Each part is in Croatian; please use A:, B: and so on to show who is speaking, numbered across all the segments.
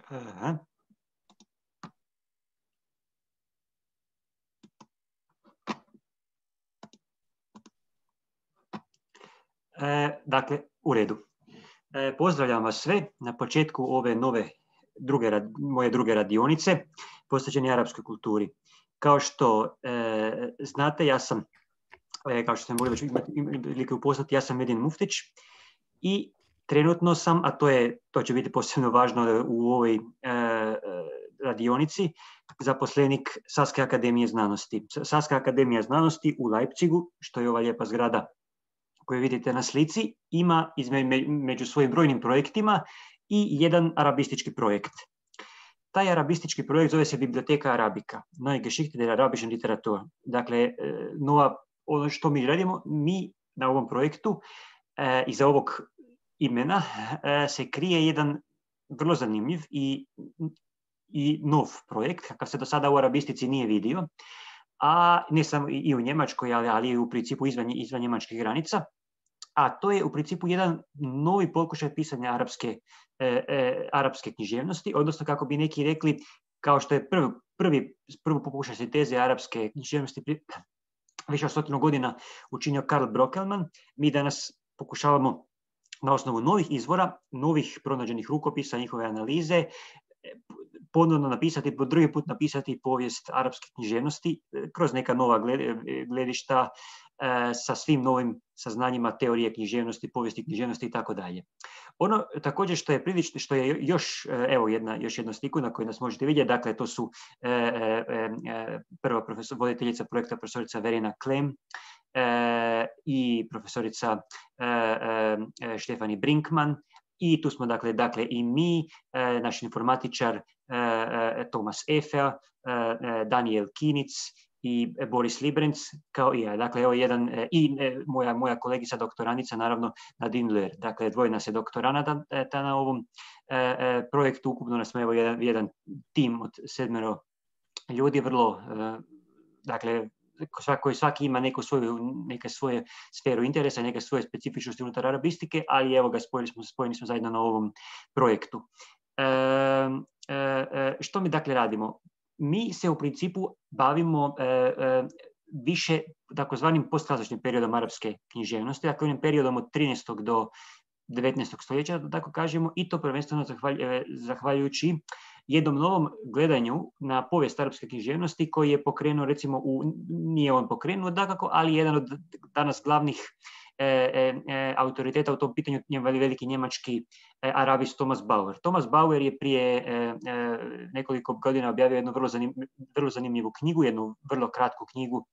A: Aha. Dakle, u redu. Pozdravljam vas sve na početku ove nove moje druge radionice posvećene arapskoj kulturi. Kao što znate, ja sam, kao što ste mogli već imati prilike upoznati, ja sam Medin Muftić i trenutno sam, a to će biti posebno važno u ovoj radionici, zaposlenik Saske akademije znanosti. Saska akademija znanosti u Leipzigu, što je ova lijepa zgrada koju vidite na slici, ima među svojim brojnim projektima i jedan arabistički projekt. Taj arabistički projekt zove se Biblioteka Arabika, Neue Geschichte der arabischen Literatur. Dakle, ono što mi radimo, mi na ovom projektu iza ovog imena se krije jedan vrlo zanimljiv i nov projekt, kakav se do sada u arabistici nije vidio, a ne samo i u Njemačkoj, ali i u principu izvan njemačkih granica. A to je u principu jedan novi pokušaj pisanja arapske književnosti, odnosno kako bi neki rekli, kao što je prvi pokušaj sinteze arapske književnosti više od 100 godina učinio Karl Brockelmann, mi danas pokušavamo na osnovu novih izvora, novih pronađenih rukopisa, njihove analize, ponovno napisati, po drugi put napisati povijest arapske književnosti kroz neka nova gledišta sa svim novim saznanjima teorije književnosti, povijesti književnosti i tako dalje. Ono također što je još, evo još jedna sliku na kojoj nas možete vidjeti, dakle to su prva voditeljica projekta profesorica Verena Klem i profesorica Štefani Brinkman. I tu smo dakle i mi, naš informatičar Tomas Efer, Daniel Kinic i Boris Librenc, kao i ja. Dakle, evo jedan, i moja kolegica doktoranica, naravno, Nadine Ler. Dakle, dvoje nas je doktoranata na ovom projektu. Ukupno nas smo evo jedan tim od 7 ljudi, vrlo, dakle, svaki ima neke svoje sferu interesa, neke svoje specifičnosti unutar arabistike, ali evo ga, spojeni smo zajedno na ovom projektu. Što mi dakle radimo? Mi se u principu bavimo više takozvanim postklasičnim periodom arapske književnosti, dakle onim periodom od 13. do 19. stoljeća, da tako kažemo, i to prvenstveno zahvaljujući jednom novom gledanju na povijest arapske književnosti koji je pokrenuo, recimo, nije on pokrenuo dakako, ali jedan od danas glavnih autoriteta u tom pitanju, veliki njemački arabist Thomas Bauer. Thomas Bauer je prije nekoliko godina objavio jednu vrlo zanimljivu knjigu, jednu vrlo kratku knjigu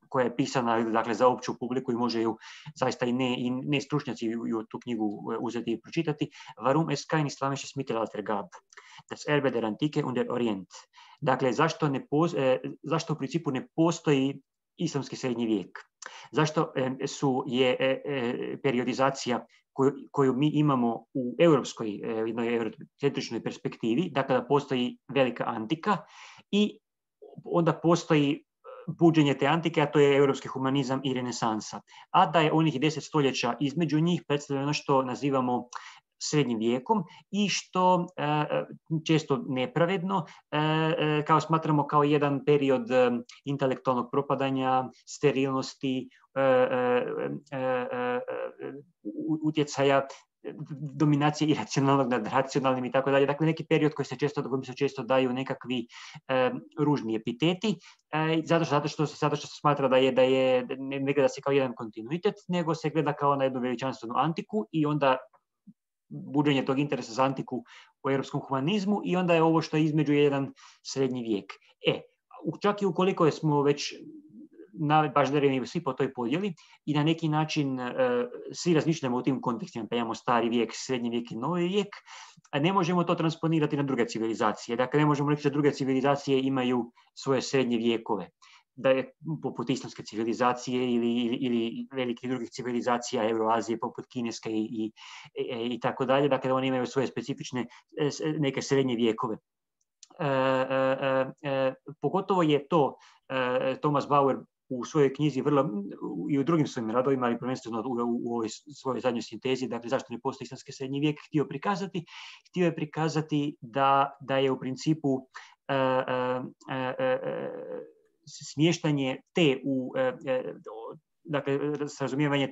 A: koja je pisana, dakle, za opću publiku i može ju zaista i ne stručnjaci ju tu knjigu uzeti i pročitati. Warum es kein islamisches Mittelalter gab? Das Erbe der Antike und der Orient. Dakle, zašto u principu ne postoji islamski srednji vijek? Zašto je periodizacija koju mi imamo u europskoj, jednoj eurocentričnoj perspektivi, dakle da postoji velika antika i onda postoji buđenje te antike, a to je europski humanizam i renesansa. A da je onih 10 stoljeća između njih predstavlja ono što nazivamo srednjim vijekom i što često nepravedno kao smatramo kao jedan period intelektualnog propadanja, sterilnosti, utjecaja dominacije iracionalnog nad racionalnim i tako dalje. Dakle, neki period kojim se često daju nekakvi ružni epiteti, zato što se smatra ne gleda se kao jedan kontinuitet, nego se gleda kao na jednu veličanstvenu antiku i onda buđenje tog interesa za antiku u europskom humanizmu i onda je ovo što je između jedan srednji vijek. Čak i ukoliko smo već baždareni svi po toj podjeli i na neki način svi razmišljamo u tim kontekstima, pa imamo stari vijek, srednji vijek i novi vijek, a ne možemo to transponirati na druge civilizacije. Dakle, ne možemo reći da druge civilizacije imaju svoje srednje vijekove, da je poput islamske civilizacije ili velikih drugih civilizacija Euroazije, poput kineske i tako dalje. Dakle, oni imaju svoje specifične neke srednje vijekove. Pogotovo je to Thomas Bauer u svojoj knjizi i u drugim svojim radovima, ali prvenstveno u ovoj svojoj zadnjoj sintezi, dakle zašto ne postoji islamski srednji vijek, htio je prikazati da je u principu smještanje dakle razumijevanje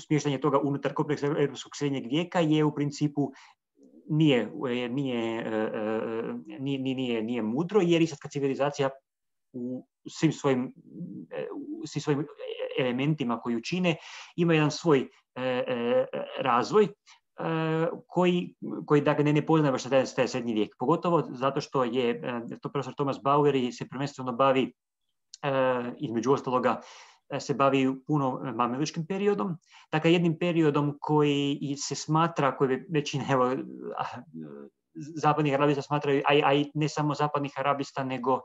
A: smještanje toga unutar kompleksa europskog srednjeg vijeka je u principu nije mudro, jer islamska civilizacija u svim svojim elementima koji čine ima jedan svoj razvoj koji dakle ne poznaje baš taj srednji vijek. Pogotovo zato što je to profesor Thomas Bauer se prvenstveno bavi, između ostaloga, se bavi puno mameličkim periodom, dakle jednim periodom koji se smatra, koji većina zapadnih arabista smatraju, a i ne samo zapadnih arabista, nego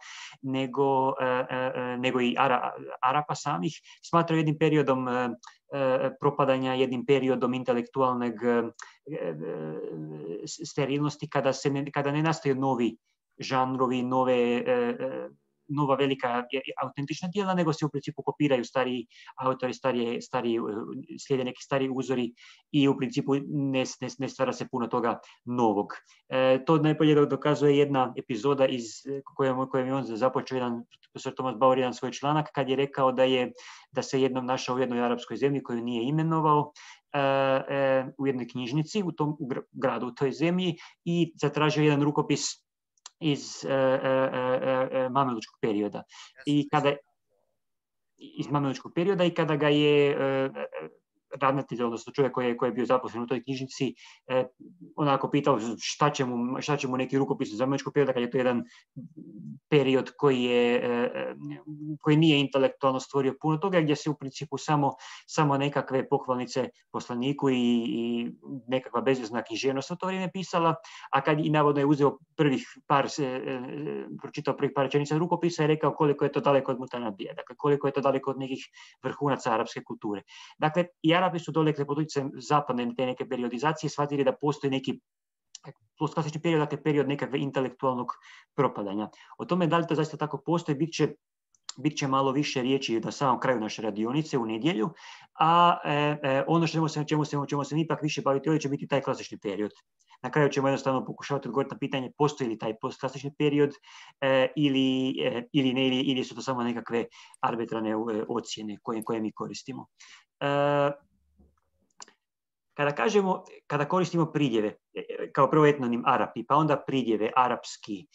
A: i Arapa samih, smatraju jednim periodom propadanja, jednim periodom intelektualnog sterilnosti, kada ne nastaju novi žanrovi, nova velika autentična djela, nego se u principu kopiraju stariji autori, slijede neki stariji uzori i u principu ne stvara se puno toga novog. To najbolje dokazuje jedna epizoda kojom je on započeo jedan profesor Thomas Bauer, jedan svoj članak, kad je rekao da se jednom našao u jednoj arapskoj zemlji koju nije imenovao, u jednoj knjižnici u gradu, u toj zemlji, i zatražio jedan rukopis iz mamelučkog perioda. I kada ga je ravnatelj, odnosno čovjek koji je bio zaposlen u toj knjižnici, onako pitao šta će mu neki rukopis iz mamelučkog perioda, kad je to jedan period koji nije intelektualno stvorio puno toga, gdje se u principu samo nekakve pohvalnice poslaniku i nekakva bezvezna književnost u to vrijeme pisala, a kad i navodno je uzeo pročitao prvih par rečenica rukopisa i rekao koliko je to daleko od Mutanabija, dakle koliko je to daleko od nekih vrhunaca arapske kulture. Dakle, i Arapi su dolekle pod utjecajem zapadne te neke periodizacije shvatili da postoji neki postklasični period, dakle period nekakve intelektualnog propadanja. O tome da li to zaista tako postoji, bit će malo više riječi na samom kraju naše radionice u nedjelju, a ono čemu se ipak više baviti ovdje će biti taj klasični period. Na kraju ćemo jednostavno pokušavati odgovoriti na pitanje postoji li taj postklasični period ili ne, ili su to samo nekakve arbitrarne ocjene koje mi koristimo. Kada koristimo pridjeve, kao prvo etnonim Arapi, pa onda pridjeve arapski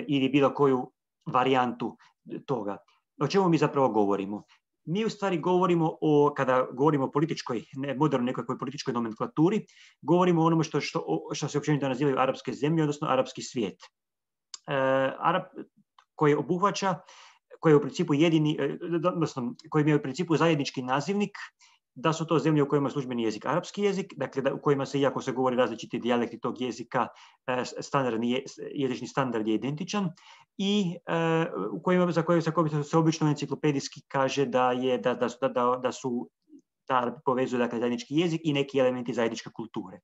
A: ili bilo koju varijantu toga, o čemu mi zapravo govorimo? Mi u stvari govorimo kada govorimo o modernoj nekakvoj političkoj nomenklaturi, govorimo o onome što se općenito nazivaju arapske zemlje, odnosno arapski svijet. Koji obuhvaća, koji je u principu koji imaju u principu zajednički nazivnik, da su to zemlje u kojima je službeni jezik arapski jezik, dakle u kojima se, iako se govori različiti dijalekti tog jezika, jezični standard je identičan, i za koje se obično enciklopedijski kaže da su povezuju dakle zajednički jezik i neki elementi zajedničke kulture.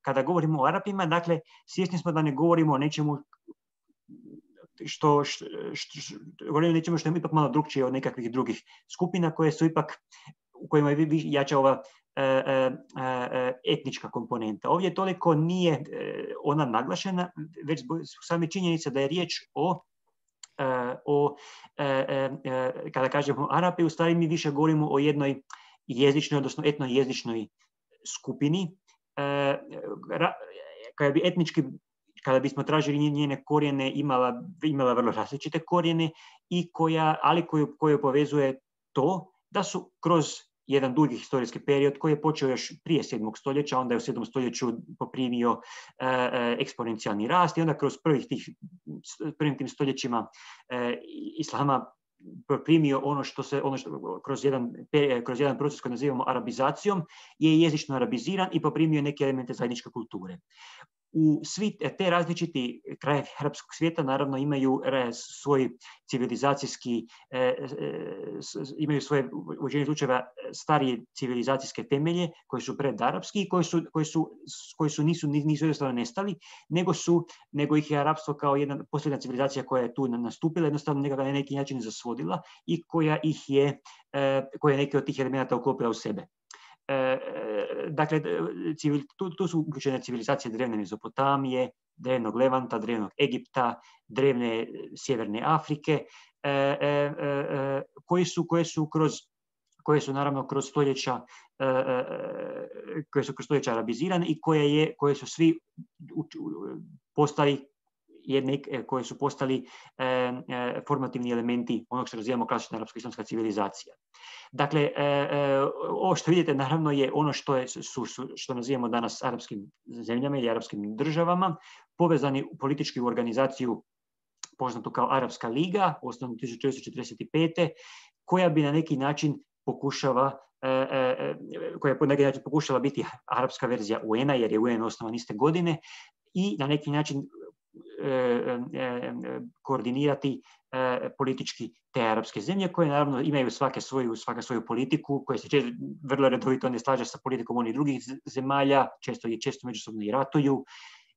A: Kada govorimo o Arapima, dakle, svjesni smo da ne govorimo o nečemu govorimo o nečemu što je ipak malo drukčije od nekakvih drugih skupina u kojima je jača ova etnička komponenta. Ovdje toliko nije ona naglašena, već same činjenice da je riječ kada kažemo Arapi, u stvari mi više govorimo o jednoj jezičnoj, odnosno etnojezičnoj skupini, koja bi etnički, kada bismo tražili njene korijene, imala vrlo različite korijene, koju povezuje to da su kroz jedan dugi historijski period koji je počeo još prije 7. stoljeća, onda je u 7. stoljeću poprimio eksponencijalni rast i onda kroz prvim tim stoljećima islama poprimio ono što kroz jedan proces koji nazivamo arabizacijom, je jezično arabiziran i poprimio neke elemente zajedničke kulture. svi te različiti krajevi arapskog svijeta naravno imaju svoj civilizacijski, imaju svoje u većini slučajeva starije civilizacijske temelje koji su predarapski i koji nisu jednostavno nestali, nego ih je arapstvo kao jedna posljedna civilizacija koja je tu nastupila, jednostavno na neki način zasvodila i koja je neke od tih elemenata uklopila u sebe. Dakle, tu su uključene civilizacije drevne Mezopotamije, drevnog Levanta, drevnog Egipta, drevne Sjeverne Afrike, koje su naravno kroz stoljeća arabizirane i koje su svi postali koji su postali formativni elementi onog što razvijamo klasična arapsko-islamska civilizacija. Dakle, ovo što vidite naravno je ono što nazivamo danas arapskim zemljama ili arapskim državama, povezani politički u organizaciju poznatu kao Arapska liga, osnovno 1945. koja bi na neki način pokušala biti arapska verzija UN-a, jer je UN osnovan iste godine, i na neki način koordinirati politički te arapske zemlje, koje naravno imaju svaka svoju politiku, koje se vrlo redovito ne slaže sa politikom onih drugih zemalja, često međusobno i ratuju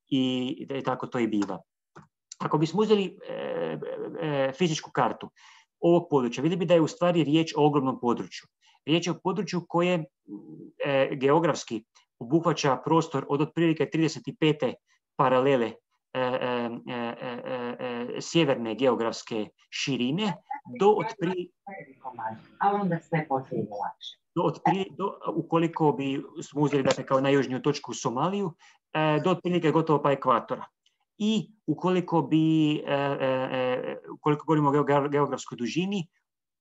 A: i tako to i biva. Ako bismo uzeli fizičku kartu ovog područja, vidjeli bi da je u stvari riječ o ogromnom području. Riječ je o području koje geografski obuhvaća prostor od otprilike 35. paralele sjeverne geografske širine do ukoliko bi smo uzeli kao najjužniju točku Somaliju, do otprilike gotovo pa ekvatora. I ukoliko govorimo o geografskoj dužini,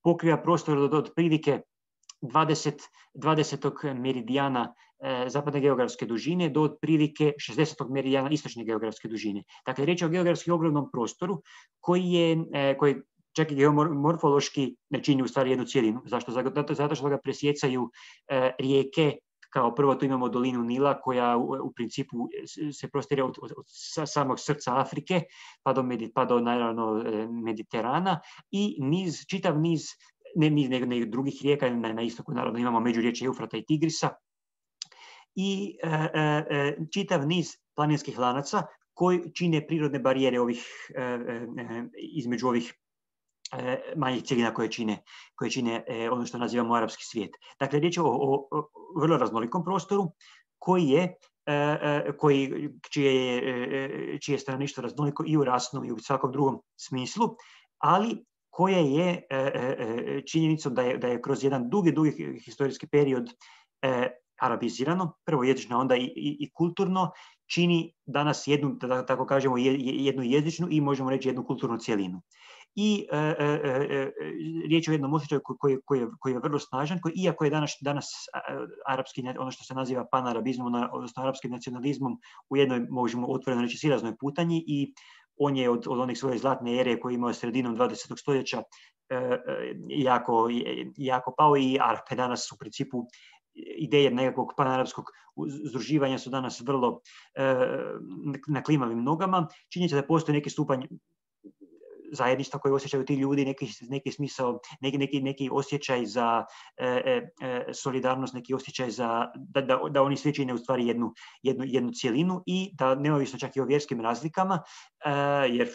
A: pokriva prostor od otprilike 20. meridijana zapadne geografske dužine do otprilike 60. meridijana istočne geografske dužine. Dakle, riječ je o geografski ogromnom prostoru koji čak i geomorfološki ne čini u stvari jednu cjelinu. Zašto? Zato što ga presjecaju rijeke. Kao prvo tu imamo dolinu Nila koja u principu se prostire od samog srca Afrike pa do naravno Mediterana i čitav niz ne drugih rijeka, na istoku naravno imamo međuriječje Eufrata i Tigrisa i čitav niz planinskih lanaca koji čine prirodne barijere između ovih manjih cjelina koje čine ono što nazivamo arapski svijet. Dakle, riječ je o vrlo raznolikom prostoru čije je stanovništvo raznoliko i u rasnom i u svakom drugom smislu, ali koje je činjenicom da je kroz jedan dugi historijski period arabizirano, prvo jezično, onda i kulturno, čini danas jednu, da tako kažemo, jednu jezičnu i možemo reći jednu kulturnu cjelinu. I riječ je o jednom osjećaju koji je vrlo snažan, iako je danas arapski, ono što se naziva panarabizmom, odnosno arapskim nacionalizmom, u jednoj, možemo otvoreno reći, silaznoj putanji i on je od onih svoje zlatne ere koje je imao sredinom 20. stoljeća jako pao i Arape danas u principu ideje nekakvog panarapskog združivanja su danas vrlo na klimavim nogama. Činjenica da postoji neki stupanj zajedništva koje osjećaju ti ljudi, neki smisao, neki osjećaj za solidarnost, neki osjećaj da oni svi čine u stvari jednu cjelinu i da neovisno čak i o vjerskim razlikama, jer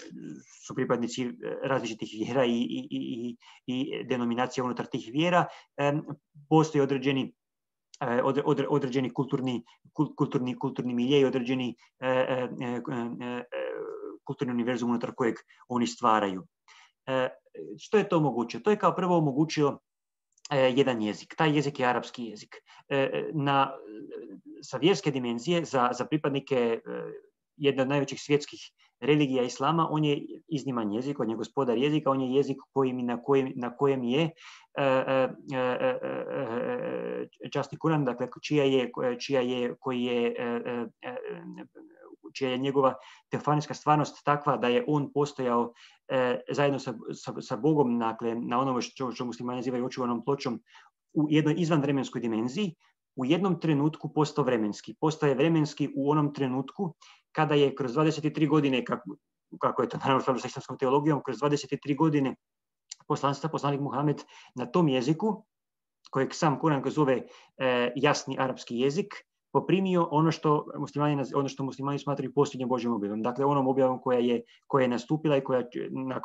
A: su pripadnici različitih vjera i denominacija unutar tih vjera, postoji određeni kulturni milje i određeni kulturni univerzum unutar kojeg oni stvaraju. Što je to omogućilo? To je kao prvo omogućilo jedan jezik. Taj jezik je arapski jezik. Sa vjerske dimenzije za pripadnike jedne od najvećih svjetskih religija islama, on je izniman jezik, on je gospodar jezika, on je jezik na kojem je časni Kuran, dakle čija je njegova teofanijska stvarnost takva da je on postojao zajedno sa Bogom, dakle, na onome što muslimani nazivaju očuvanom pločom, u jednoj izvanvremenskoj dimenziji, u jednom trenutku postao vremenski. Postaje vremenski u onom trenutku kada je kroz 23 godine, kako je to naravno sa islamskom teologijom, kroz 23 godine poslanstva, poslanik Muhamed na tom jeziku, kojeg sam Kuran zove jasni arapski jezik, poprimio ono što muslimani smatraju posljednjom Božjom objavom. Dakle, onom objavom koja je nastupila i koja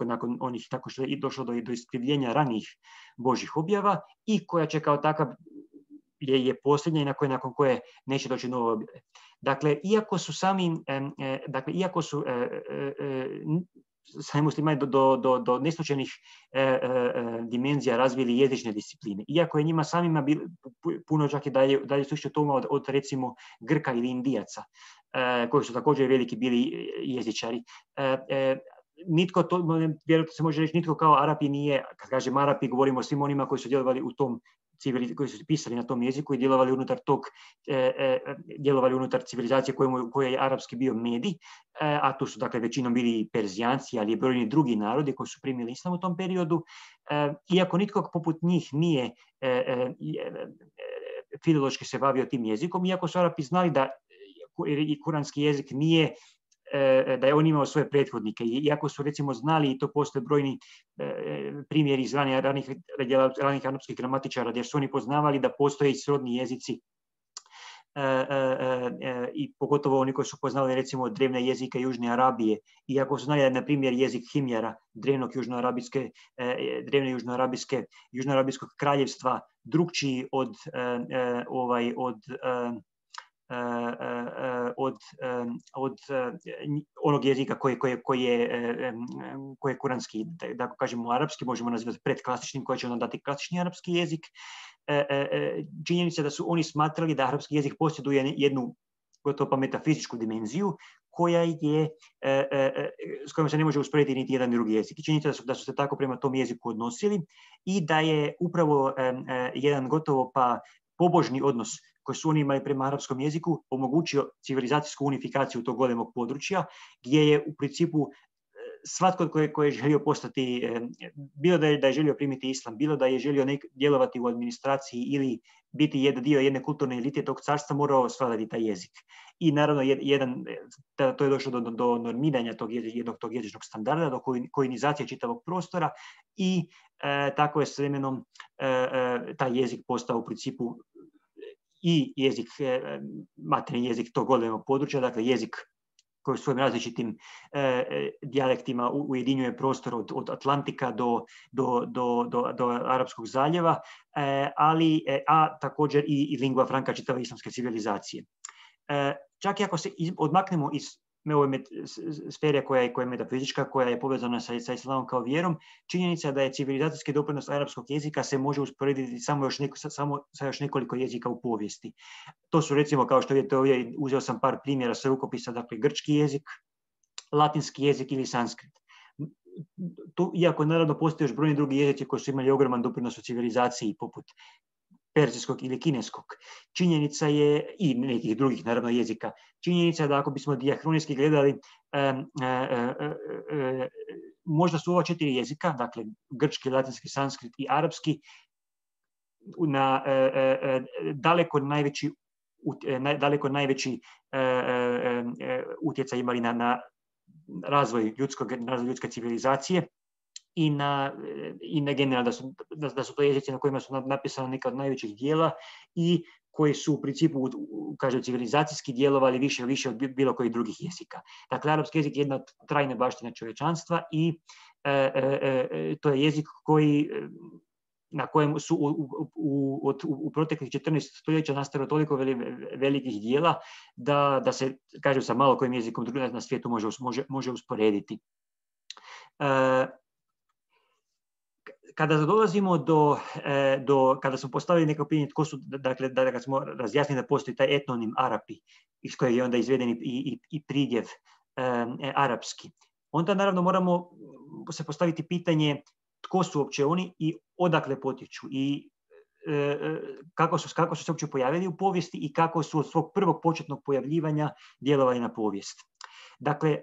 A: nakon onih, tako što je došlo do iskrivljenja ranijih Božjih objava i koja će kao takav je posljednja i nakon koje neće doći nove objave. Dakle, iako su sami muslimani do neslučajnih dimenzija razvili jezične discipline. Iako je njima samima puno čak i dalje slično tome od recimo Grka ili Indijaca, koji su također veliki bili jezičari. Nitko to, vjerojatno se može reći, nitko kao Arapi nije, kad kažem Arapi, govorimo o svim onima koji su djelovali u tom koji su pisali na tom jeziku i djelovali unutar civilizacije koje je arapski bio medij, a tu su dakle većinom bili Perzijanci, ali i brojni drugi narodi koji su primili islam u tom periodu. Iako nitko poput njih nije filološki se bavio tim jezikom, iako su Arapi znali da i kuranski jezik nije, da je on imao svoje prethodnike. Iako su recimo znali, i to postoje brojni primjeri iz ranih arapskih gramatičara, gdje su oni poznavali da postoje i srodni jezici, i pogotovo oni koji su poznali recimo drevne jezike Južne Arabije, iako su znali, na primjer, jezik Himjara, drevnog južnoarabijskog kraljevstva, drukčiji od onog jezika koji je kuranski, da kažemo arapski, možemo nazivati predklasičnim, koji će onda dati klasični arapski jezik. Činjenica da su oni smatrali da arapski jezik posjeduje jednu gotovo pa metafizičku dimenziju s kojom se ne može usporediti niti jedan drugi jezik. Činjenica da su se tako prema tom jeziku odnosili i da je upravo jedan gotovo pa pobožni odnos koji su oni imali prema arapskom jeziku omogućio civilizacijsku unifikaciju tog golemog područja, gdje je u principu svatko koji je želio postati, bilo da je želio primiti islam, bilo da je želio djelovati u administraciji ili biti dio jedne kulturne elite tog carstva, morao svladati taj jezik. I naravno to je došlo do normiranja tog jezičnog standarda, do koinizacije čitavog prostora i tako je s vremenom taj jezik postao u principu i jezik, materijalni jezik tog golemog područja, dakle jezik koji u svojim različitim dijalektima ujedinjuje prostor od Atlantika do Arapskog zaljeva, a također i lingua franca čitave islamske civilizacije. Čak i ako se odmaknemo iz ove sfere koja je metafizička, koja je povezana sa islamom kao vjerom, činjenica da je civilizacijski doprinos arapskog jezika se može usporediti samo sa još nekoliko jezika u povijesti. To su recimo, kao što vidite ovdje, uzeo sam par primjera sa rukopisa, dakle grčki jezik, latinski jezik ili sanskrit. Iako naravno postoje još brojni drugi jezici koji su imali ogroman doprinos u civilizaciji, poput perzijskog ili kineskog. Činjenica je, i nekih drugih naravno jezika, činjenica je da ako bismo dijahronijski gledali, možda su ova 4 jezika, dakle grčki, latinski, sanskrit i arapski, daleko najveći utjecaj imali na razvoj ljudske civilizacije i na generalno da su to jezici na kojima su napisana neka od najvećih dijela i koji su u principu, kažem, civilizacijski djelovali više od bilo kojih drugih jezika. Dakle, arapski jezik je jedna od trajne baštine čovječanstva i to je jezik na kojem su u proteklih 14 stoljeća nastalo toliko velikih dijela da se, kažem, sa malo kojim jezikom drugim na svijetu može usporediti. Kada dolazimo kada smo postavili neko pitanje tko su, dakle, da smo razjasnili da postoji taj etnonim Arapi, iz kojeg je onda izveden i pridjev arapski, onda naravno moramo se postaviti pitanje tko su uopće oni i odakle potječu i kako su se uopće pojavili u povijesti i kako su od svog prvog početnog pojavljivanja djelovali na povijest. Dakle,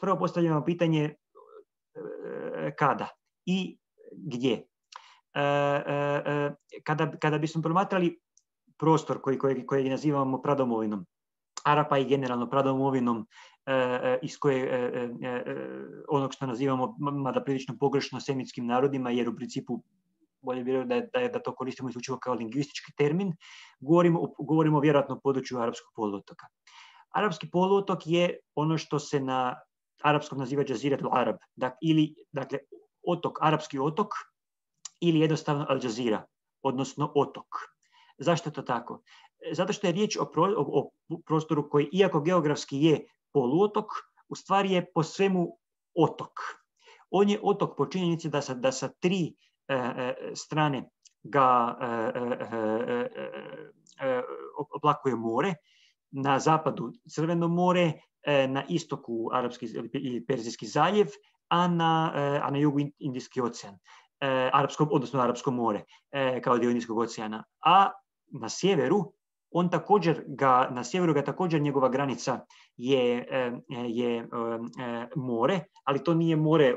A: prvo postavljamo pitanje kada i gdje. Kada bismo promatrali prostor koji nazivamo pradomovinom, Arapa i generalno pradomovinom iz koje onog što nazivamo, mada prilično pogrešno, semitskim narodima, jer u principu bolje bi da to koristimo isključivo kao lingvistički termin, govorimo vjerojatno o području Arapskog poluotoka. Arapski poluotok je ono što se na arapskom naziva Džazirat al-Arab, dakle otok, arapski otok, ili jednostavno Al Jazeera, odnosno otok. Zašto je to tako? Zato što je riječ o prostoru koji, iako geografski je poluotok, u stvari je po svemu otok. On je otok po činjenici da sa tri strane ga oplakuje more, na zapadu Crveno more, na istoku Arapski ili Perzijski zaljev, a na jugu Indijski ocean, odnosno Arapsko more kao dio Indijskog oceana. A na sjeveru na sjeveru ga također njegova granica je more, ali to nije more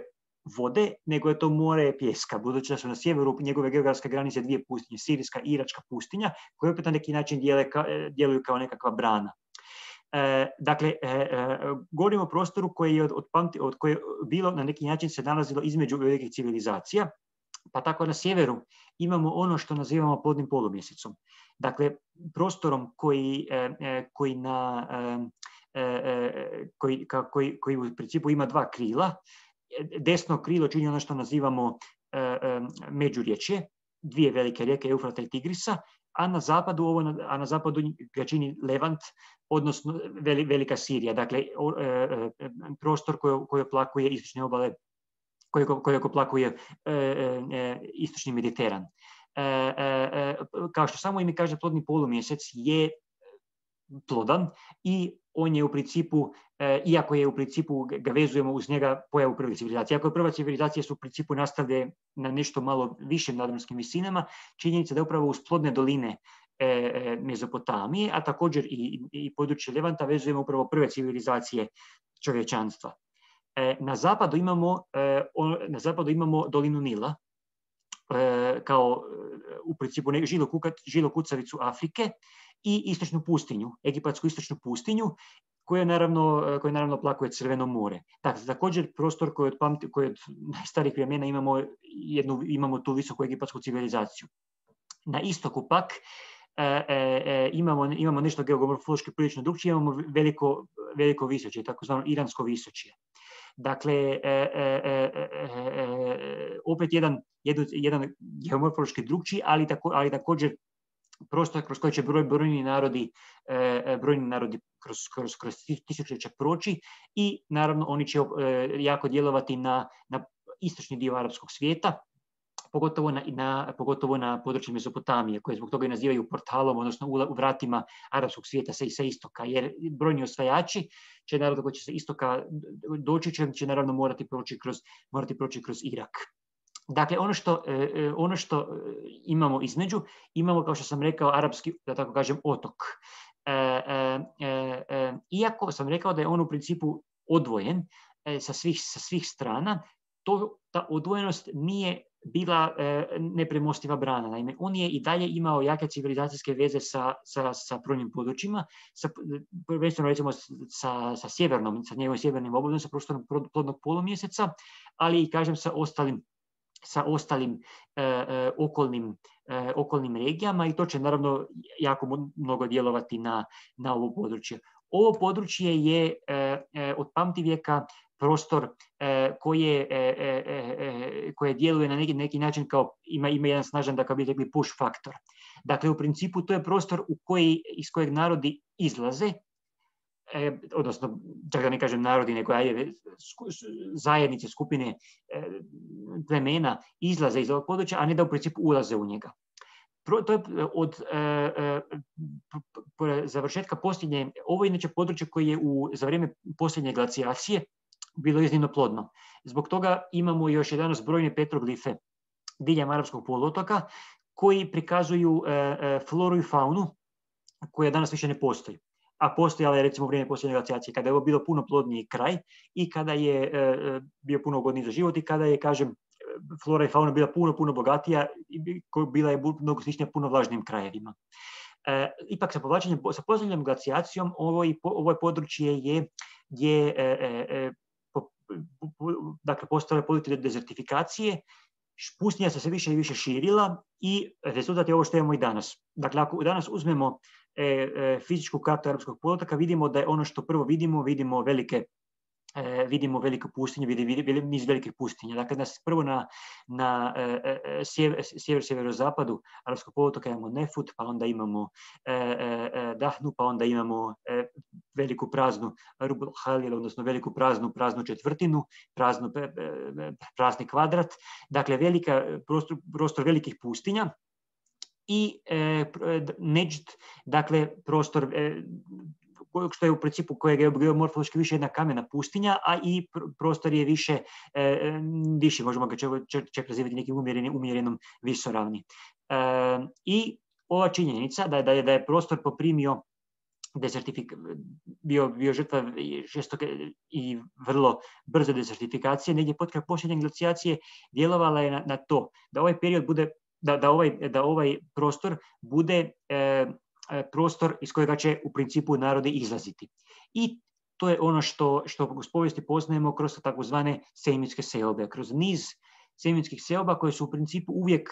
A: vode, nego je to more pijeska, budući da su na sjeveru njegove geografske granice dvije pustinje, Sirijska i Iračka pustinja, koje opet na neki način djeluju kao nekakva brana. Dakle, govorimo o prostoru koji je od koje bilo na neki način se nalazilo između velikih civilizacija, pa tako na sjeveru imamo ono što nazivamo plodnim polumjesecom. Dakle, prostorom koji u principu ima dva krila. Desno krilo čini ono što nazivamo međuriječje, dvije velike rijeke, Eufrata i Tigrisa, a na zapadu ga čini Levant, odnosno Velika Sirija, dakle prostor koji oplakuje istočne obale, koji oplakuje istočni Mediteran. Kao što samo ime kaže, plodni polumjesec je plodan i on je u principu, iako je u principu ga vezujemo uz njega pojavu prve civilizacije. Iako je prva civilizacija su u principu nastavlje na nešto malo višim nadmorskim visinama, činjenica da je upravo uz plodne doline Mezopotamije, a također i područje Levanta vezujemo upravo prve civilizacije čovječanstva. Na zapadu imamo dolinu Nila, kao u principu žilokucavicu Afrike, i istočnu pustinju, egipatsku istočnu pustinju, koje naravno oplakuje Crveno more. Dakle, također prostor koji od najstarijih vremena imamo tu visoku egipatsku civilizaciju. Na istoku pak imamo nešto geomorfološki prilično drukčije, imamo veliko visočje, takozvano iransko visočje. Dakle, opet jedan geomorfološki drukčiji, ali također prostor kroz koji će brojni narodi kroz tisućljeća proći, i naravno oni će jako djelovati na istočni dio arapskog svijeta, pogotovo na području Mezopotamije, koje zbog toga i nazivaju portalom, odnosno u vratima arapskog svijeta sa istoka, jer brojni osvajači će naravno koji će sa istoka doći, će naravno morati proći kroz Irak. Dakle, ono što imamo između, imamo, kao što sam rekao, arapski, da tako kažem, otok. Iako sam rekao da je on u principu odvojen sa svih strana, ta odvojenost nije bila nepremostiva brana. Naime, on je i dalje imao jake civilizacijske veze sa brojnim područjima, prvenstveno recimo sa njegovim sjevernim obodom, sa prostorom plodnog polumjeseca, ali i, kažem, sa ostalim okolnim regijama, i to će naravno jako mnogo djelovati na ovo područje. Ovo područje je od pamtivijeka prostor koje djeluje na neki način kao ima jedan snažan, da kao bi rekli, push faktor. Dakle, u principu to je prostor iz kojeg narodi izlaze, odnosno, čak da ne kažem narodi, nego zajednice, skupine, plemena izlaze iz ovog područja, a ne da u principu ulaze u njega. To je od završetka posljednje, ovo je inače područje koje je za vrijeme posljednje glacijacije bilo iznimno plodno. Zbog toga imamo još danas brojne petroglife diljem arapskog poluotoka koji prikazuju floru i faunu koja danas više ne postoji. A postojala je recimo u vrijeme posljednje glacijacije, kada je ovo bilo puno plodniji kraj i kada je bio puno ugodniji za život i kada je, kažem, flora i fauna bila puno bogatija i bila je mnogo sličnija puno vlažnijim krajevima. Ipak sa posljednjom glacijacijom ovo područje je dakle, postale područje dezertifikacije, pustinja se sve više i više širila i rezultat je ovo što imamo i danas. Dakle, ako danas uzmemo fizičku kartu Arapskog poluotoka, vidimo da je ono što prvo vidimo veliku pustinju, niz velikih pustinja. Dakle, prvo na sjeverozapadu Arapskog poluotoka imamo Nefut, pa onda imamo Dahnu, pa onda imamo veliku praznu Rub al-Khalil, odnosno veliku praznu četvrtinu, prazni kvadrat. Dakle, prostor velikih pustinja. I Nejd, dakle, prostor što je u principu kojeg je geomorfološki više jedna kamena pustinja, a i prostor je više možemo ga čak nazivati nekim umjerenom visoravni. I ova činjenica da je prostor poprimio bio žrtva žestoke i vrlo brze dezertifikacije, negdje potkraj posljednje glacijacije, djelovala je na to da ovaj period bude, da ovaj prostor bude prostor iz kojega će u principu narodi izlaziti. I to je ono što u povijesti poznajemo kroz takozvane semitske seobe, kroz niz semitskih seoba koje su u principu uvijek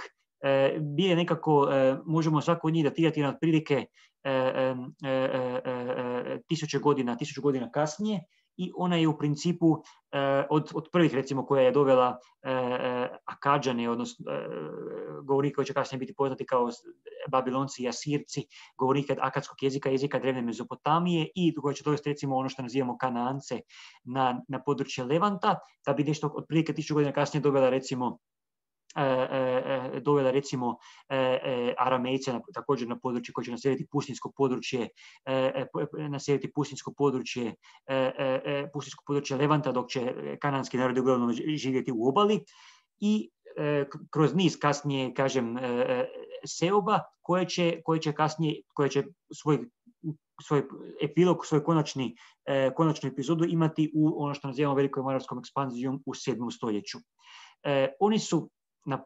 A: bile nekako, možemo svako od njih datirati na otprilike 1000 godina kasnije, i ona je u principu od prvih, recimo, koja je dovela Akadžane, odnosno govornike koji će kasnije biti poznati kao Babilonci i Asirci, govornike akadskog jezika drevne Mezopotamije, i koja će dovesti, recimo, ono što nazivamo Kanaance na područje Levanta, da bi nešto otprilike 1000 godina kasnije dovela recimo Aramejce također na područje koje će naseliti pustinjsko područje Levanta, dok će kananski narodi uglavnom živjeti u obali, i kroz niz kasnije, kažem, seoba koje će svoj epilog, svoj konačnu epizodu imati u ono što nazivamo velikom arapskom ekspanzijom u 7. stoljeću. Oni su na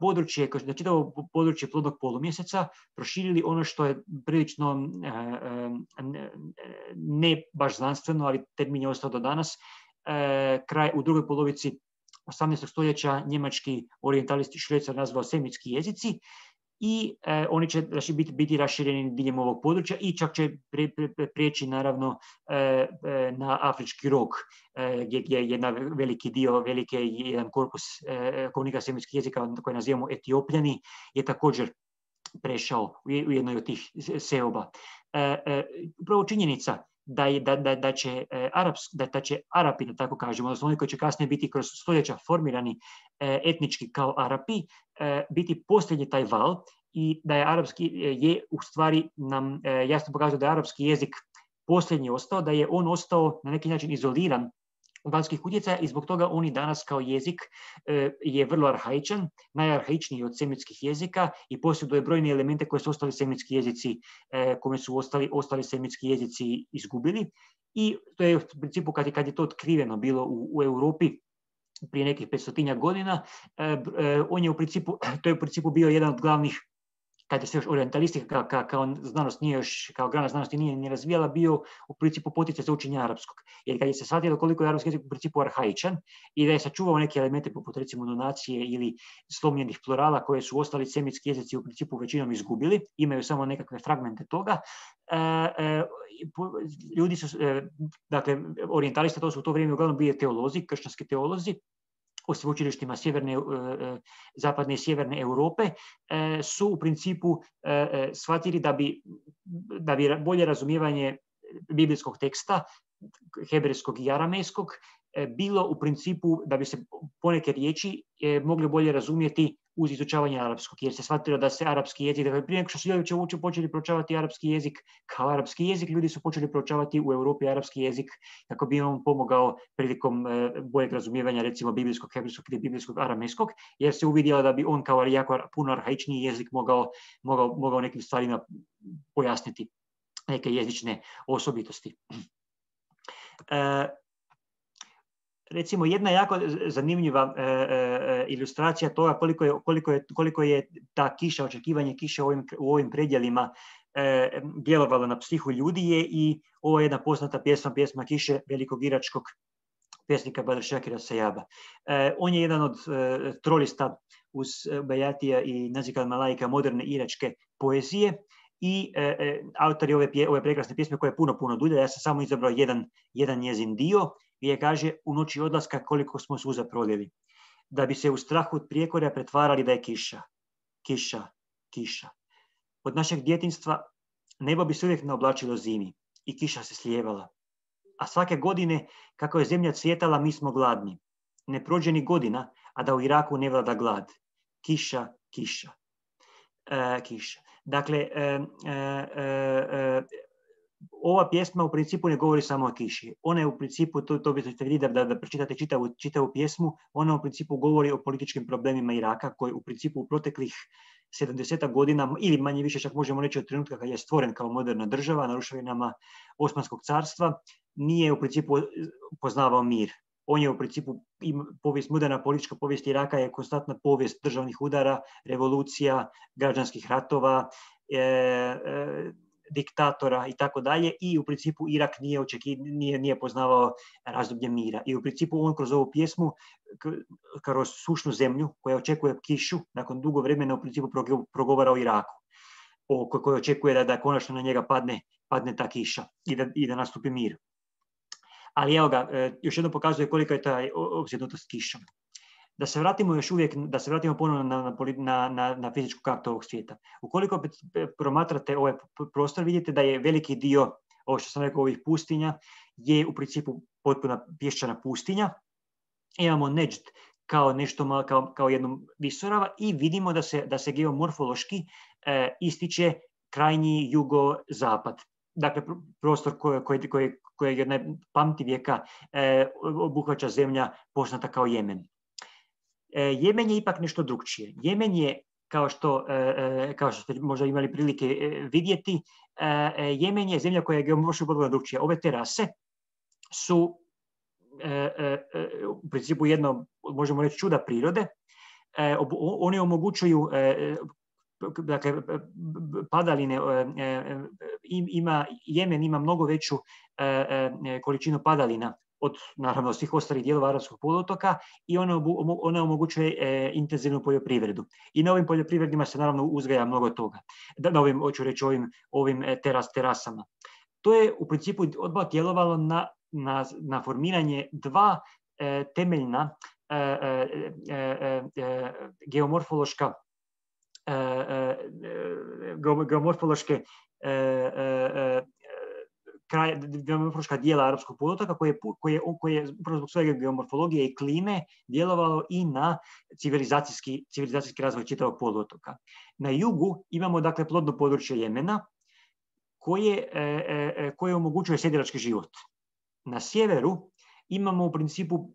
A: čitavo područje plodnog polumjeseca proširili ono što je prilično ne baš znanstveno, ali termin je ostao do danas, u drugoj polovici 18. stoljeća njemački orijentalisti Šrecer nazvao semitski jezici, i oni će biti rašireni diljem ovog područja i čak će prijeći naravno na afrički rog, gdje je jedan korpus govornika semitskih jezika koji nazivamo Etiopljani je također prešao u jednoj od tih seoba. Upravo činjenica da će Arapi, da tako kažemo, odnosno oni koji će kasnije biti kroz stoljeća formirani etnički kao Arapi, biti posljednji taj val, i da je arapski je u stvari nam jasno pokazuje da je arapski jezik posljednji ostao, da je on ostao na neki način izoliran od vanjskih utjecaja, i zbog toga on i danas kao jezik je vrlo arhaičan, najarhaičniji od semitskih jezika, i posjeduje brojne elemente koje su ostali semitski jezici, kome su ostali semitski jezici izgubili. I to je u principu, kad je to otkriveno bilo u Europi prije nekih 500 godina, to je u principu bio jedan od glavnih, kada se još orijentalistika kao znanost nije još, kao grana znanosti nije ni razvijala, bio u principu poticaj za učenje arapskog. Jer kad je se shvatilo koliko je arapski jezik u principu arhaičan i da je sačuvao neke elemente poput recimo donacije ili slomljenih plurala koje su ostali semitski jezici u principu većinom izgubili, imaju samo nekakve fragmente toga, ljudi su, dakle, orijentalisti, to su u to vrijeme uglavnom bili teolozi, kršćanski teolozi, u sveučilištima zapadne i sjeverne Europe, su u principu shvatili da bi bolje razumijevanje biblijskog teksta, hebrejskog i aramejskog, bilo u principu da bi se poneke riječi mogli bolje razumjeti uz izučavanje arapskog, jer se shvatilo da se arapski jezik, dakle prije nego što su ljudi počeli proučavati arapski jezik kao arapski jezik, ljudi su počeli proučavati u Europi arapski jezik kako bi on pomogao prilikom boljeg razumijevanja recimo biblijskog hebrejskog ili biblijskog aramejskog, jer se uvidjelo da bi on kao jako puno arhaičniji jezik mogao nekim stvarima pojasniti neke jezične osobitosti. Recimo, jedna jako zanimljiva ilustracija toga koliko je ta kiša, očekivanje kiše u ovim predjelima djelovala na psihu ljudi je i ovo je jedna poznata pjesma Kiše velikog iračkog pjesnika Badr Šakira Sajaba. On je jedan od trolista uz Bajatija i Nazik al-Malaika moderne iračke poezije i autor je ove prekrasne pjesme koja je puno dulja. Ja sam samo izabrao jedan njezin dio gdje kaže: u noći odlaska koliko smo suza prolili, da bi se u strahu od prijekorja pretvarali da je kiša. Kiša, kiša. Od našeg djetinjstva nebo bi se uvijek naoblačilo zimi i kiša se slijevala. A svake godine, kako je zemlja cvjetala, mi smo gladni. Ne prođe ni godina, a da u Iraku ne vlada glad. Kiša, kiša. Kiša. Dakle, ova pjesma u principu ne govori samo o kiši. Ona je u principu, to biste vidjeli da pročitate čitavu pjesmu, ona u principu govori o političkim problemima Iraka, koji u principu u proteklih 70 godina, ili manje više čak možemo reći od trenutka kad je stvoren kao moderna država na ruševinama Osmanskog carstva, nije u principu poznavao mir. On je u principu, moderna politička povijest Iraka je konstantna povijest državnih udara, revolucija, građanskih ratova, diktatora i tako dalje, i u principu Irak nije poznavao razdoblje mira. I u principu on kroz ovu pjesmu, kroz sušnu zemlju koja očekuje kišu, nakon dugo vremena u principu progovara o Iraku, koji očekuje da konačno na njega padne ta kiša i da nastupi mir. Ali evo ga, još jednom pokazuje kolika je ta opsjednutost kišom. Da se vratimo ponovno na fizičku kartu ovog svijeta. Ukoliko promatrate ovaj prostor, vidite da je veliki dio, ovo što sam rekao, ovih pustinja, je u principu potpuna pješčana pustinja. Imamo Neđd kao nešto malo, kao jednu visorava, i vidimo da se geomorfološki ističe krajnji jugozapad. Dakle, prostor koji je pamti vijeka obuhvaća zemlja poznata kao Jemen. Jemen je ipak nešto drugčije. Jemen je, kao što ste možda imali prilike vidjeti, Jemen je zemlja koja je geomorfološki potpuno drugčija. Ove terase su u principu jedno, možemo reći, čuda prirode. Oni omogućuju, dakle, padaline, Jemen ima mnogo veću količinu padalina od, naravno, svih ostalih dijelova Arapskog poluotoka, i ona omogućuje intenzivnu poljoprivredu. I na ovim poljoprivredima se naravno uzgaja mnogo toga. Ovim terasama. To je u principu odmah djelovalo na formiranje dva temeljna geomorfološke geomorfološka dijela Arapskog poluotoka koje je upravo zbog svoje geomorfologije i klime djelovalo i na civilizacijski razvoj čitavog poluotoka. Na jugu imamo, dakle, plodno područje Jemena koje omogućuje sjedilački život. Na sjeveru imamo u principu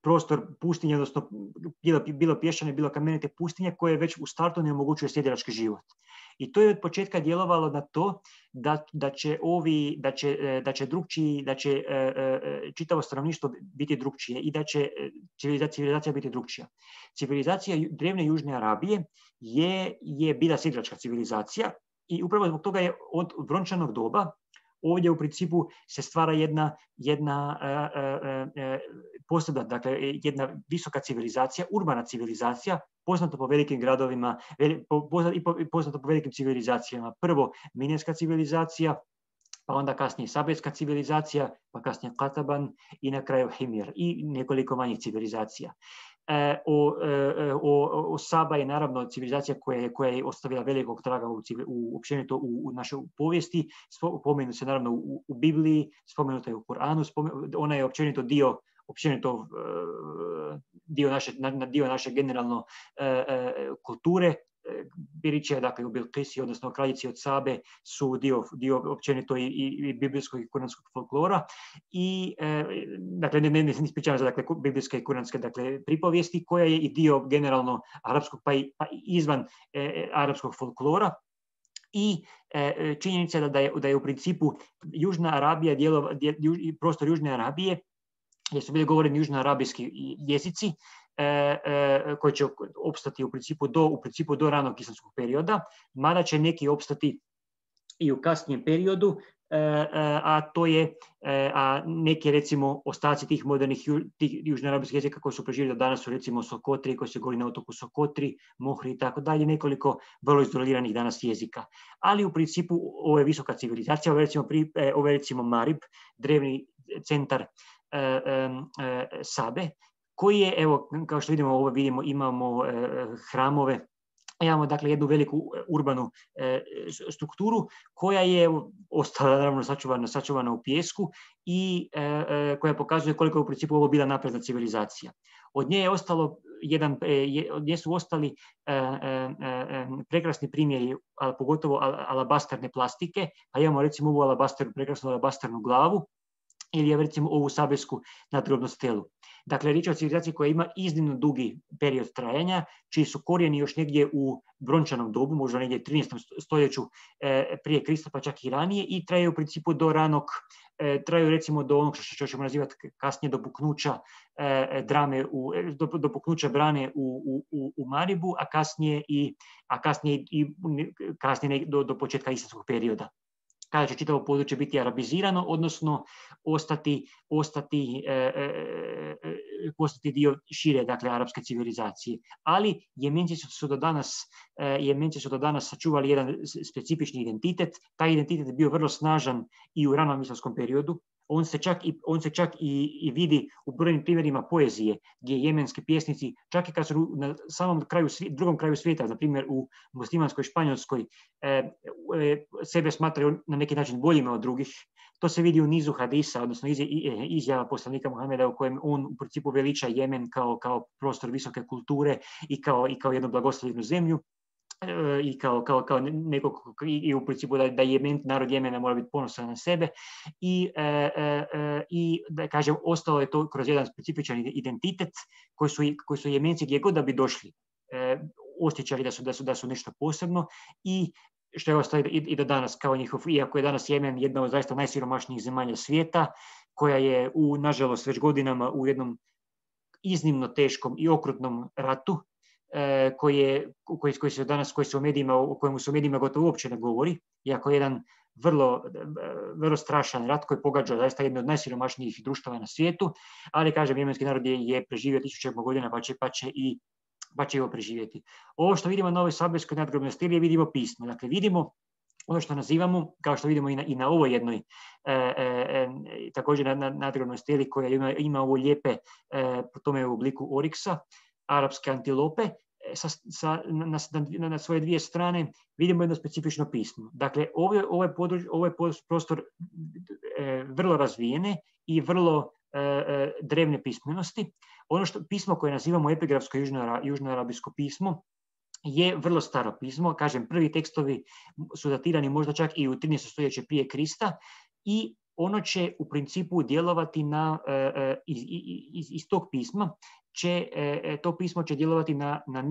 A: prostor pustinje, odnosno bilo pješčane, bilo kamenite pustinje, koje već u startu ne omogućuje sjedilački život. I to je od početka djelovalo na to da će čitavo stanovništvo biti drugčije i da će civilizacija biti drugčija. Civilizacija drevne Južne Arabije je bila sjedilačka civilizacija, i upravo zbog toga je od brončanog doba ovdje u principu se stvara jedna posebna, dakle, jedna visoka civilizacija, urbana civilizacija, poznata po velikim gradovima i poznata po velikim civilizacijama. Prvo Minejska civilizacija, pa onda kasnije Sabejska civilizacija, pa kasnije Kataban i na kraju Himir i nekoliko manjih civilizacija. Saba je naravno civilizacija koja je ostavila velikog traga općenito u našoj povijesti. Spomenuta se naravno u Bibliji, spomenuta je u Koranu, ona je općenito dio naše generalno kulture. Biriće, dakle, u Bilkisi, odnosno kraljici od Sabe, su dio općenito i biblijskog i kuranskog folklora. I, dakle, ne ispričavam se, dakle, biblijske i kuranske, dakle, pripovijesti, koja je i dio generalno arapskog, pa izvan arapskog folklora. I činjenica je da je u principu Južna Arabija, prostor Južne Arabije, gdje su bili govoreni južnoarabijski jezici, koji će opstati u principu do ranog islamskog perioda, mada će neki opstati i u kasnijem periodu, a neki recimo ostaci tih modernih južnoarapskih jezika koji su preživjeli do danas su recimo Sokotri, koji se govori na otoku Sokotri, Mohri i tako dalje, nekoliko vrlo izoliranih danas jezika. Ali u principu ovo je visoka civilizacija, ovo je recimo Marib, drevni centar Sabe, koji je, evo, kao što vidimo, imamo hramove, imamo dakle jednu veliku urbanu strukturu koja je ostala naravno sačuvana u pijesku i koja pokazuje koliko je u principu ovo bila napredna civilizacija. Od nje su ostali prekrasni primjeri, pogotovo alabastarne plastike, pa imamo recimo ovu prekrasnu alabastarnu glavu ili recimo ovu sabesku nadgrobnu stelu. Dakle, riječ je o civilizaciji koja ima iznimno dugi period trajanja, čiji su korijeni još negdje u brončanom dobu, možda negdje 13. stoljeću prije Krista, pa čak i ranije, i traju u principu traju recimo do onog što ćemo nazivati kasnije do puknuća brane u Maribu, a kasnije do početka islamskog perioda, kada će čitavo područje biti arabizirano, odnosno postati dio šire, dakle, arapske civilizacije. Ali Jemenci su do danas sačuvali jedan specifični identitet. Taj identitet je bio vrlo snažan i u ranom islamskom periodu. On se čak i vidi u brojnim primjerima poezije, gdje jemenski pjesnici, čak i kad su na samom drugom kraju svijeta, na primjer u muslimanskoj Španjolskoj, sebe smatraju na neki način boljima od drugih. To se vidi u nizu hadisa, odnosno izjava poslanika Muhameda u kojem on u principu veliča Jemen kao prostor visoke kulture i kao jednu blagoslovljenu zemlju. I kao nekog, i u principu da narod Jemena mora biti ponosan na sebe i da kažem, ostalo je to kroz jedan specifičan identitet koji su Jemenci gdje god da bi došli osjećali da su nešto posebno, i što je ostalo i do danas kao njihov, iako je danas Jemen jedna od zaista najsiromašnijih zemalja svijeta, koja je nažalost već godinama u jednom iznimno teškom i okrutnom ratu, koji se o kojemu se u medijima gotovo uopće ne govori, iako je jedan vrlo strašan rat koji pogađa zaista jedno od najsiromašnijih društava na svijetu, ali kažem, jemenski narod je preživio 1000 godina, pa će i ovo preživjeti. Ovo što vidimo na ovoj sabeskoj nadgrobnoj steli, vidimo pismo. Dakle, vidimo ono što nazivamo, kao što vidimo i na ovoj jednoj također nadgrobnoj steli koja ima ovo lijepe, po tome u obliku oriksa, arapske antilope, na svoje dvije strane vidimo jedno specifično pismo. Dakle, ovo je prostor vrlo razvijene i vrlo drevne pismenosti. Ono pismo koje nazivamo epigrafsko južnoarabijsko pismo je vrlo staro pismo. Kažem, prvi tekstovi su datirani možda čak i u 13. stoljeće prije Krista i ono će u principu djelovati iz tog pisma. To pismo će djelovati na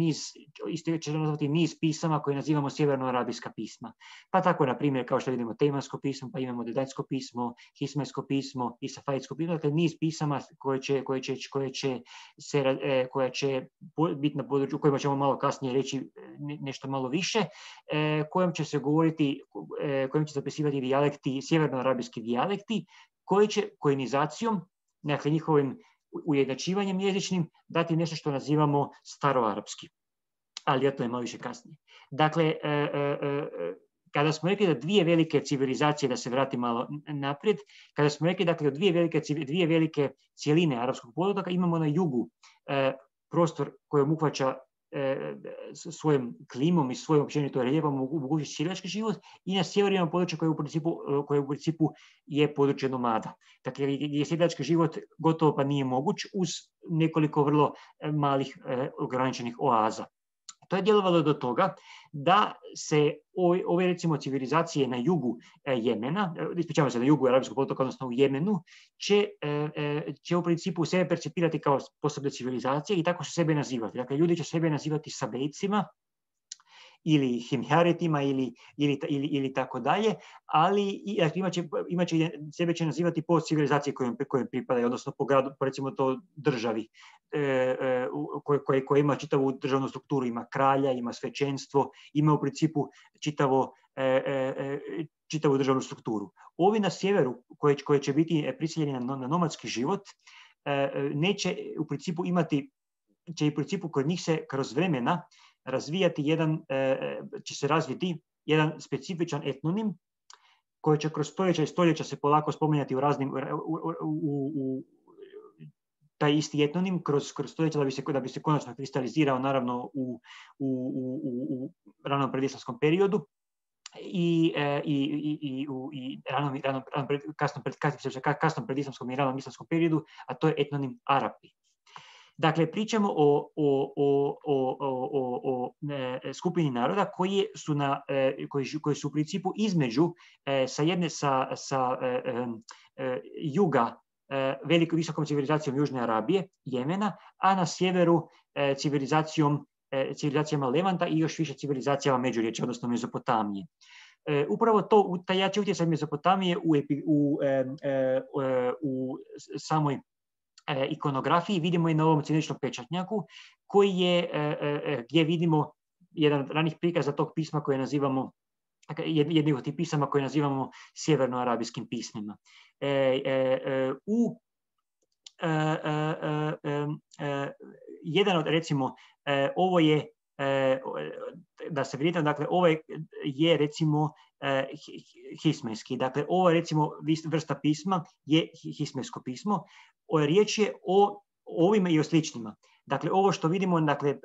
A: niz pisama koje nazivamo sjevernoarabijska pisma. Pa tako, na primjer, kao što vidimo, Tejmansko pismo, pa imamo Dedajsko pismo, Hismajsko pismo i Safaidsko pismo, dakle niz pisama koja će biti na području, o kojima ćemo malo kasnije reći nešto malo više, kojim će se govoriti, kojim će se zapisivati dijalekti, sjevernoarabijski dijalekti, koji će koinizacijom, dakle njihovim ujednačivanjem jezičnim, dati nešto što nazivamo staroarapski. Ali o tome malo više kasnije. Dakle, kada smo rekli da dvije velike civilizacije, da se vrati malo naprijed, kada smo rekli dakle dvije velike cijeline arapskog poluotoka, imamo na jugu prostor koji obuhvaća svojom klimom i svojom općenito reljefom mogućnosti sjedilački život, i na sjeveru imamo područje koje u principu je područje nomada. Dakle, gdje sjedilački život gotovo pa nije moguć uz nekoliko vrlo malih ograničenih oaza. To je djelovalo do toga da se ove recimo civilizacije na jugu Jemena, ispričavam se, na jugu arapskog poluotoka, odnosno u Jemenu, će u principu sebe percipirati kao posebne civilizacije i tako će sebe nazivati. Dakle, ljudi će sebe nazivati Sabejcima ili Himjaretima ili tako dalje, ali sebe će nazivati po civilizaciji kojoj pripadaju, odnosno po gradu, recimo to državi koja ima čitavu državnu strukturu, ima kralja, ima svećenstvo, ima u principu čitavo čitavu državnu strukturu. Ovi na sjeveru, koje će biti prisiljeni na nomadski život, neće u principu imati, će u principu kod njih se kroz vremena razvijati će se razviti jedan specifičan etnonim koji će kroz stoljeća i stoljeća se polako spominjati u raznim, taj isti etnonim kroz stoljeća da bi se konačno kristalizirao naravno u ranom predislamskom periodu i kasnom predislamskom i ranom islamskom periodu, a to je etnonim Arapi. Dakle, pričamo o skupini naroda koji su u principu između sa juga visokom civilizacijom Južne Arabije, Jemena, a na sjeveru civilizacijama Levanta i još više civilizacijama Međuriječja, odnosno Mezopotamije. Upravo taj jači utjecaj Mezopotamije u samoj ikonografiji vidimo i na ovom ćiriličnom pečatnjaku, gdje vidimo jedan ranih prikaza tog pisma koje nazivamo, jednih od tih pisama koje nazivamo sjevernoarabijskim pismima. Jedan od, recimo, ovo je, da se vidite, dakle, ovo je recimo hismenski. Dakle, ovo je recimo vrsta pisma, je hismensko pismo. Riječ je o ovima i o sličnima. Dakle, ovo što vidimo, dakle,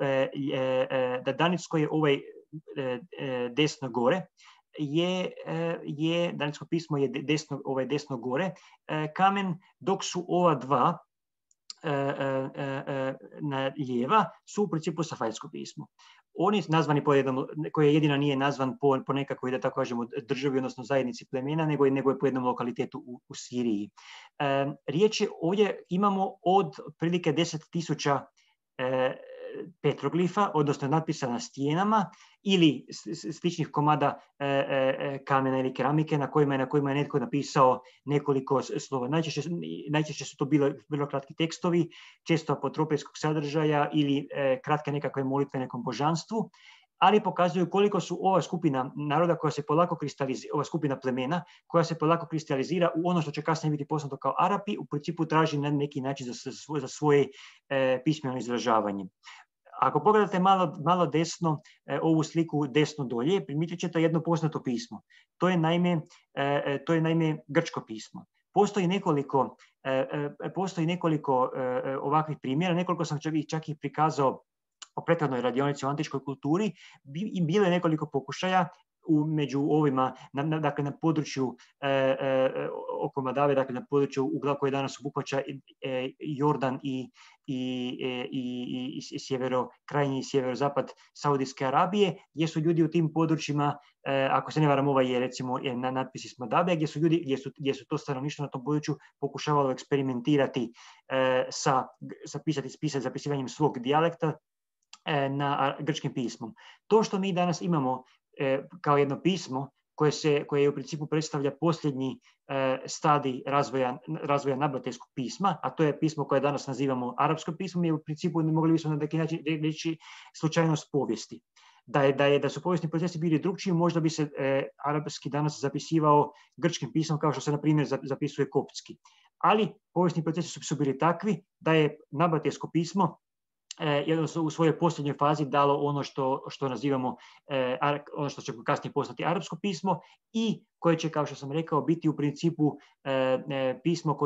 A: da danicko je ovaj desno gore, danicko pismo je desno gore kamen, dok su ova dva na lijeva su u principu safajsko pismo. Oni nazvani koje jedina nije nazvan po nekakvoj, da tako kažemo, državi, odnosno zajednici plemena, nego je po jednom lokalitetu u Siriji. Riječ je, ovdje imamo od prilike 10.000 petroglifa, odnosno natpisa na stijenama ili sličnih komada kamena ili keramike na kojima je netko napisao nekoliko slova. Najčešće su to bilo kratki tekstovi, često apotropijskog sadržaja ili kratke nekakve molitve nekom božanstvu, ali pokazuju koliko su ova skupina naroda koja se polako kristalizira, ova skupina plemena koja se polako kristalizira u ono što će kasnije biti poznato kao Arapi, u principu traži na neki način za svoje pismeno izražavanje. Ako pogledate malo desno, ovu sliku desno dolje, primijetit ćete jedno poznato pismo. To je naime grčko pismo. Postoji nekoliko ovakvih primjera, nekoliko sam čak i prikazao o prethodnoj radionici o antičkoj kulturi, i bilo je nekoliko pokušaja među ovima, dakle na području oko Madave, dakle na području ugla koje danas obuhvaća Jordan i krajnji sjeverozapad Saudijske Arabije, gdje su ljudi u tim područjima, ako se ne varam, ovaj je recimo na natpis iz Madave, gdje su to stanovništvo na tom području pokušavalo eksperimentirati sa zapisivanjem svog dijalekta na grčkim pismom. To što mi danas imamo kao jedno pismo koje u principu predstavlja posljednji stadij razvoja nabatejskog pisma, a to je pismo koje danas nazivamo arapsko pismo, je u principu, mogli bismo na neki način reći, slučajnost povijesti. Da su povijesni procesi bili drugčiji, možda bi se arapski danas zapisivao grčkim pismom kao što se, na primjer, zapisuje koptski. Ali povijesni procesi su bili takvi da je nabatejsko pismo jednostavno u svojoj posljednjoj fazi dalo ono što nazivamo, ono što će kasnije postati arapsko pismo i koje će, kao što sam rekao, biti u principu pismo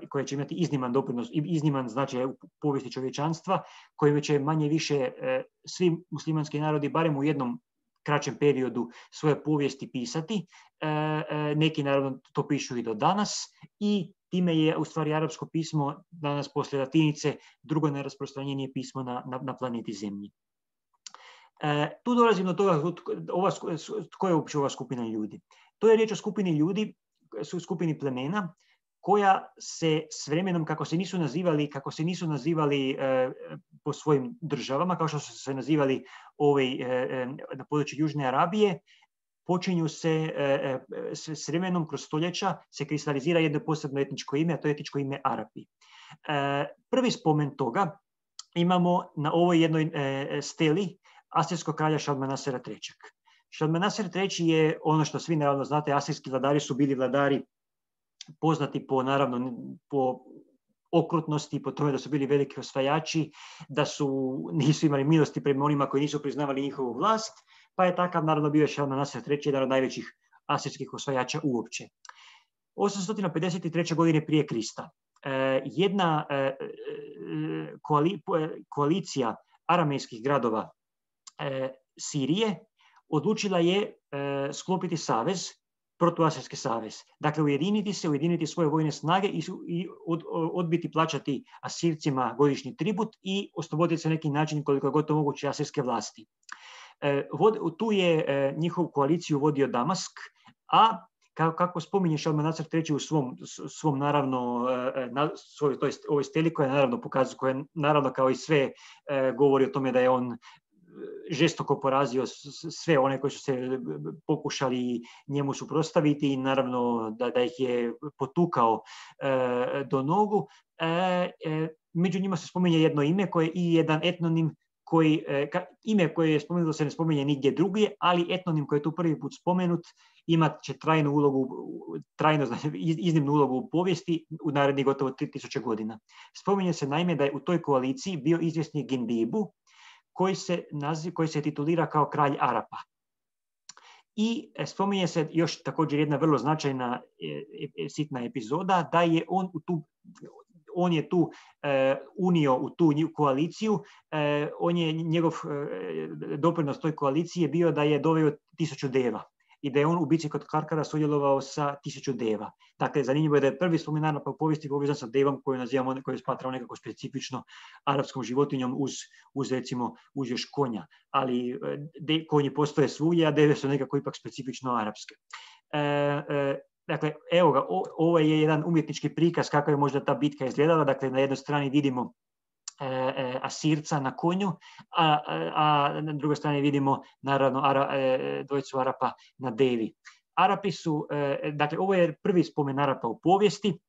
A: koje će imati izniman doprinos, izniman značaj u povijesti čovječanstva, kojim će manje više svi muslimanski narodi barem u jednom kraćem periodu svoje povijesti pisati. Neki naravno to pišu i do danas i time je u stvari arapsko pismo danas poslije latinice drugo najrasprostranjenije pismo na planeti Zemlji. Tu dolazim do toga tko je uopće ova skupina ljudi. To je riječ o skupini ljudi, skupini plemena koja se s vremenom, kako se nisu nazivali po svojim državama, kao što su se nazivali na području Južne Arabije, počinju se s vremenom kroz stoljeća se kristalizira jedno posebno etničko ime, a to je etničko ime Arapi. Prvi spomen toga imamo na ovoj jednoj steli asirskog kralja Šalmanasera III. Šalmaneser III je ono što svi naravno znate, asirijski vladari su bili vladari poznati po okrutnosti, po tome da su bili veliki osvajači, da nisu imali milosti prema onima koji nisu priznavali njihovu vlast, pa je takav naravno bio Šalmaneser III, jedan od najvećih asirijskih osvajača uopće. 853. godine prije Krista jedna koalicija aramejskih gradova Sirije odlučila je sklopiti savez, protuasirijski savez. Dakle, ujediniti svoje vojne snage i odbiti plaćati Asircima godišnji tribut i osloboditi se na neki način koliko je gotovo moguće asirske vlasti. Tu je njihovu koaliciju vodio Damask, a kako spominje Šalmaneser III u svom naravno, ovoj steli koja naravno pokazuje, koja naravno kao i sve govori o tome da je on žestoko porazio sve one koji su se pokušali njemu suprotstaviti i naravno da ih je potukao do nogu. Među njima se spominje jedno ime i jedan etnonim ime koje je spomenuto se ne spominje nigdje drugdje, ali etnonim koji je tu prvi put spomenut imat će iznimnu ulogu u povijesti u narednih gotovo 3000 godina. Spominje se naime da je u toj koaliciji bio izvjesni Gindibu, koji se titulira kao kralj Arapa. I spominje se još također jedna vrlo značajna sitna epizoda, da je on je tu unio u tu koaliciju, njegov doprinos toj koaliciji je bio da je doveo 1000 deva i da je on u bici kod Karkara sudjelovao sa 1000 deva. Dakle, zanimljivo je da je prvi spomen Arapa u povijesti povezan sa devom koju smatramo nekako specifično arapskom životinjom uz još konja. Ali konji postoje svugdje, a deve su nekako ipak specifično arapske. Dakle, evo ga, ovo je jedan umjetnički prikaz kako je možda ta bitka izgledala. Dakle, na jednoj strani vidimo Asirca na konju, a na drugoj strani vidimo naravno dvojicu Arapa na devi. Arapi su, dakle, ovo je prvi spomen Arapa u povijesti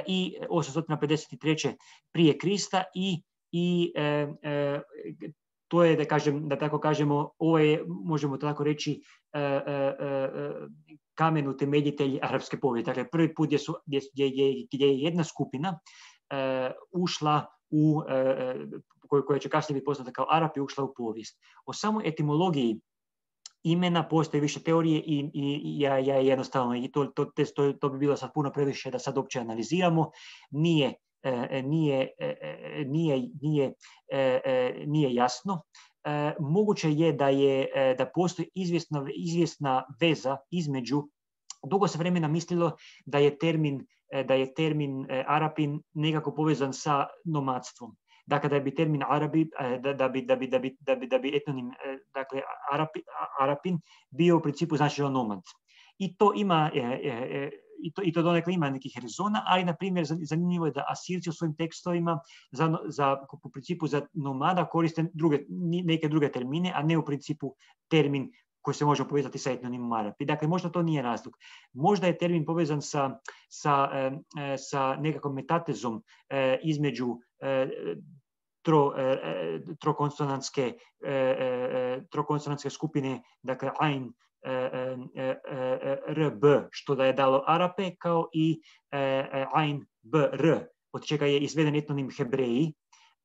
A: i 853. prije Krista i to je, da tako kažemo, ovo je, možemo tako reći, kamen utemeljitelj arapske povijesti. Dakle, prvi put gdje je jedna skupina ušla koja će kasnije biti poznata kao Arapi, ušla u povijest. O samoj etimologiji imena postoje više teorije i ja jednostavno, i to bi bilo sad puno previše da sad uopće analiziramo, nije jasno. Moguće je da postoji izvjesna veza između, dugo se vremena mislilo da je termin Arapin nekako povezan sa nomadstvom. Dakle, da bi termin Arabi, da bi etnonim, dakle, Arapin bio u principu značilo nomad. I to ima, i to donekle ima nekih rezona, ali, na primjer, zanimljivo je da Asirci u svojim tekstovima u principu za nomada koriste neke druge termine, a ne u principu termin koji se može povezati sa etnonimom Arapi. Dakle, možda to nije razlog. Možda je termin povezan sa nekakvom metatezom između trokonsonantske skupine, dakle Ain, RB, što da je dalo Arape, kao i Ain, BR, od čega je izveden etnonim Hebreji,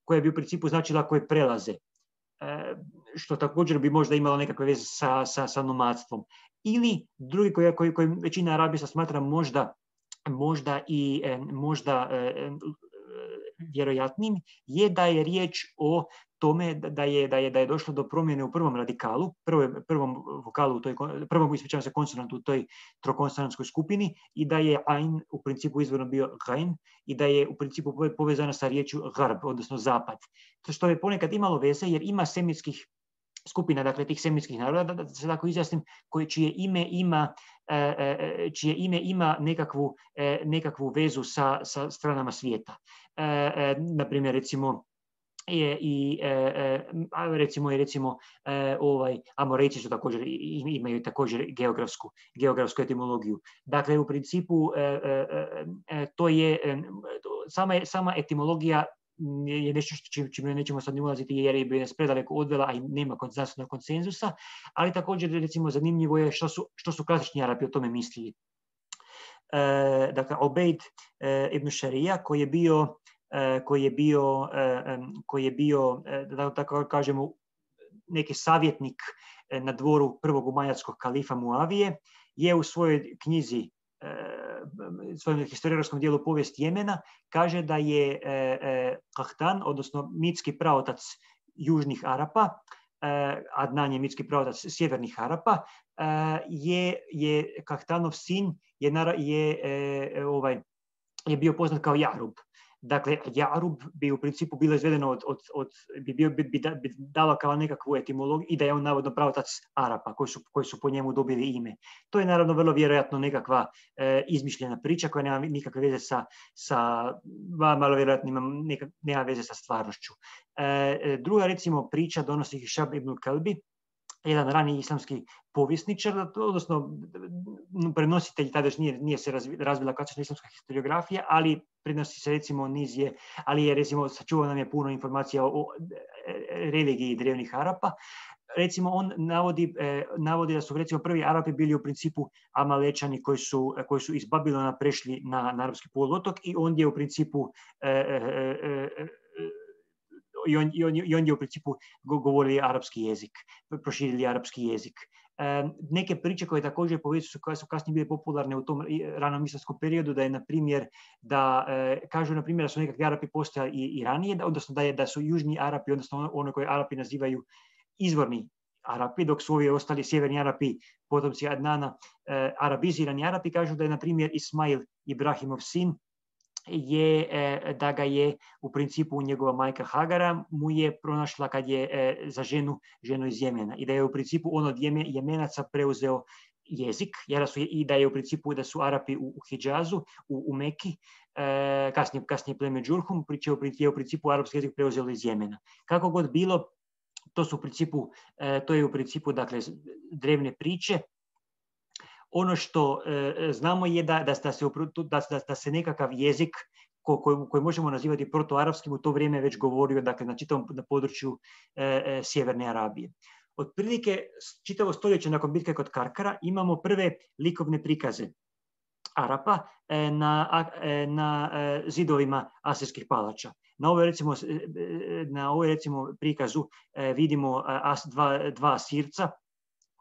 A: koja bi u principu značila koje prelaze, što također bi možda imalo nekakve veze sa nomadstvom. Ili drugi koji većina Arabista smatra možda vjerojatnim, je da je riječ o tome da je došlo do promjene u prvom radikalu, prvom vokalu, prvom konsonantu u toj trokonsonantskoj skupini, i da je Ain u principu izvorno bio Gain i da je u principu povezana sa riječju Garb, odnosno zapad. Što je ponekad imalo veze jer ima semitskih skupina, dakle tih semitskih naroda, da se tako izjasnim, čije ime ima nekakvu vezu sa stranama svijeta. Naprimjer, recimo Amorejci su također imaju također geografsku etimologiju. Dakle, u principu to je sama etimologija je nešto čime nećemo sad ne ulaziti jer bi nas predaleko odvela, a i nema znanstvenog konsenzusa, ali također recimo zanimljivo je što su klasični Arapi o tome mislili. Dakle, Obeid ibn Šarija koji je bio, da tako kažemo, neki savjetnik na dvoru prvog umayyadskog kalifa Muavije, je u svojoj knjizi, svojem historiografskom dijelu Povijest Jemena, kaže da je Kahtan, odnosno mitski praotac južnih Arapa, Adnan je mitski praotac sjevernih Arapa, je Kahtanov sin je bio poznat kao Jarub. Dakle, Jarub bi u principu bilo izvedeno bi dalo kao nekakvu etimologiju i da je on navodno pravotac Arapa koji su po njemu dobili ime. To je naravno vrlo vjerojatno nekakva izmišljena priča koja nema nikakve veze malo vjerojatno nema veze sa stvarnošću. Druga recimo priča donosi Hišam ibn Kalbi, jedan rani islamski povjesničar, odnosno prenositelj, tada još nije se razvila klasična islamska historiografija, ali prenosi se recimo ali je recimo sačuvao nam je puno informacija o religiji drevnih Arapa. Recimo on navodi da su recimo prvi Arapi bili u principu Amalečani koji su iz Babilona prešli na arapski poluotok i on je u principu i on je u principu govorili arapski jezik, proširili arapski jezik. Neke priče koje također koje su kasnije bile popularne u tom ranom islamskom periodu, da je na primjer kažu na primjer da su nekakvi Arapi postojali i ranije, odnosno da su južni Arapi, odnosno ono koje Arapi nazivaju izvorni Arapi, dok su ovi ostali sjeverni Arapi, potomci Adnana, arabizirani Arapi, kažu da je na primjer Ismail Ibrahimov sin da ga je u principu njegova majka Hagara mu je pronašla kad je za ženu iz Jemena i da je u principu on od Jemenaca preuzeo jezik i da je u principu da su Arapi u Hidžazu, u Meki, kasnije pleme Džurhum, je u principu arapski jezik preuzeo iz Jemena. Kako god bilo, to je u principu dakle drevne priče. Ono što znamo je da se nekakav jezik koji možemo nazivati protoarapskim u to vrijeme već govorio, dakle, na čitavom području Sjeverne Arabije. Otprilike čitavo stoljeće nakon bitke kod Karkara imamo prve likovne prikaze Arapa na zidovima asirskih palača. Na ovoj recimo prikazu vidimo dva Asirca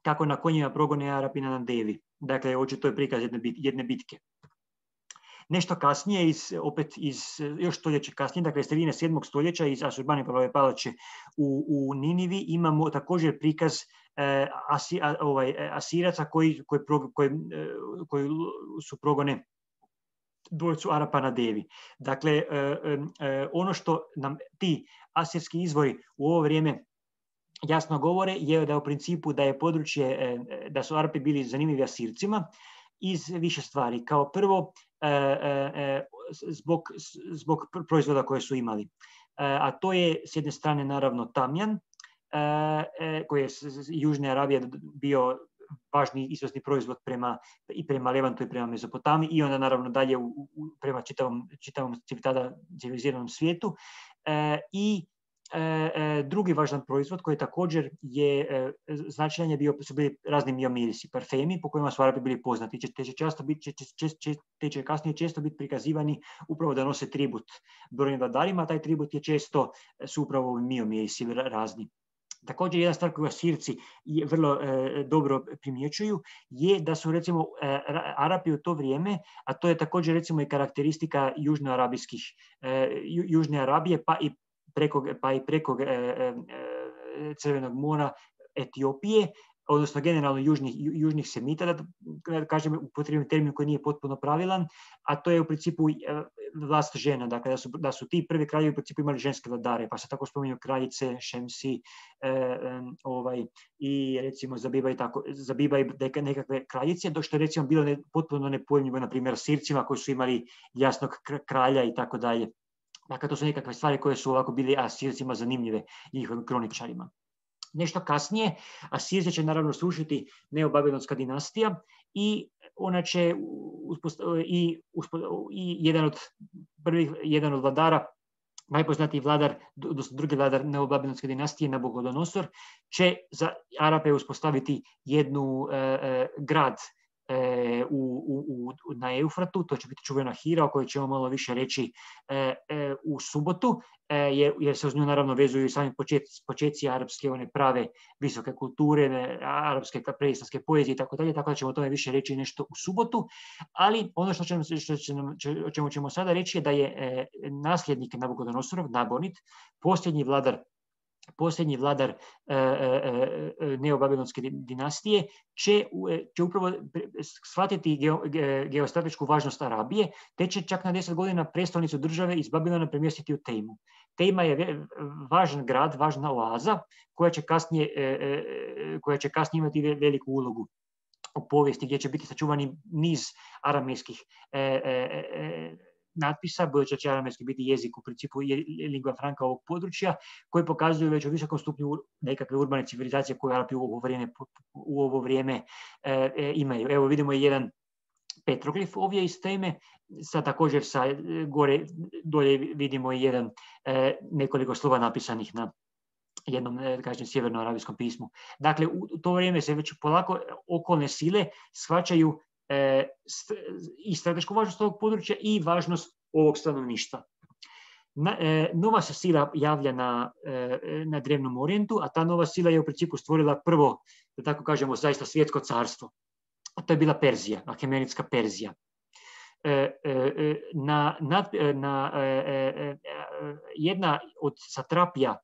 A: kako na konjima progone Arapi na Devi. Dakle, očito je prikaz jedne bitke. Nešto kasnije, još stoljeće kasnije, dakle sredine 7. stoljeća iz Asurbanipalove palače u Ninivi imamo također prikaz Asiraca koji su progone dvojicu Arapa na Devi. Dakle, ono što nam ti asirski izvori u ovo vrijeme jasno govore je da u principu da je područje, da su Arapi bili zanimljivi Asircima iz više stvari. Kao prvo, zbog proizvoda koje su imali. A to je s jedne strane naravno tamjan, koji je iz Južne Arabije bio važni izvozni proizvod prema Levantu i prema Mezopotamiji i onda naravno dalje prema čitavom tada civiliziranom svijetu. I drugi važan proizvod koji također je značajan su bili razni miomirisi, parfemi po kojima su Arapi bili poznati. Te će kasnije često biti prikazivani upravo da nose tribut brojnim vladarima, taj tribut je često su upravo miomirisi razni. Također jedna stvar koju Asirci vrlo dobro primjećuju je da su recimo Arapi u to vrijeme, a to je također recimo i karakteristika Južne Arabije pa i preko Crvenog mora Etiopije, odnosno generalno južnih Semita, da kažem upotrijebim termin koji nije potpuno pravilan, a to je u principu vlast žena, dakle da su ti prvi kraljevi u principu imali ženske vladare, pa se tako spominju kraljice, Šemsi i recimo Zabiba i nekakve kraljice, dok što je recimo bilo potpuno nepojmljivo, na primjer, Sircima koji su imali jasnog kralja i tako dalje. Dakle, to su nekakve stvari koje su ovako bili Asircima zanimljive njihovim kroničarima. Nešto kasnije, Asirce će naravno srušiti neobabilonska dinastija i ona će jedan od vladara najpoznatiji vladar, odnosno drugi vladar neobabilonske dinastije, Nabukodonosor, će za Arape uspostaviti jednu grad na Eufratu, to će biti čuvena Hira, o kojoj ćemo malo više reći u subotu, jer se uz nju naravno vezuju i sami početci arapske, one prave visoke kulture, arapske preislamske poezije i tako dalje, tako da ćemo o tome više reći nešto u subotu, ali ono o čemu ćemo sada reći je da je nasljednik Nabukodonosorov, Nabonid, posljednji vladar neobabilonske dinastije, će upravo shvatiti geostratešku važnost Arabije, te će čak na 10 godina prestolnicu države iz Babilona premjestiti u Tejmu. Tejma je važan grad, važna oaza, koja će kasnije imati veliku ulogu u povijesti, gdje će biti sačuvani niz aramejskih natpisa, budući da će aramejski biti jezik u principu lingua franca ovog područja, koji pokazuju već u visokom stupnju nekakve urbane civilizacije koje Arapi u ovo vrijeme imaju. Evo vidimo jedan petroglif ovdje iz Teme, sad također dolje vidimo jedan nekoliko slova napisanih na jednom, kažem, sjevernoarabijskom pismu. Dakle, u to vrijeme se već polako okolne sile shvaćaju i stratešku važnost ovog područja i važnost ovog stanovništva. Nova se sila javlja na Drevnom Orijentu, a ta nova sila je u principu stvorila prvo, da tako kažemo, zaista svjetsko carstvo. A to je bila Perzija, Ahemenidska Perzija. Jedna od satrapija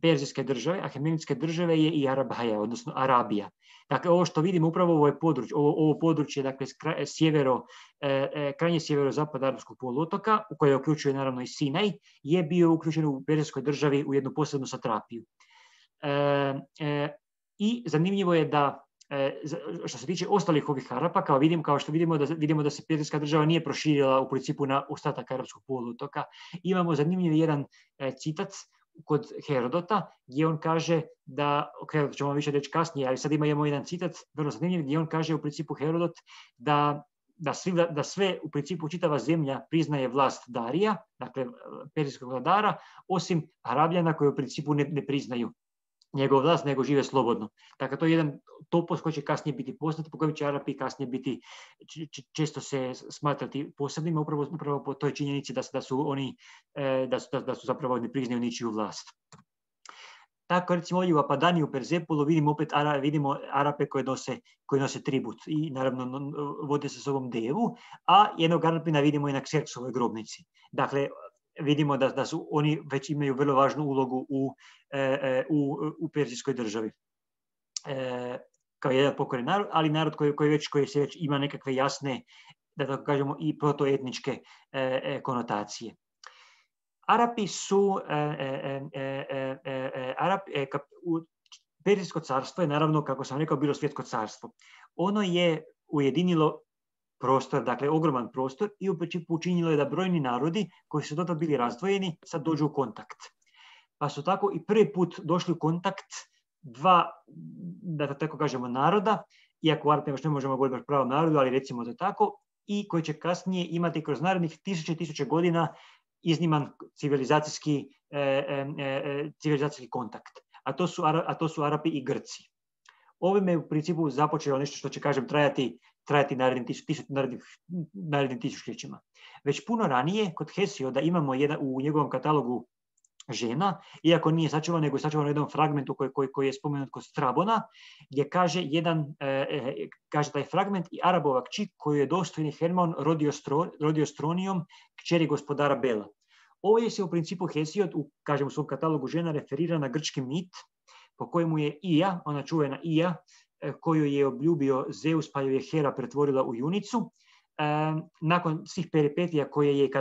A: Perzijske države, Ahemenidske države, je i Arabaja, odnosno Arabija. Dakle, ovo što vidimo upravo ovo područje, dakle, krajnje sjeverozapad Arapskog poluotoka, u koje uključuje naravno i Sinaj, je bio uključen u Perzijskoj državi u jednu posebnu satrapiju. I zanimljivo je da, što se tiče ostalih ovih Arapa, kao što vidimo da se Perzijska država nije proširila u principu na ostatak Arapskog poluotoka. Imamo zanimljiv jedan citat kod Herodota, gdje on kaže da, to ćemo više reći kasnije, ali sad imamo jedan citat, vrlo zanimljiv, gdje on kaže u principu Herodot da sve, u principu čitava zemlja priznaje vlast Darija, dakle perzijskog vladara, osim Arabljana koji u principu ne priznaju njegov vlast, nego žive slobodno. Dakle, to je jedan topos koji će kasnije biti poznat, po kojem će Arapi kasnije biti, često se smatrati posebnima, upravo po toj činjenici da su zapravo ne priznaju ničiju vlast. Tako, recimo, ovdje u Apadani, u Perzepolu, vidimo Arape koji nose tribut i naravno vode se sobom devu, a jednog Arapina vidimo i na Kserksovoj grobnici. Dakle, vidimo da su oni već imaju vrlo važnu ulogu u Perzijskoj državi. Kao jedan pokoren narod, ali narod koji se već ima nekakve jasne, da tako kažemo, i protoetničke konotacije. Arapi su Perzijsko carstvo je, naravno, kako sam rekao, bilo svjetsko carstvo. Ono je ujedinilo prostor, dakle ogroman prostor, i učinilo je da brojni narodi koji su dotad bili razdvojeni sad dođu u kontakt. Pa su tako i prvi put došli u kontakt dva, da tako kažemo, naroda, iako u Arapima još ne možemo govoriti o pravom narodu, ali recimo to tako, i koji će kasnije imati kroz narednih tisuće godina izniman civilizacijski kontakt. A to su Arapi i Grci. Ovime je u principu započelo nešto što će, kažem, trajati narednim tisućljećima. Već puno ranije, kod Hesioda, imamo u njegovom katalogu žena, iako nije sačuvan, nego je sačuvan u jednom fragmentu koji je spomenut kod Strabona, gdje kaže taj fragment: i Arabova kći koju je dostojni Hermon rodio Stronijom, kćeri gospodara Bela. Ovdje se u principu Hesiod, kažem, u svom katalogu žena, referira na grčki mit po kojemu je Ija, ona čuvena Ija, koju je obljubio Zeus, pa ju je Hera pretvorila u junicu. Nakon svih peripetija koje je,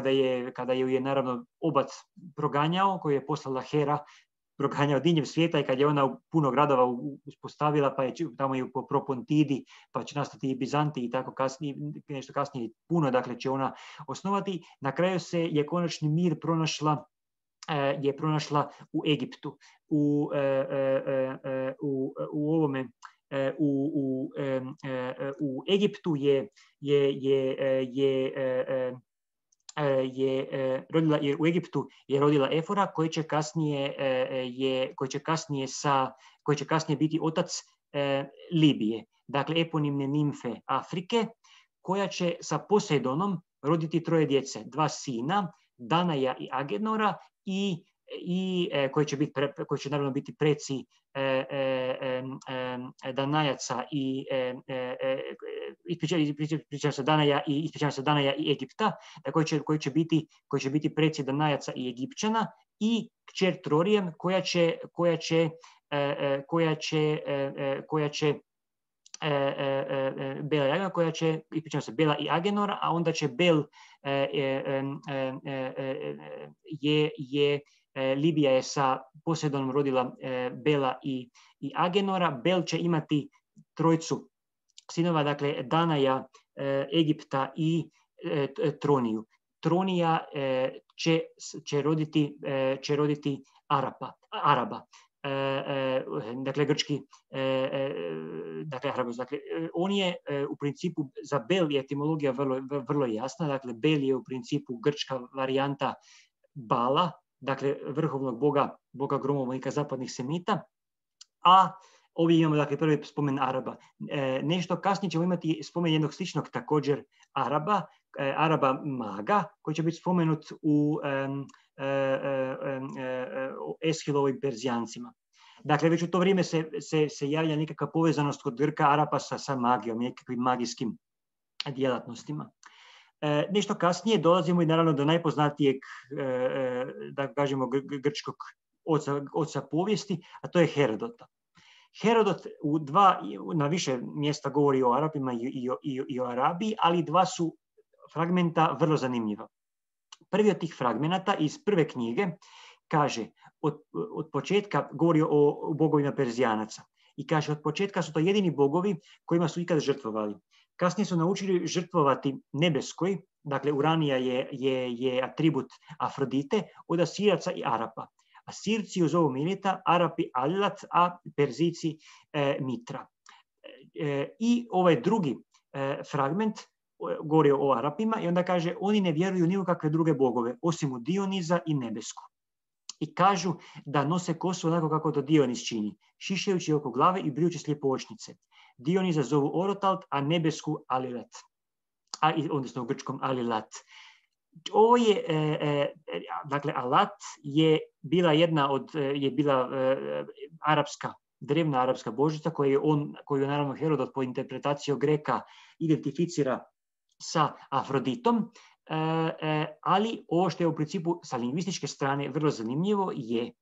A: kada ju je naravno obac proganjao, koju je poslala Hera, proganjao diljem svijeta, i kad je ona puno gradova uspostavila, pa je tamo i po Propontidi, pa će nastati i Bizanti i tako kasnije, nešto kasnije puno, dakle će ona osnovati. Na kraju je konačni mir pronašla u Egiptu, u Egiptu je je rodila, jer u Egiptu je rodila Efora koji će kasnije biti otac Libije, dakle eponimne nimfe Afrike, koja će sa Posejdonom roditi 3 djece, 2 sina, Danaja i Agenora, i koji će naravno biti preci Danajaca i ispričavam se Danaja i Egipta, koji će biti preci Danajaca i Egipćana, i kćer Trorijem koja će Bela i Agenora, a onda će Bel Libija je sa Posejdonom rodila Bela i Agenora. Bel će imati 3 sinova, dakle Danaja, Egipta i Troniju. Tronija će roditi Araba. Dakle, grčki, on je u principu, za Bel je etimologija vrlo jasna, dakle Bel je u principu grčka varijanta Bala, dakle vrhovnog boga gromovnika zapadnih Semita, a ovdje imamo dakle prvi spomen Araba. Nešto kasnije ćemo imati spomen jednog sličnog također Araba maga, koji će biti spomenut u Eshilovim Perzijancima. Dakle, već u to vrijeme se javlja nekakva povezanost kod Grka Arapa sa magijom, nekakvim magijskim djelatnostima. Nešto kasnije dolazimo i naravno do najpoznatijeg, da kažemo, grčkog oca povijesti, a to je Herodota. Herodot na više mjesta govori o Arapima i o Arabiji, ali 2 su fragmenta vrlo zanimljiva. Prvi od tih fragmenata iz prve knjige kaže, od početka govori o bogovima Perzijanaca i kaže, od početka su to jedini bogovi kojima su ikad žrtvovali. Kasnije su naučili žrtvovati nebeskoj, dakle Uranija je atribut Afrodite, od Asiraca i Arapa. Asirci ju zovu Milita, Arapi Alilat, a Perzici Mitra. I ovaj drugi fragment govori o Arapima i onda kaže, oni ne vjeruju ni u kakve druge bogove, osim u Dioniza i nebesku. I kažu da nose kosu onako kako to Dionis čini, šišajući oko glave i brijući sljepočnice. Dioniza zovu Orotalt, a nebesku Alilat. Odnosno u grčkom Alilat. Ovo je, dakle, Alat je bila drevna arapska božica koju naravno Herodot po interpretaciji Greka identificira sa Afroditom, ali ovo što je u principu sa lingvističke strane vrlo zanimljivo je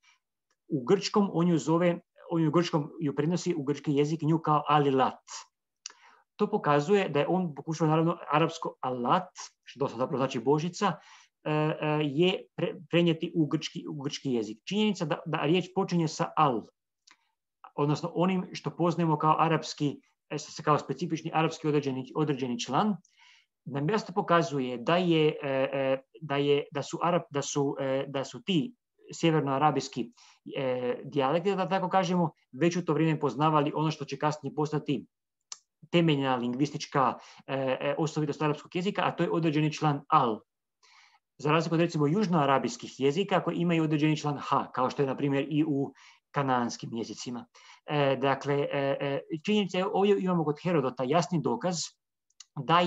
A: u grčkom ju prenosi u grčki jezik nju kao Alilat. To pokazuje da je on pokušao naravno arapsko Alat, što zapravo znači božica, je prenijeti u grčki jezik. Činjenica da riječ počinje sa al, odnosno onim što poznajemo kao specifični arapski određeni član, nam jasno pokazuje da su ti sjevernoarabijski dijalekti, da tako kažemo, već u to vrijeme poznavali ono što će kasnije postati temeljna lingvistička osobitost arapskog jezika, a to je određeni član al. Za razliku od recimo južnoarabijskih jezika koji imaju određeni član ha, kao što je na primjer i u kanaanskim jezicima. Dakle, činjenica je, ovdje imamo kod Herodota jasni dokaz da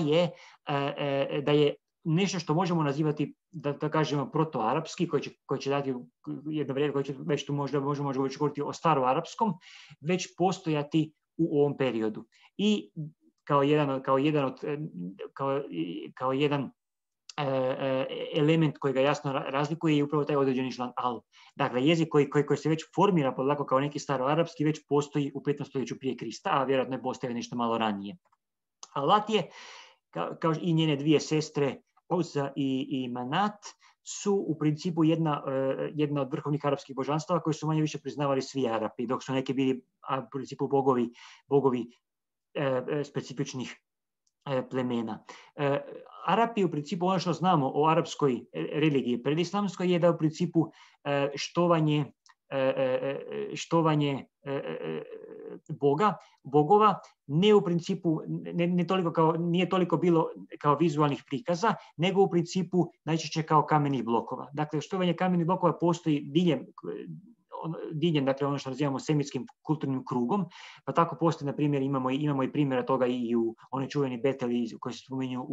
A: je nešto što možemo nazivati, da kažemo, protoarapski, koji će dati jedno vrijeme, koji će već tu možemo govoriti o staroarapskom, već postojati u ovom periodu. I kao jedan element koji ga jasno razlikuje je upravo taj određeni član al. Dakle, jezik koji se već formira polako kao neki staroarapski već postoji u 15. stoljeću prije Krista, a vjerojatno je postoje nešto malo ranije. Alat je, kao i njene 2 sestre, Uzza i Manat, su u principu jedna od vrhovnih arapskih božanstava koje su manje više priznavali svi Arapi, dok su neki bili u principu bogovi specifičnih plemena. Arapi, u principu, ono što znamo o arapskoj religiji predislamskoj je da u principu štovanje štovanje bogova, ne u principu, nije toliko bilo kao vizualnih prikaza, nego u principu najčešće kao kamenih blokova. Dakle, štovanje kamenih blokova postoji diljem, dakle ono što nazivamo semitskim kulturnim krugom, pa tako postoji, na primjer, imamo i primjera toga i u one čuveni Beteli koji se spominju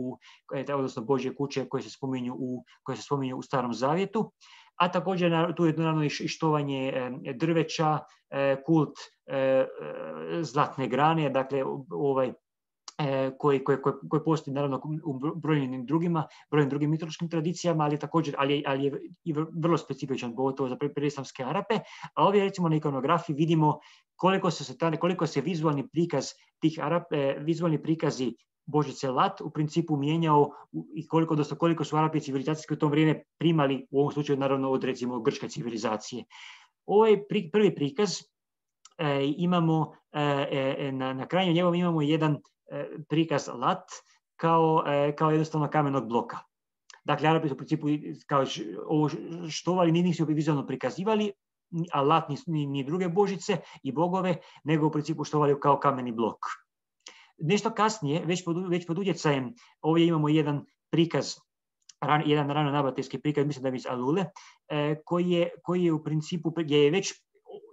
A: odnosno Božje kuće koje se spominju u Starom Zavjetu, a također tu je naravno i štovanje drveća, kult zlatne grane, dakle koji postoji naravno u brojnim drugim mitološkim tradicijama, ali je i vrlo specifičan, pogotovo za preislamske Arape. A ovdje recimo na ikonografiji vidimo koliko se vizualni prikazi Božice Lat u principu mijenjao i koliko su Arapi civilizacijski u to vrijeme primali, u ovom slučaju naravno od recimo grčke civilizacije. Ovaj prvi prikaz imamo, na kraju njegovom imamo jedan prikaz Lat kao jednostavno kamenog bloka. Dakle, Arapi su u principu kao ovo štovali, nisu vizualno prikazivali, a Lat ni druge božice i bogove, nego u principu štovali kao kameni blok. Nešto kasnije, već pod utjecajem, ovdje imamo jedan prikaz, jedan rano nabatejski prikaz, mislim da je iz Alule, koji je u principu, gdje je već,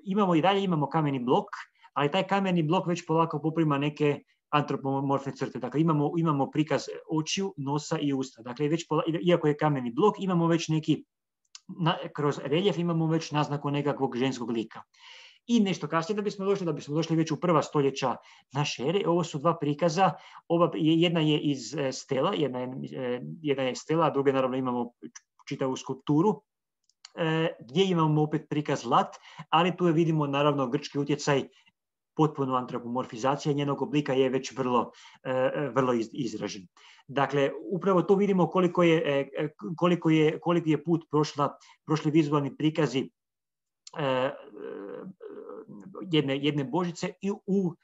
A: imamo kameni blok, ali taj kameni blok već polako poprima neke antropomorfne crte. Dakle, imamo prikaz očiju, nosa i usta. Dakle, iako je kameni blok, imamo već kroz reljef imamo već naznaku nekakvog ženskog lika. I nešto kasnije da bismo došli već u prva stoljeća naše ere, ovo su dva prikaza, jedna je iz stela, jedna je stela, a druga naravno imamo čitavu skulpturu, gdje imamo opet prikaz Lat, ali tu vidimo naravno grčki utjecaj, potpuno antropomorfizacija njenog oblika je već vrlo izražen. Dakle, upravo to vidimo koliko je put prošli vizualni prikazi jedne božice i u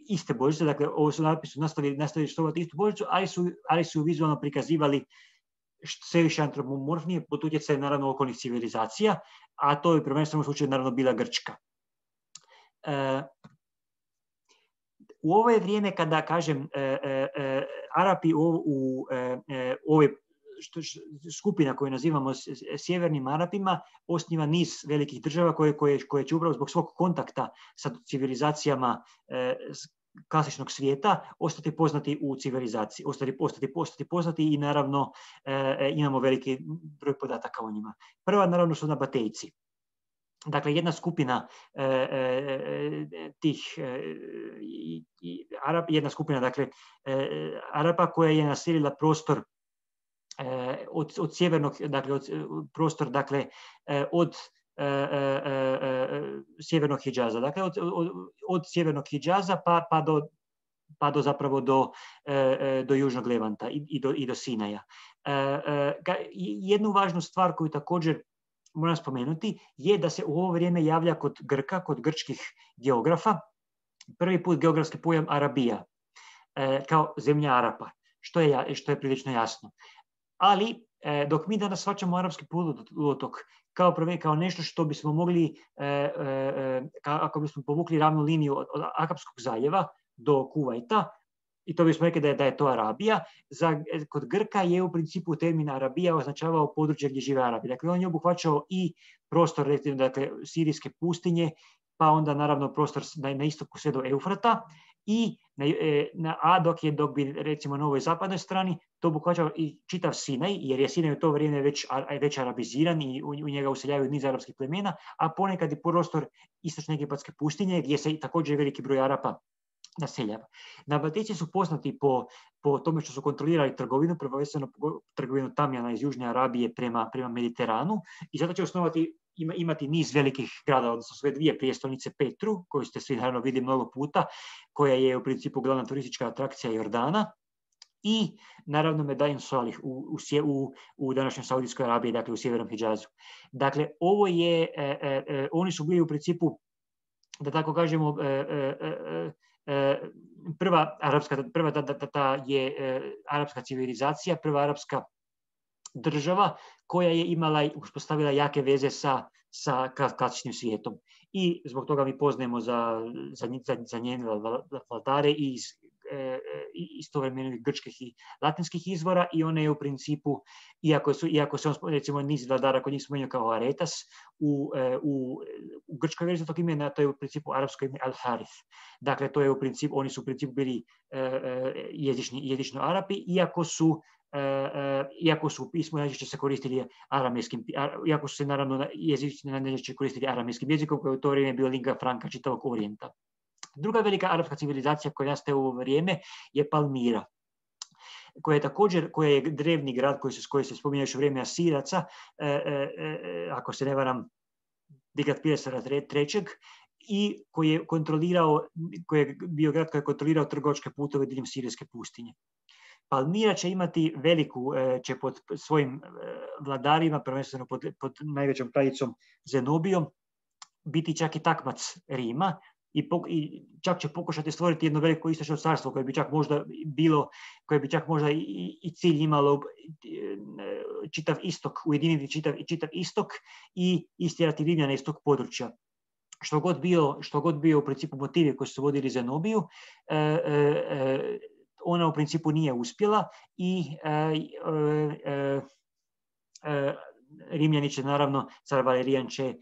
A: iste božice, dakle ovo su napisi nastavili štovati istu božicu, ali su vizualno prikazivali sve više antropomorfnije pod utjecajem naravno okolnih civilizacija, a to je prvenstveno u slučaju naravno bila Grčka. U ovo je vrijeme kada, kažem, Arapi u ove skupina koju nazivamo sjevernim Arapima osniva niz velikih država koje će upravo zbog svog kontakta sa civilizacijama klasičnog svijeta ostati poznati u civilizaciji, ostati poznati i naravno imamo veliki broj podataka o njima. Prva naravno su Nabatejci. Dakle, jedna skupina Arapa koja je naselila prostor od sjevernog, dakle prostor, dakle od sjevernog Hidžaza, dakle od sjevernog Hidžaza pa do zapravo do južnog Levanta i do Sinaja. Jednu važnu stvar koju također moram spomenuti je da se u ovo vrijeme javlja kod Grka, kod grčkih geografa, prvi put geografski pojam Arabija, kao zemlja Arapa, što je prilično jasno. Ali, dok mi danas shvaćamo arapski poluotok kao nešto što bismo mogli, ako bismo povukli ravnu liniju od Akapskog zaljeva do Kuvajta, i to bismo rekli da je to Arabija, kod Grka je u principu termin Arabija označavao područje gdje žive Arabi. Dakle, on je obuhvaćao i prostor, dakle, sirijske pustinje, pa onda naravno prostor na istoku sve do Eufrata, dok bi recimo na ovoj zapadnoj strani to obuhvaćao i čitav Sinaj, jer je Sinaj u to vrijeme već arabiziran i u njega useljavaju niz arapskih plemena, a ponekad i prostor istočne egipatske pustinje gdje se također veliki broj Arapa naseljava. Nabatejci su poznati po tome što su kontrolirali trgovinu, prvenstveno trgovinu tamjana iz Južne Arabije prema Mediteranu, i zato će imati niz velikih grada, odnosno sve dvije prijestolnice, Petru, koju ste svi naravno vidjeli mnogo puta, koja je u principu glavna turistička atrakcija Jordana, i naravno Medain Salih u današnjoj Saudijskoj Arabiji, dakle u sjevernom Hidžazu. Dakle, oni su bili u principu, da tako kažemo, prva arapska civilizacija, prva arapska država koja je imala i uspostavila jake veze sa klasičnim svijetom. I zbog toga mi poznajemo za njene vladare i istovremenih grčkih i latinskih izvora, i one je u principu, iako se on, recimo, niz vladara kod njih spomenuo kao Aretas, u grčkoj verziji tog imena, to je u principu arapsko ime Al-Harith. Dakle, to je u principu, oni su u principu bili jezično Arapi, iako su u pismu najčešće se koristili aramejskim, iako su se naravno jezično najčešće koristili aramejskim jezikom, koji je u to vrijeme bio lingua franca čitavog Orijenta. Druga velika arapska civilizacija koja nastaje u ovo vrijeme je Palmira, koja je drevni grad koji se spominje još u vrijeme Asiraca, ako se ne varam, Digratpilesara III, i koji je bio grad koji je kontrolirao trgovačke putove diljem Sirijske pustinje. Palmira će imati će pod svojim vladarima, prvenstveno pod najvećom kraljicom Zenobijom, biti čak i takmac Rima, i čak će pokušati stvoriti jedno veliko istočno carstvo koje bi čak možda i cilj imalo čitav istok, ujediniti čitav istok i istjerati Rimljane iz tog područja. Što god bio u principu motivi koji su vodili Zenobiju, ona u principu nije uspjela i Rimljani će, naravno, car Valerijan će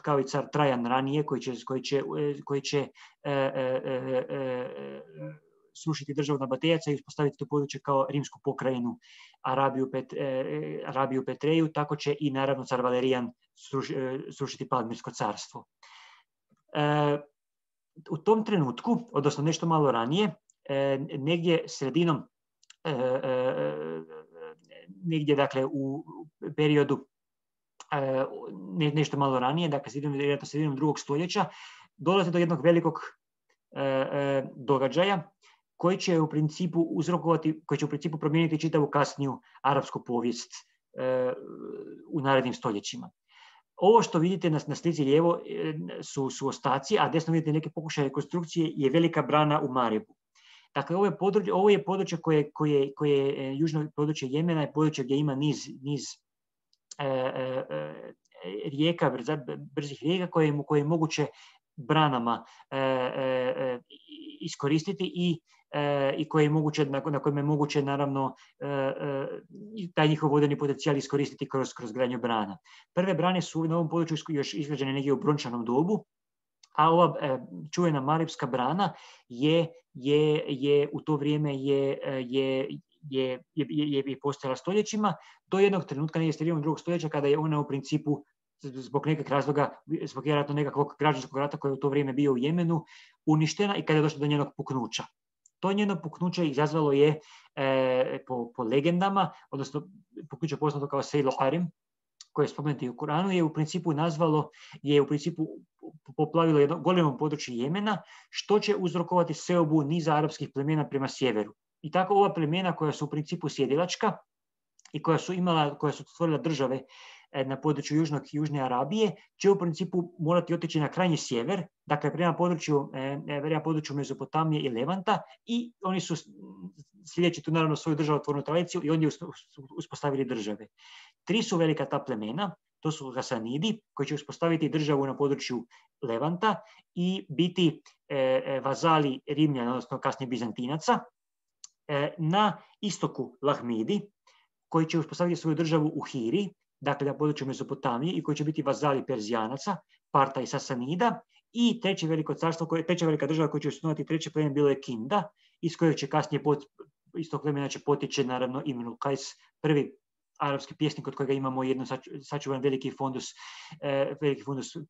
A: kao i car Trajan ranije, koji će srušiti državu Nabatejaca i uspostaviti to područje kao rimsku pokrajinu Arabiju Petreju, tako će i, naravno, car Valerijan srušiti Palmirsko carstvo. U tom trenutku, odnosno nešto malo ranije, negdje sredinom, negdje, dakle, u periodu nešto malo ranije, dakle sredinom 2. stoljeća, dolazi do jednog velikog događaja koji će u principu promijeniti čitavu kasniju arapsku povijest u narednim stoljećima. Ovo što vidite na slici lijevo su ostaci, a desno vidite neke pokušaje rekonstrukcije, je velika brana u Marebu. Dakle, ovo je područje koje je južno područje Jemena, je područje gdje ima niz rijeka, brzih rijeka koje je moguće branama iskoristiti i na kojima je moguće, naravno, taj njihov vodeni potencijal iskoristiti kroz gradnju brana. Prve brane su na ovom području još izgrađene negdje u brončanom dobu, a ova čuvena Marebska brana je u to vrijeme je postojala stoljećima, do jednog trenutka, negdje sredinom 2. stoljeća, kada je ona u principu zbog nekog razloga, zbog vjerojatno nekakvog građanskog rata koji je u to vrijeme bio u Jemenu, uništena i kada je došlo do njenog puknuća. To njeno puknuće izazvalo je po legendama, odnosno puknuće poznato kao Sejl Harim, koje je spomenuto u Koranu, je u principu poplavilo jedno golemo područje Jemena, što će uzrokovati seobu niza arapskih plemena prema sjeveru. I tako ova plemena, koja su u principu sjedilačka i koja su stvorila države na području Južne Arabije, će u principu morati otići na krajnji sjever, dakle prema području Mezopotamije i Levanta, i oni su, sljedeći tu naravno svoju državotvornu tradiciju, i ondje uspostavili države. 3 su velika ta plemena, to su Hasanidi, koji će uspostaviti državu na području Levanta i biti vazali Rimljana, odnosno kasnije Bizantinaca. Na istoku Lahmidi, koji će uspostaviti svoju državu u Hiri, dakle na području Mezopotamije, i koji će biti vazali Perzijanaca, Parta i Sasanida. I treća velika država koja će osnovati treće pleme bilo je Kinda, iz kojeg će kasnije iz tog plemena će potiče, naravno, Imrul Kajs, prvi arapski pjesnik od kojega imamo jedno sačuvan veliki fundus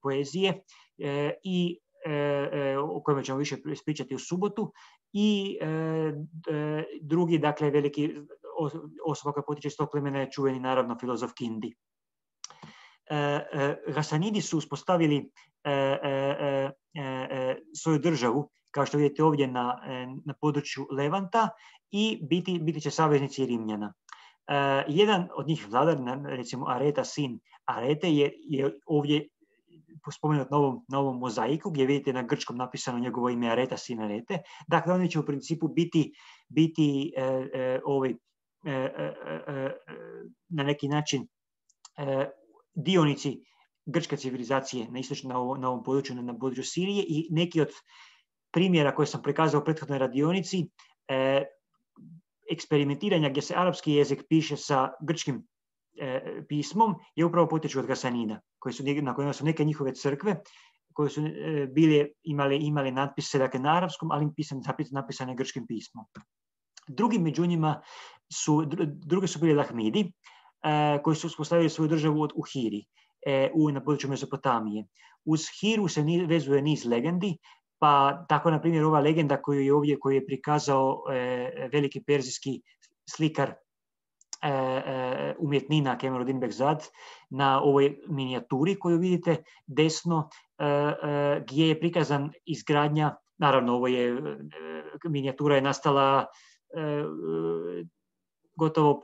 A: poezije, i o kojima ćemo više ispričati u subotu. I drugi, dakle, veliki osoba koja potiče iz tog plemena je čuveni, naravno, filozof Kindi. Hasanidi su uspostavili svoju državu, kao što vidite ovdje na području Levanta, i biti će saveznici Rimljana. Jedan od njih vladar, recimo Areta, sin Arete, je ovdje spomenut na ovom mozaiku, gdje vidite na grčkom napisano njegovo ime Areta, sin Arete. Dakle, oni će u principu biti na neki način dionici grčke civilizacije na ovom području, na području Sirije, i neki od primjera koje sam prikazao u prethodnoj radionici, eksperimentiranja gdje se arapski jezik piše sa grčkim pismom, je upravo potječu od Gasanida, na kojima su neke njihove crkve koje su imali natpise, dakle, na arapskom, ali napisane grčkim pismom. Drugi među njima drugi su bili Lahmidi, koji su uspostavili svoju državu u Hiri, na području Mezopotamije. Uz Hiru se vezuje niz legendi, pa tako, na primjer, ova legenda koju je prikazao veliki perzijski slikar umjetnina Kemaludin Behzad na ovoj minijaturi koju vidite desno, gdje je prikazan izgradnja, naravno minijatura je nastala gotovo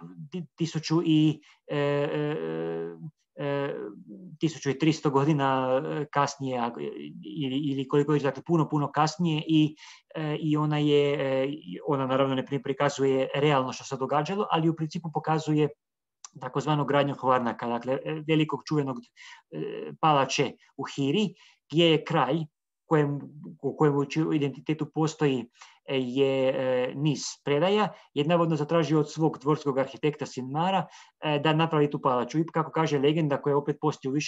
A: 1300 godina kasnije, ili koliko je, dakle, puno kasnije, i ona naravno ne prikazuje realno što se događalo, ali u principu pokazuje takozvanu gradnju Hvarnaka, dakle, velikog čuvenog palače u Hiri, gdje je kraj u kojem u identitetu postoji je niz predaja, je navodno zatražio od svog dvorskog arhitekta Sinmara da napravi tu palaču. I kako kaže legenda, koja opet postoji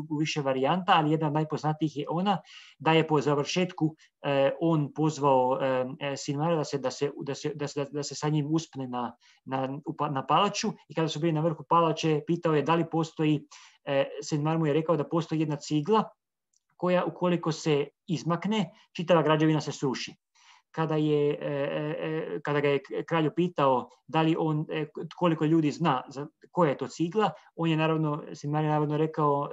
A: u više varijanta, ali jedna od najpoznatijih je ona da je po završetku on pozvao Sinmara da se sa njim uspne na palaču, i kada su bili na vrhu palače pitao je da li postoji, Sinmar mu je rekao da postoji jedna cigla koja, ukoliko se izmakne, čitava građevina se sruši. Kada ga je kralj pitao da li koliko ljudi zna koja je to cigla, Sinmar je naravno rekao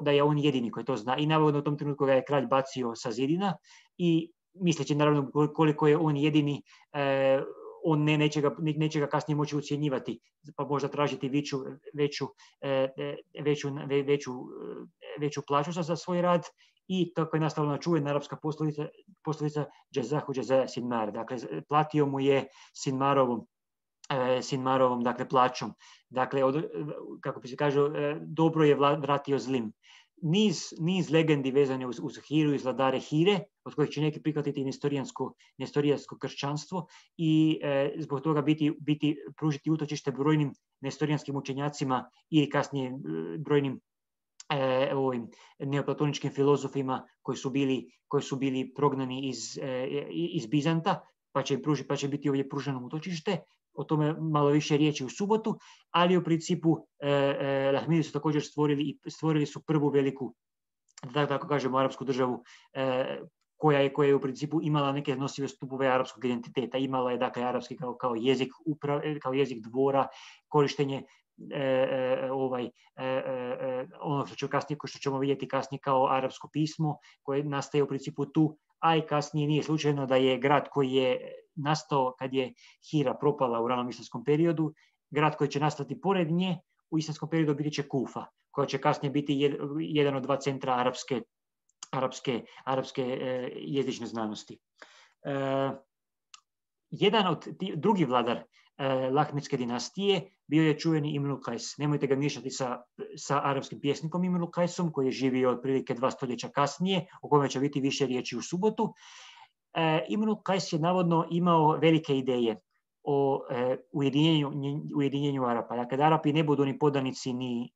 A: da je on jedini koji to zna, i naravno u tom trenutku ga je kralj bacio sa zidina, i misleći naravno koliko je on jedini, on neće ga kasnije moći ucjenjivati, pa možda tražiti veću plaću za svoj rad. I tako je nastala čuvena arapska poslovica Jazahu Jaza Sinmar, dakle, platio mu je Sinmarovom, dakle, plaćom. Dakle, kako bi se kaže, dobro je vratio zlim. Niz legendi vezane uz Hiru i vladare Hire, od kojih će neki prihvatiti nestorijansko kršćanstvo, i zbog toga pružiti utočište brojnim nestorijanskim učenjacima i kasnije brojnim neoplatoničkim filozofima koji su bili prognani iz Bizanta, pa će biti ovdje pruženo utočište. O tome malo više riječi u subotu, ali u principu Lahmidi su također stvorili su prvu veliku, da tako kažemo, arapsku državu, koja je u principu imala neke nosive stupove arapskog identiteta. Imala je, dakle, arapski kao jezik dvora, korištenje ono što ćemo vidjeti kasnije kao arapsko pismo, koje nastaje u principu tu, a i kasnije nije slučajno da je grad koji je nastao kad je Hira propala u ranom islamskom periodu, grad koji će nastati pored nje u islamskom periodu biti će Kufa, koja će kasnije biti jedan od dva centra arapske jezične znanosti. Jedan od drugi vladar Lahmidske dinastije bio je čuveni Imrul Kajs. Nemojte ga miješati sa arapskim pjesnikom Imrul Kajsom, koji je živio otprilike 2 stoljeća kasnije, o kome će biti više riječi u subotu. Imrul Kajs je navodno imao velike ideje o ujedinjenju Arapa. Dakle, da Arapi ne budu ni podanici ni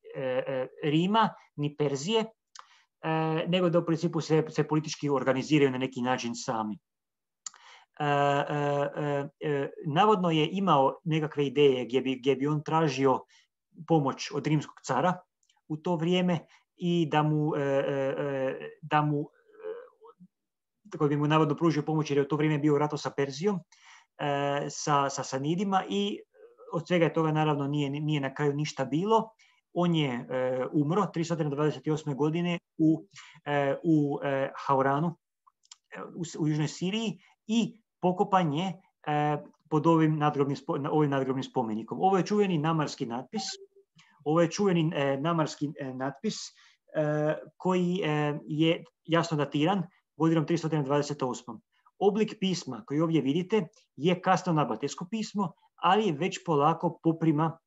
A: Rima, ni Perzije, nego da u principu se politički organiziraju na neki način sami. Navodno je imao nekakve ideje gdje bi on tražio pomoć od rimskog cara u to vrijeme, i koji bi mu navodno pružio pomoć, jer je u to vrijeme bio u ratu sa Perzijom, sa Sasanidima, i od svega toga naravno nije na kraju ništa bilo. On je umro 328. godine u Hauranu, u južnoj Siriji, i pokopan je pod ovim nadgrobnim spomenikom. Ovo je čuveni namarski natpis. Koji je jasno datiran godinom 328. Oblik pisma koji ovdje vidite je kasno nabatejsko pismo, ali već polako poprima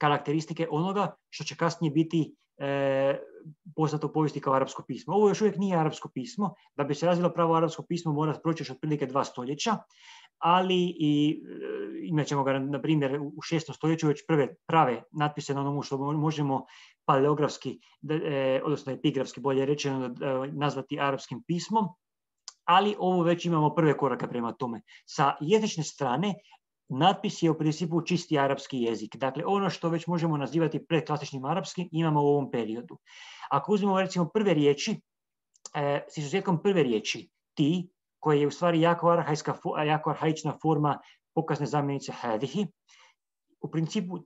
A: karakteristike onoga što će kasnije biti poznato u povijesti kao arapsko pismo. Ovo još uvijek nije arapsko pismo. Da bi se razvilo pravo arapsko pismo mora proći još otprilike 2 stoljeća, ali imat ćemo ga, na primjer, u 6. stoljeću već prve prave natpise na onomu što možemo paleografski, odnosno epigrafski bolje rečeno, nazvati arapskim pismom, ali ovo već imamo prve korake prema tome. Sa jezične strane, natpis je u principu čisti arapski jezik. Dakle, ono što već možemo nazivati predklasičnim arapskim imamo u ovom periodu. Ako uzmemo recimo prve riječi, s izuzetkom prve riječi, ti, koja je u stvari jako arhaična forma pokazne zamjenice hadihi, u principu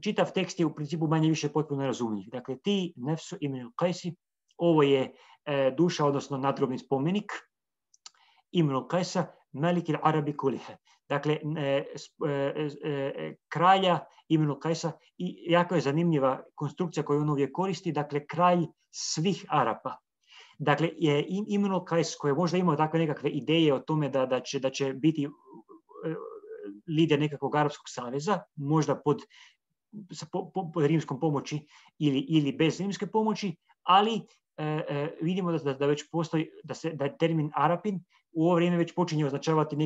A: čitav tekst je u principu manje više potpuno razumljiv. Dakle, ti, nefsu ibn al-Qajsi, ovo je duša, odnosno nadgrobni spomenik Ibn al-Qajsa, Malik al-Arabi kulihe. Dakle, kralja Ibn al-Qajsa, i jako je zanimljiva konstrukcija koju on uvijek koristi, dakle, kralj svih Arapa. Dakle, Ibn al-Qajs, koji je možda imao takve nekakve ideje o tome da će biti lider nekakvog arapskog saveza, možda pod rimskom pomoći ili bez rimske pomoći, ali vidimo da već postoji, da termin Arapin u ovo vrijeme već počinje označavati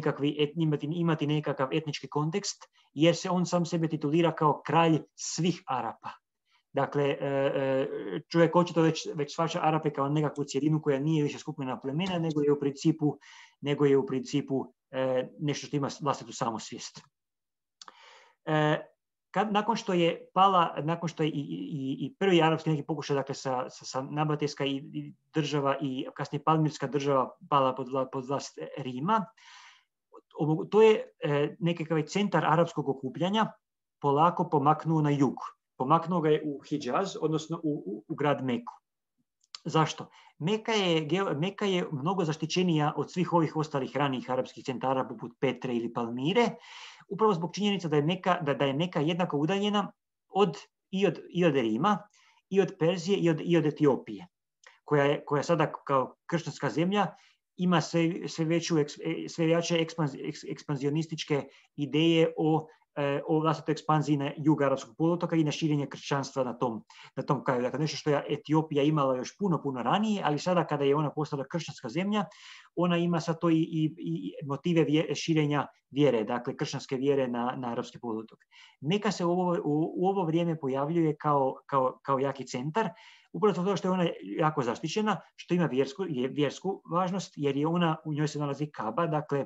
A: imati nekakav etnički kontekst, jer se on sam sebe titulira kao kralj svih Arapa. Dakle, čovjek očito već shvaća Arape kao nekakvu cjelinu koja nije više skupina plemena, nego je u principu nešto što ima vlastitu samosvijest. Nakon što je i prvi arapski neki pokušaj, dakle sa nabatejska i država i kasnije palmirska država pala pod vlast Rima, to je nekakav centar arapskog okupljanja polako pomaknuo na jug. Pomaknuo ga je u Hidžaz, odnosno u grad Meku. Zašto? Meka je mnogo zaštićenija od svih ovih ostalih ranijih arapskih centara poput Petre ili Palmire, upravo zbog činjenica da je Meka jednako udaljena i od Rima, i od Perzije, i od Etiopije, koja sada kao kršćanska zemlja ima sve jače ekspanzionističke ideje o vlastitoj ekspanziji na jug arapskog poluotoka i na širenje kršćanstva na tom kraju. Dakle, nešto što je Etiopija imala još puno ranije, ali sada kada je ona postala kršćanska zemlja, ona ima sad to i motive širenja vjere, dakle kršćanske vjere na arapski poluotok. Meka se u ovo vrijeme pojavljuje kao jaki centar, upravo zato što je ona jako zaštićena, što ima vjersku važnost, jer je u njoj se nalazi Kaba, dakle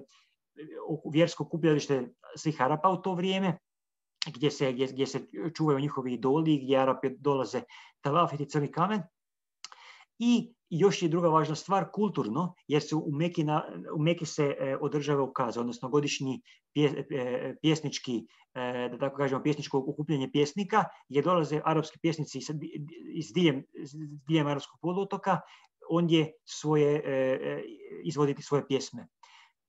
A: vjersko okupljalište svih Arapa u to vrijeme, gdje se čuvaju njihovi idoli, gdje Arapi dolaze talafiti crni kamen. I još je druga važna stvar, kulturno, jer se u Meki se održava ukaze, odnosno godišnji pjesnički, da tako kažemo, pjesničko okupljanje pjesnika, gdje dolaze arapski pjesnici iz diljem arapskog poluotoka, ondje izvoditi svoje pjesme.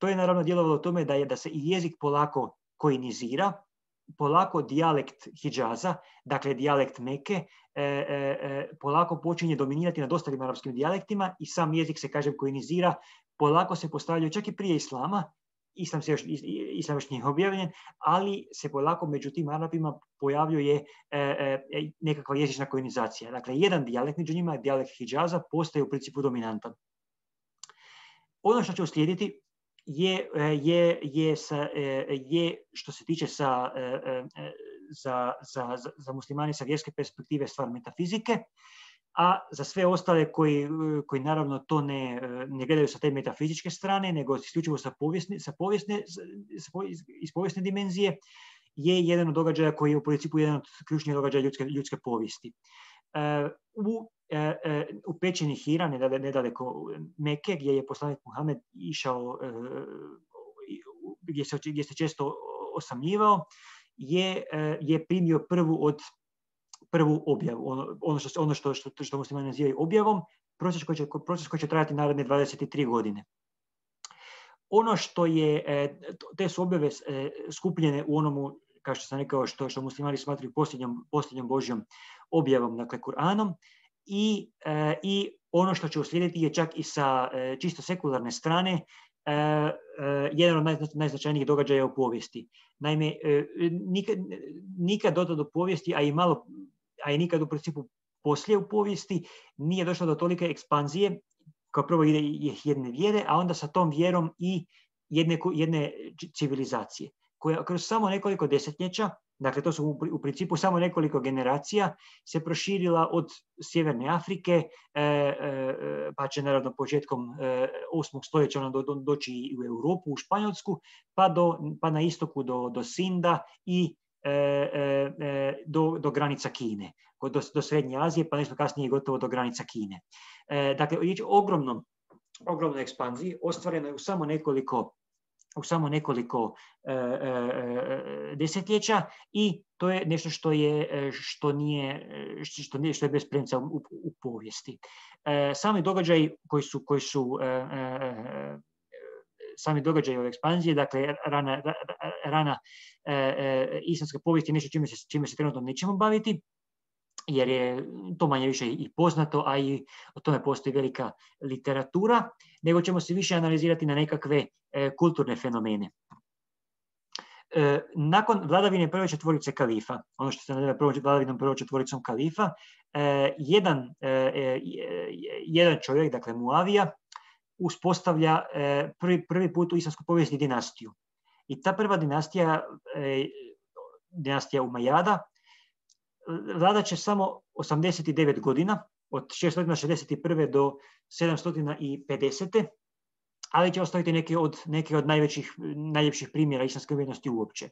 A: To je naravno djelovalo tome da se i jezik polako koinizira, polako dijalekt Hidžaza, dakle dijalekt Meke, polako počinje dominirati nad ostalim arapskim dijalektima i sam jezik se, kažem, koinizira, polako se postavljaju čak i prije islama, islam još nije objavljen, ali se polako među tim Arapima pojavljuje nekakva jezična koinizacija. Dakle, jedan dijalekt među njima, dijalekt Hidžaza, postaje u principu dominantan. Ono što će uslijediti je što se tiče za muslimane sa vjerske perspektive stvar metafizike, a za sve ostale koji naravno to ne gledaju sa te metafizičke strane, nego isključivo iz povijesne dimenzije, je jedan od događaja koji je u principu jedan od ključnih događaja ljudske povijesti. U pećini Hira, nedaleko Meke, gdje je poslanik Muhamed išao, gdje se često osamljivao, je primio prvu objavu, ono što muslimani nazivaju objavom, proces koji će trajati naredne 23 godine. Ono što je, te su objave skupljene u onomu, kao što sam rekao, što muslimani smatraju posljednjom Božjom objavom, dakle Kur'anom, i ono što će uslijediti je čak i sa čisto sekularne strane jedan od najznačajnijih događaja u povijesti. Naime, nikad do tada u povijesti, a i nikad u principu poslije u povijesti, nije došlo do tolike ekspanzije, kao prvo jedne vjere, a onda sa tom vjerom i jedne civilizacije, koja kroz samo nekoliko desetljeća, dakle to su u principu samo nekoliko generacija, se proširila od Sjeverne Afrike, pa će naravno početkom 8. stoljeća ona doći i u Europu, u Španjolsku, pa na istoku do Sinda i do granica Kine, do Srednje Azije, pa nešto kasnije gotovo do granica Kine. Dakle, riječ o ogromnoj ekspanziji, ostvareno je u samo nekoliko desetljeća i to je nešto što je bez premca u povijesti. Sami događaji sami događaji ove ekspanzije, dakle rana islamska povijest je nešto čime se trenutno nećemo baviti, jer je to manje više i poznato, a i o tome postoji velika literatura, nego ćemo se više analizirati na nekakve kulturne fenomene. Nakon vladavine prve četvorice kalifa, ono što se naziva vladavinom prvom četvoricom kalifa, jedan čovjek, dakle Muavija, uspostavlja prvi put u islamskoj povijesti dinastiju. I ta prva dinastija Umajada, vladat će samo 89 godina, od 661. do 750. ali će ostaviti neke od najljepših primjera islamske umjetnosti uopće.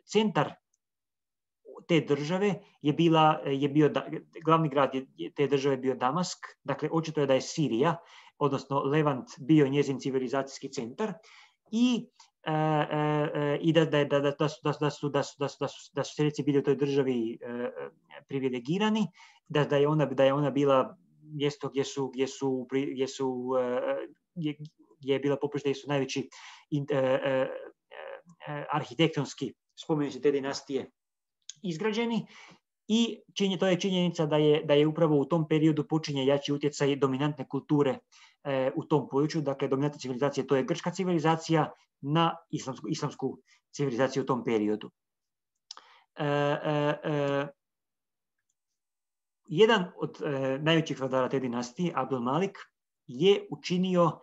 A: Centar te države glavni grad te države je bio Damask, dakle očito je da je Sirija, odnosno Levant, bio njezin civilizacijski centar i da su seljaci bili u toj državi privilegirani, da je ona bila mjesto gdje je bila poprište, gdje su najveći arhitektonski spomenici te dinastije izgrađeni, i to je činjenica da je upravo u tom periodu počinje jači utjecaj dominantne kulture u tom području, dakle dominantna civilizacija, to je grčka civilizacija, na islamsku civilizaciju u tom periodu. Jedan od najvećih vladara te dinastije, Abdul Malik, je učinio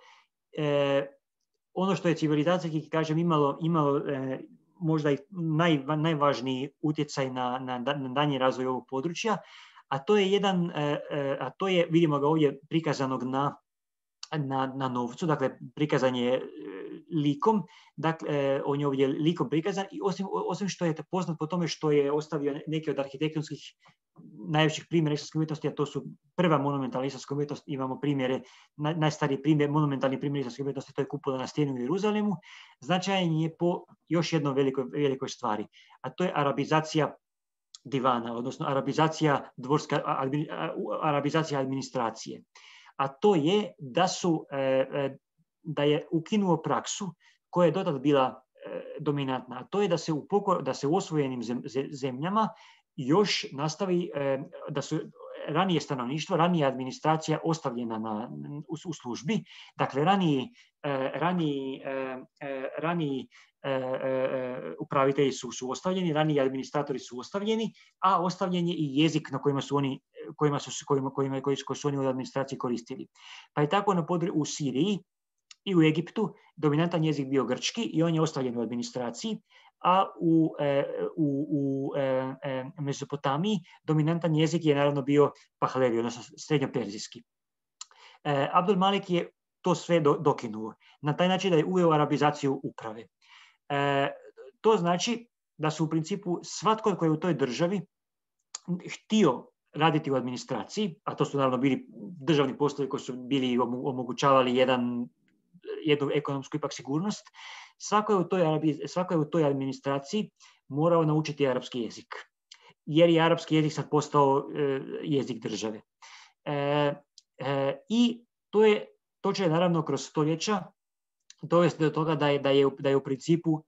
A: ono što je civilizacijski, kažem, imalo možda i najvažniji utjecaj na daljnji razvoj ovog područja, a to je, vidimo ga ovdje prikazanog na novcu, dakle prikazan je likom, dakle on je ovdje likom prikazan, i osim što je poznat po tome što je ostavio neke od arhitektonskih najvećih primjera islamske umjetnosti, a to su prva monumentalna islamska umjetnost, imamo primjere, najstariji primjer, monumentalni primjer islamske umjetnosti, to je kupola na stijeni u Jeruzalemu, značajan je po još jednoj velikoj stvari, a to je arabizacija divana, odnosno arabizacija administracije. A to je da je ukinuo praksu koja je dotad bila dominantna, a to je da se u osvojenim zemljama još nastavi, da su ranije stanovništvo, ranija administracija ostavljena u službi, dakle raniji upravitelji su ostavljeni, raniji administratori su ostavljeni, a ostavljen je i jezik na koji su oni u administraciji koristili. Pa je tako u Siriji i u Egiptu dominantan jezik bio grčki i on je ostavljen u administraciji, a u Mezopotamiji dominantan jezik je naravno bio Pahlevi, odnosno srednjoperzijski. Abdul Malik je to sve dokinuo na taj način da je uveo arabizaciju uprave. To znači da su u principu svatko koji je u toj državi htio raditi u administraciji, a to su naravno bili državni poslovi koji su bili omogućavali jednu ekonomsku ipak sigurnost, svako je u toj administraciji morao naučiti arapski jezik, jer je arapski jezik sad postao jezik države. I to će naravno kroz stoljeća dovesti do toga da je u principu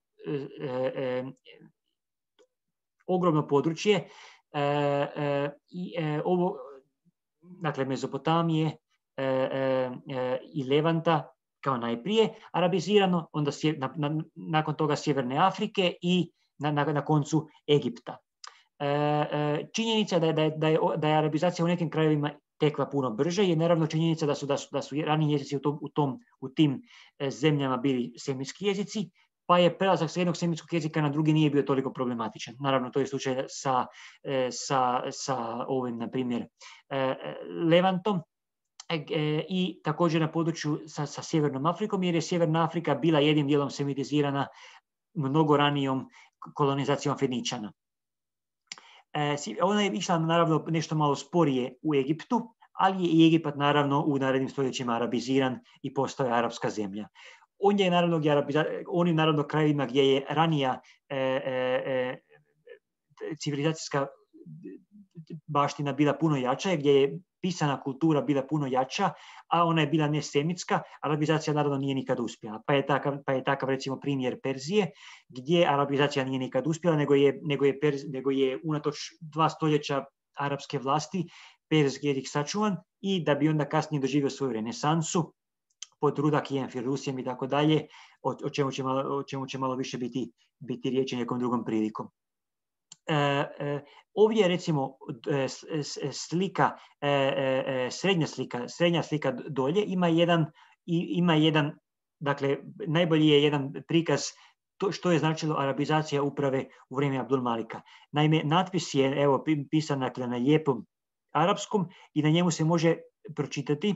A: ogromno područje, dakle Mezopotamije, i Levanta kao najprije arabizirano, onda nakon toga Sjeverne Afrike i na koncu Egipta. Činjenica da je arabizacija u nekim krajevima tekla puno brže je naravno činjenica da su raniji jezici u tim zemljama bili semitski jezici, pa je prelazak s jednog semitskog jezika na drugi nije bio toliko problematičan. Naravno, to je slučaj sa ovim, na primjer, Levantom i također na području sa Sjevernom Afrikom, jer je Sjeverna Afrika bila jednim dijelom semitizirana mnogo ranijom kolonizacijom Feničana. Ona je išla naravno nešto malo sporije u Egiptu, ali je i Egipat naravno u narednim stoljećima arabiziran i postao je arapska zemlja. Onim naravno krajevima gdje je ranija civilizacijska baština bila puno jača, gdje je pisana kultura bila puno jača, a ona je bila nesemitska, arabizacija naravno nije nikad uspjela. Pa je takav recimo primjer Perzije, gdje arabizacija nije nikad uspjela, nego je unatoč 2 stoljeća arapske vlasti perzijski jezik sačuvan i da bi onda kasnije doživio svoju renesansu pod Rudakijem, Firusijem i tako dalje, o čemu će malo više biti riječi nekom drugom prilikom. Ovdje je recimo slika, srednja slika dolje ima jedan, dakle najbolji je jedan prikaz što je značilo arabizacija uprave u vrijeme Abdul Malika. Naime, natpis je pisan dakle, na lijepom arapskom i na njemu se može pročitati,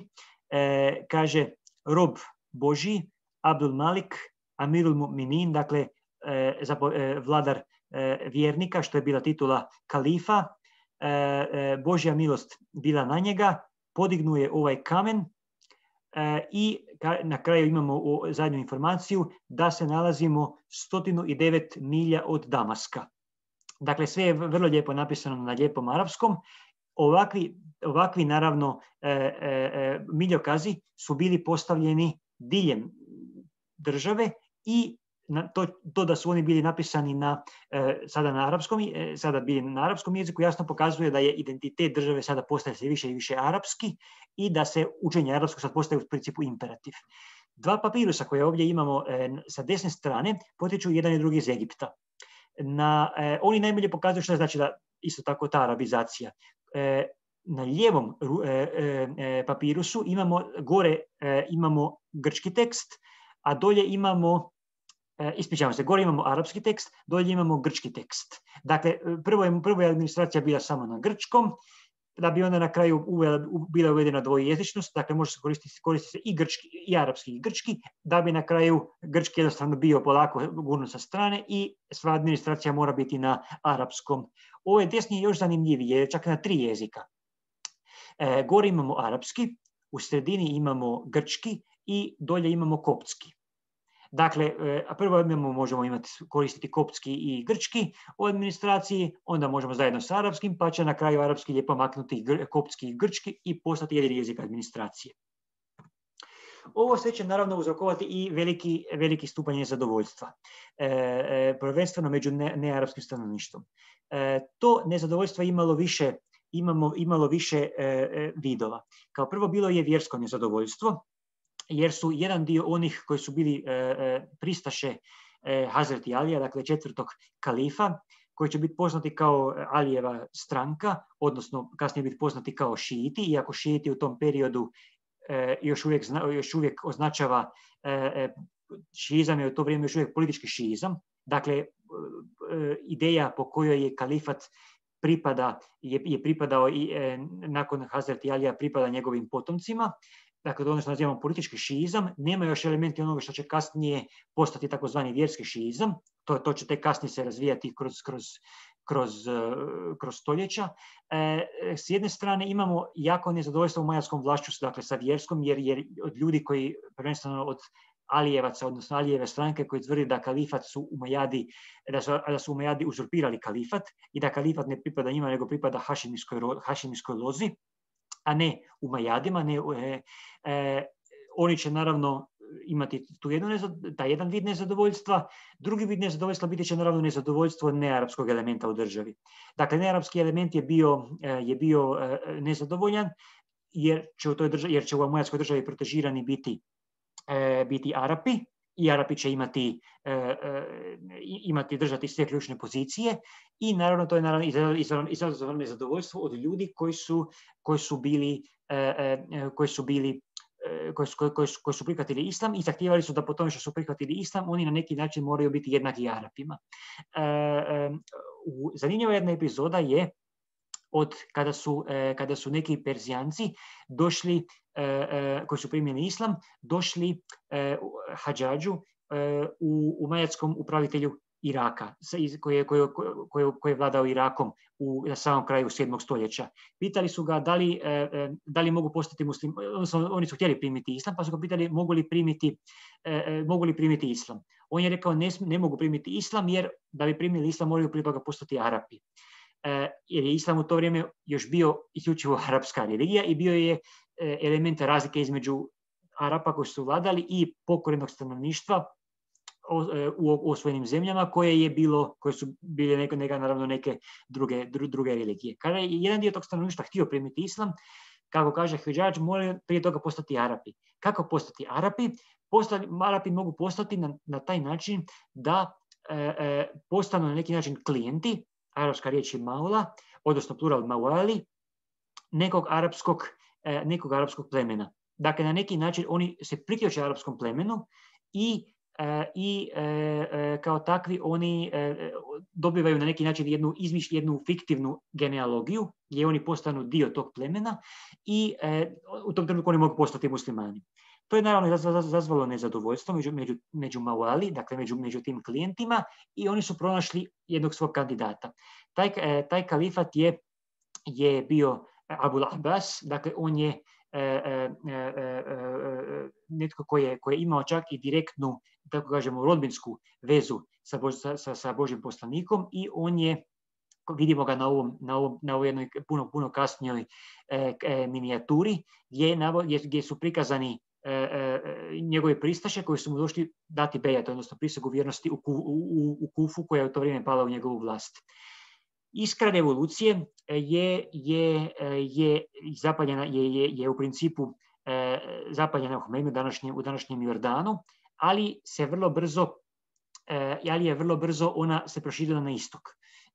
A: kaže rob Božji, Abdul Malik, Amirul Mu'minin, dakle vladar vjernika, što je bila titula kalifa, Božja milost bila na njega, podignuje ovaj kamen i na kraju imamo zadnju informaciju da se nalazimo 109 milja od Damaska. Dakle, sve je vrlo lijepo napisano na lijepom arapskom. Ovakvi naravno miljokazi su bili postavljeni diljem države i to da su oni bili napisani sada bili na arapskom jeziku jasno pokazuje da je identitet države sada postaje sve više i više arapski i da se učenje arapskog sad postaje u principu imperativ. 2 papirusa koje ovdje imamo sa desne strane potiču jedan i drugi iz Egipta. Oni najbolje pokazuju što znači da isto tako ta arabizacija. Na lijevom papirusu gore imamo grčki tekst, a dolje imamo gore imamo arapski tekst, dolje imamo grčki tekst. Dakle, prvo je administracija bila samo na grčkom, da bi onda na kraju bila uvedena dvojezičnost, dakle može se koristiti se i grčki, i arapski i grčki, da bi na kraju grčki jednostavno bio polako gurnut sa strane i sva administracija mora biti na arapskom. Ovo je desnije još zanimljivije, čak na 3 jezika. Gore imamo arapski, u sredini imamo grčki i dolje imamo koptski. Dakle, prvo možemo koristiti koptski i grčki u administraciji, onda možemo zajedno sa arapskim, pa će na kraju arapski lijepo maknuti koptski i grčki i postati jedini jezik administracije. Ovo sve će naravno uzrokovati i veliki stupanj nezadovoljstva, prvenstveno među nearapskim stanovništvom. To nezadovoljstvo imalo više vidova. Kao prvo bilo je vjersko nezadovoljstvo, jer su jedan dio onih koji su bili pristaše Hazreti Alija, dakle 4. kalifa, koji će biti poznati kao Alijeva stranka, odnosno kasnije biti poznati kao šiiti, iako šiiti u tom periodu još uvijek označava šiizam je u to vrijeme još uvijek politički šiizam. Dakle, ideja po kojoj je kalifat je pripadao i nakon Hazreti Alija pripada njegovim potomcima. Dakle, to ono što nazivamo politički šiizam, nema još elementi onoga što će kasnije postati takozvani vjerski šiizam, to će tek kasnije se razvijati kroz stoljeća. S jedne strane imamo jako nezadovoljstvo umajadskom vlašću, dakle sa vjerskom, jer od ljudi koji, prvenstveno od Alijevaca, odnosno Alijeve stranke, koji tvrdi da kalifat su Umajadi, da su Umajadi uzurpirali kalifat i da kalifat ne pripada njima, nego pripada hašimijskoj lozi, a ne Umajadima. Oni će naravno imati taj jedan vid nezadovoljstva. Drugi vid nezadovoljstva biti će naravno nezadovoljstvo nearapskog elementa u državi. Dakle, nearapski element je bio nezadovoljan jer će u amujadskoj državi protežirani biti Arapi, i Arapi će držati sve ključne pozicije, i naravno to je izazvalo nezadovoljstvo od ljudi koji su prihvatili islam i zahtijevali su da po tome što su prihvatili islam, oni na neki način moraju biti jednaki Arapima. Zanimljiva jedna epizoda je kada su neki Perzijanci došli, koji su primili islam, došli Hadžadžu, umajadskom upravitelju Iraka, koji je vladao Irakom na samom kraju 7. stoljeća. Pitali su ga da li mogu postati muslimani, odnosno oni su htjeli primiti islam, pa su ga pitali mogu li primiti islam. On je rekao ne mogu primiti islam, jer da bi primili islam moraju prije toga postati Arapi. Jer je islam u to vrijeme još bio isključivo arapska religija i bio je element razlike između Arapa koji su vladali i pokorenog stanovništva u osvojenim zemljama koje su bile naravno neke druge religije. Kada je jedan dio tog stanovništva htio primiti islam, kako kaže Hadžadž, moraju prije toga postati Arapi. Kako postati Arapi? Arapi mogu postati na taj način da postanu na neki način klijenti, arapska riječ je maula, odnosno plural mawali, nekog arapskog plemena. Dakle, na neki način oni se priključe arapskom plemenu i kao takvi oni dobivaju na neki način jednu fiktivnu genealogiju gdje oni postanu dio tog plemena i u tom trenutku oni mogu postati muslimani. To je naravno izazvalo nezadovoljstvo među mawali, dakle među tim klijentima, i oni su pronašli jednog svog kandidata. Taj kalifat je bio Abul Abbas, dakle on je netko koji je imao čak i direktnu, tako kažemo, rodbinsku vezu sa Božjim poslanikom, i on je, vidimo ga na ovoj jednoj puno kasnijoj minijaturi, gdje su prikazani njegove pristaše koji su mu došli dati bejat, odnosno prisegu vjernosti u Kufu, koja je u to vrijeme pala u njegovu vlast. Iskra revolucije je u principu zapaljena u Homeinu, u današnjem Jordanu, ali je vrlo brzo ona se proširila na istok.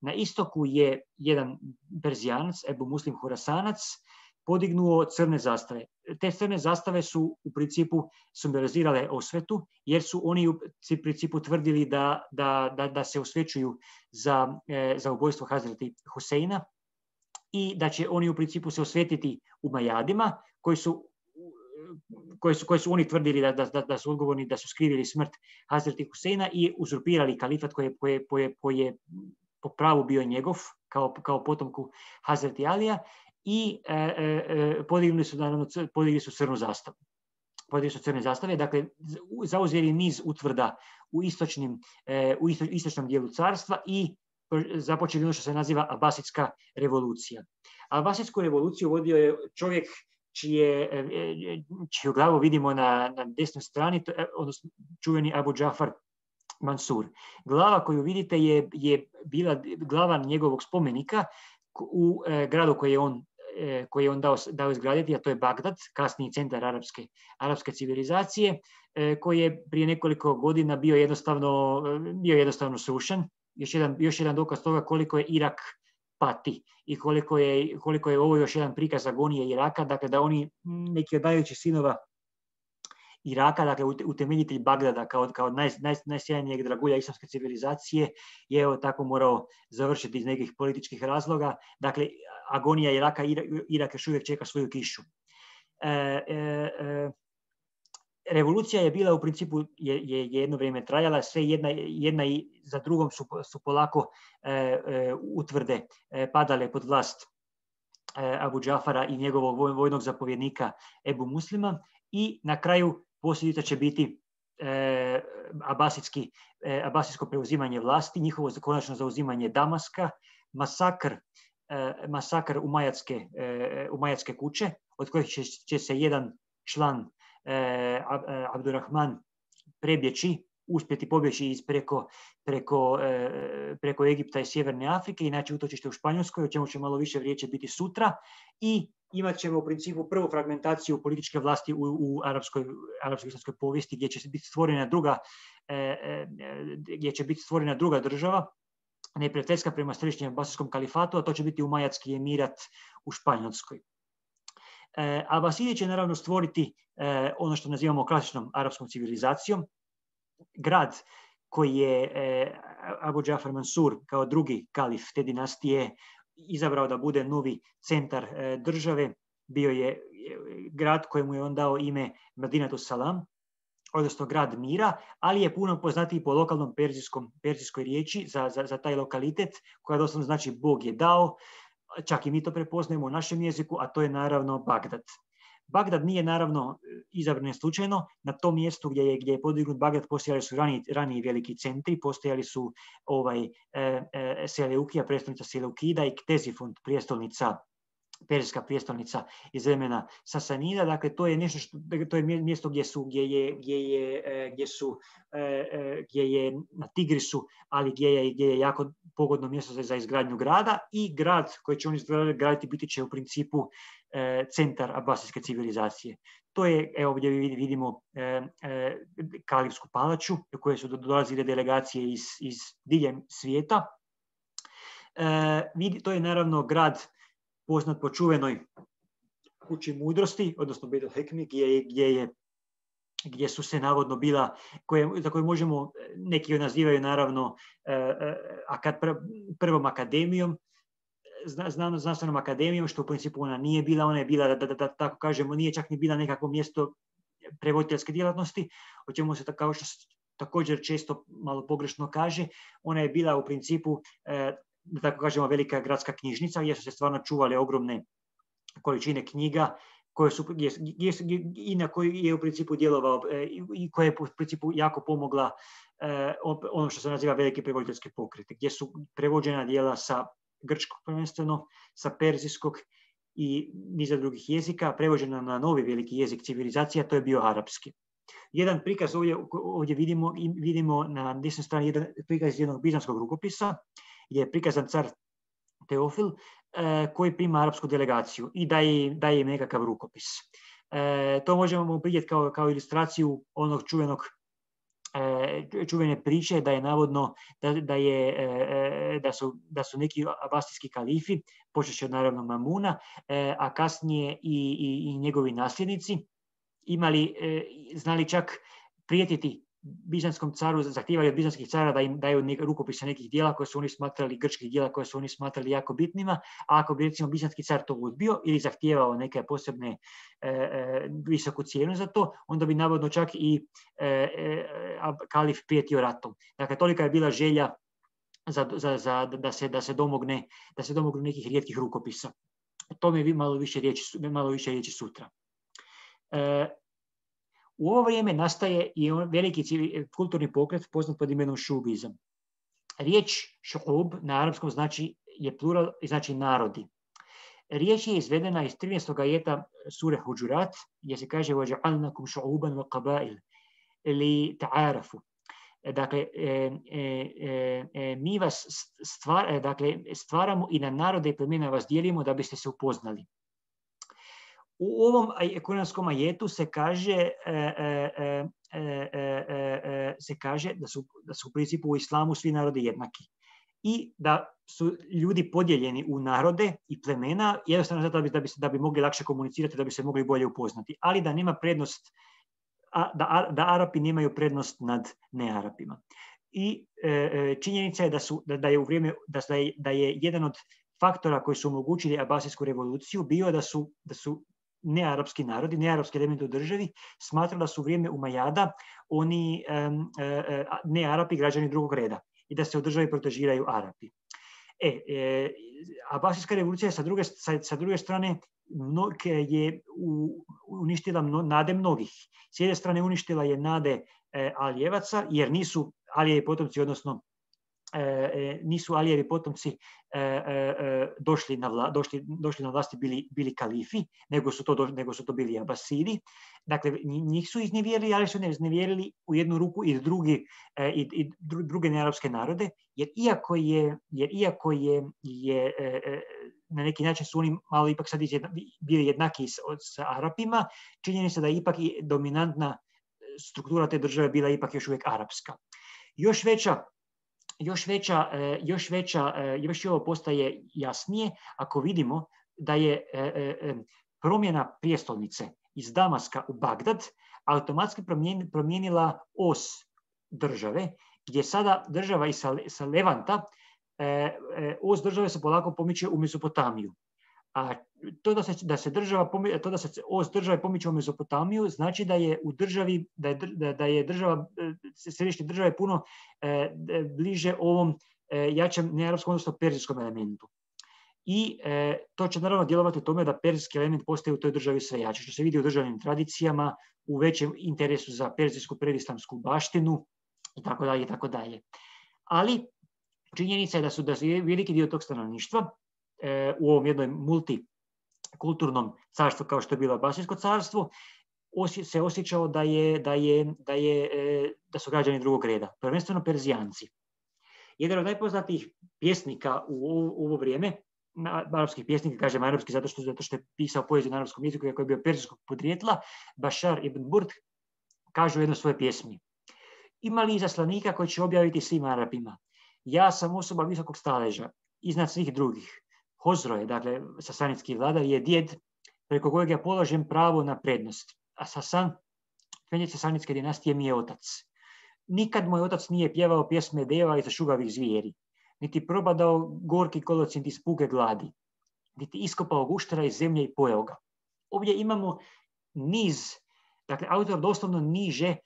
A: Na istoku je jedan Perzijanac, Ebu Muslim Hurasanac, podignuo crne zastave. Te crne zastave su u principu simbolizirale osvetu, jer su oni u principu tvrdili da se osvećuju za ubojstvo Hazreti Huseina i da će oni u principu se osvetiti Umajadima, koji su oni tvrdili da su odgovorni, da su skrivili smrt Hazreti Huseina i uzurpirali kalifat koji je po pravu bio njegov, kao potomku Hazreti Alija, i podigli su crnu zastavu. Podigli su crne zastave, dakle zauzeli niz utvrda u istočnom dijelu carstva i započeli ono što se naziva Abasitska revolucija. Abasitsku revoluciju vodio je čovjek čiju glavu vidimo na desnoj strani, odnosno čuveni Abu Džafar Mansur. Glava koju vidite je bila glava njegovog spomenika u gradu koji je on dao izgraditi, a to je Bagdad, kasniji centar arapske civilizacije, koji je prije nekoliko godina bio jednostavno srušen. Još jedan dokaz toga koliko je Irak pati i koliko je ovo još jedan prikaz agonije Iraka, dakle da oni, neki od najvećih sinova Iraka, dakle utemeljitelj Bagdada kao najsjajnijeg dragulja islamske civilizacije, je evo tako morao završiti iz nekih političkih razloga. Dakle, agonija Iraka, Irak još uvijek čeka svoju kišu. Revolucija je bila u principu, je jedno vrijeme trajala, sve jedna i za drugom su polako utvrde padale pod vlast Abu Džafara i njegovog vojnog zapovjednika Ebu Muslima, i na kraju posljedica će biti abasitsko preuzimanje vlasti, njihovo konačno zauzimanje Damaska, masakr umajatske kuće, od kojih će se jedan član Abdurrahman uspjeti pobjeći preko Egipta i Sjeverne Afrike i naći utočište u Španjolskoj, o čemu će malo više riječi biti sutra, i imat ćemo u principu prvu fragmentaciju političke vlasti u arapsko-islamskoj povijesti, gdje će biti stvorena druga država, neprijateljska prema središnjem abasijskom kalifatu, a to će biti Umajadski emirat u Španjolskoj. Abasidi će naravno stvoriti ono što nazivamo klasičnom arapskom civilizacijom. Grad koji je Abu Džafar Mansur kao drugi kalif te dinastije izabrao da bude novi centar države, bio je grad kojemu je on dao ime Medinatu Salam, odnosno grad mira, ali je puno poznatiji po lokalnom perzijskoj riječi za taj lokalitet, koja doslovno znači Bog je dao, čak i mi to prepoznajemo u našem jeziku, a to je naravno Bagdad. Bagdad nije naravno izabran slučajno. Na tom mjestu gdje je podignut Bagdad postojali su raniji veliki centri, postojali su Seleukija, prijestolnica Seleukida, i Ktesifont, perzijska prijestolnica iz vremena Sasanida. Dakle, to je nešto to je mjesto gdje je na Tigrisu, ali gdje je jako pogodno mjesto za izgradnju grada, i grad koji će oni graditi biti će u principu centar abasijske civilizacije. To je, evo gdje vidimo Kalifsku palaču u kojoj su dolazile delegacije iz diljem svijeta. To je naravno grad poznat po čuvenoj kući mudrosti, odnosno Beit al-Hekmi, gdje su se navodno bila, za koje možemo, neki nazivaju naravno prvom akademijom, znanstvenom akademijom, što u principu ona nije bila. Ona je bila, da tako kažemo, nije čak ni bila nekakvo mjesto prevoditeljske djelatnosti, o čemu se kao što također često malo pogrešno kaže. Ona je bila u principu, da tako kažemo, velika gradska knjižnica, gdje su se stvarno čuvale ogromne količine knjiga, i na koju je u principu djelovao i koja je u principu jako pomogla ono što se naziva veliki prevoditeljski pokret, gdje su prevođena djela sa grčkog prvenstveno, sa perzijskog i niza drugih jezika, prevođena na novi veliki jezik civilizacija, to je bio arapski. Jedan prikaz ovdje vidimo na desnoj strani jedan prikaz jednog bizanskog rukopisa, gdje je prikazan car Teofil koji prima arapsku delegaciju i daje im nekakav rukopis. To možemo vidjeti kao ilustraciju onog čuvene priče da je navodno da su neki abasijski kalifi, počeši od naravno Mamuna, a kasnije i njegovi nasljednici, znali čak prijetiti bizanskom caru, zahtijevali od bizanskih cara da im daju rukopise nekih dijela koje su oni smatrali, grčkih dijela koje su oni smatrali jako bitnima, a ako bi recimo bizanski car to odbio ili zahtijevao neke posebne visoku cijenu za to, onda bi navodno čak i kalif prijetio ratom. Dakle, tolika je bila želja da se domognu nekih rijetkih rukopisa. O tome je malo više riječi sutra. U ovo vrijeme nastaje i veliki kulturni pokret poznat pod imenom šubizam. Riječ šuub na arapskom je plural i znači narodi. Riječ je izvedena iz 13. ajeta sure Huđurat, gdje se kaže وَجَعَلْنَكُمْ شُعُوبًا وَقَبَائِلَ لِتَعَارَفُوا. Dakle, mi vas stvaramo i na narode i plemena vas dijelimo da biste se upoznali. U ovom kuranskom ajetu se kaže da su u principu u islamu svi narodi jednaki i da su ljudi podijeljeni u narode i plemena jednostavno zato da bi mogli lakše komunicirati, da bi se mogli bolje upoznati, ali da nema prednost, da Arapi nemaju prednost nad nearapima. I činjenica je da je jedan od faktora koji su omogućili abasijsku revoluciju bio da su nearapski narodi, nearapski elementi u državi smatrali da su u vrijeme Umajada oni nearapi građani drugog reda i da se u državi protežiraju Arapi. Abasijska revolucija sa druge strane je uništila nade mnogih. S jedne strane uništila je nade Alijevaca, jer nisu Alijevi potomci, odnosno nisu Alijevi potomci došli na vlasti bili kalifi, nego su to bili Abasidi. Dakle, njih su iznevjerili, ali su ne iznevjerili u jednu ruku i druge nearapske narode, jer iako je na neki način su oni malo ipak sad bili jednaki s Arapima, činjenica da je ipak i dominantna struktura te države bila ipak još uvijek arapska. Još ovo postaje jasnije ako vidimo da je promjena prijestolnice iz Damaska u Bagdad automatski promijenila os države, gdje sada država i sa Levanta, os države se polako pomiče u Mezopotamiju. A to da se os države pomiče u Mezopotamiju znači da je u državi, da je država, središnje države puno bliže ovom jačem nearapskom, odnosno perzijskom elementu. I to će naravno djelovati u tome da perzijski element postaje u toj državi sve jači, što se vidi u državnim tradicijama, u većem interesu za perzijsku predislamsku baštinu itd. Itd. Ali činjenica je da su veliki dio tog stanovništva u ovom jednom multikulturnom carstvu kao što je bilo Abasijsko carstvo se osjećalo da su građani drugog reda, prvenstveno Perzijanci. Jedan od najpoznatijih pjesnika u ovo vrijeme, arapskih pjesnika, kažem arapski zato što je pisao poeziju na arapskom jeziku, iako je bio perzijskog podrijetla, Bašar ibn Burd kaže u jednoj svojoj pjesmi: ima li izaslanika koji će objaviti svim Arapima? Ja sam osoba visokog staleža, iznad svih drugih. Hozro je, dakle, sasanidski vladar, je djed preko kojeg ja polažem pravo na prednost. A Sasan, kmenje sasanidske dinastije, mi je otac. Nikad moj otac nije pjevao pjesme deva i zašugavih zvijeri, niti probadao gorki kolocint iz puke gladi, niti iskopao guštera iz zemlje i pojeo ga. Ovdje imamo niz, dakle, autor doslovno niže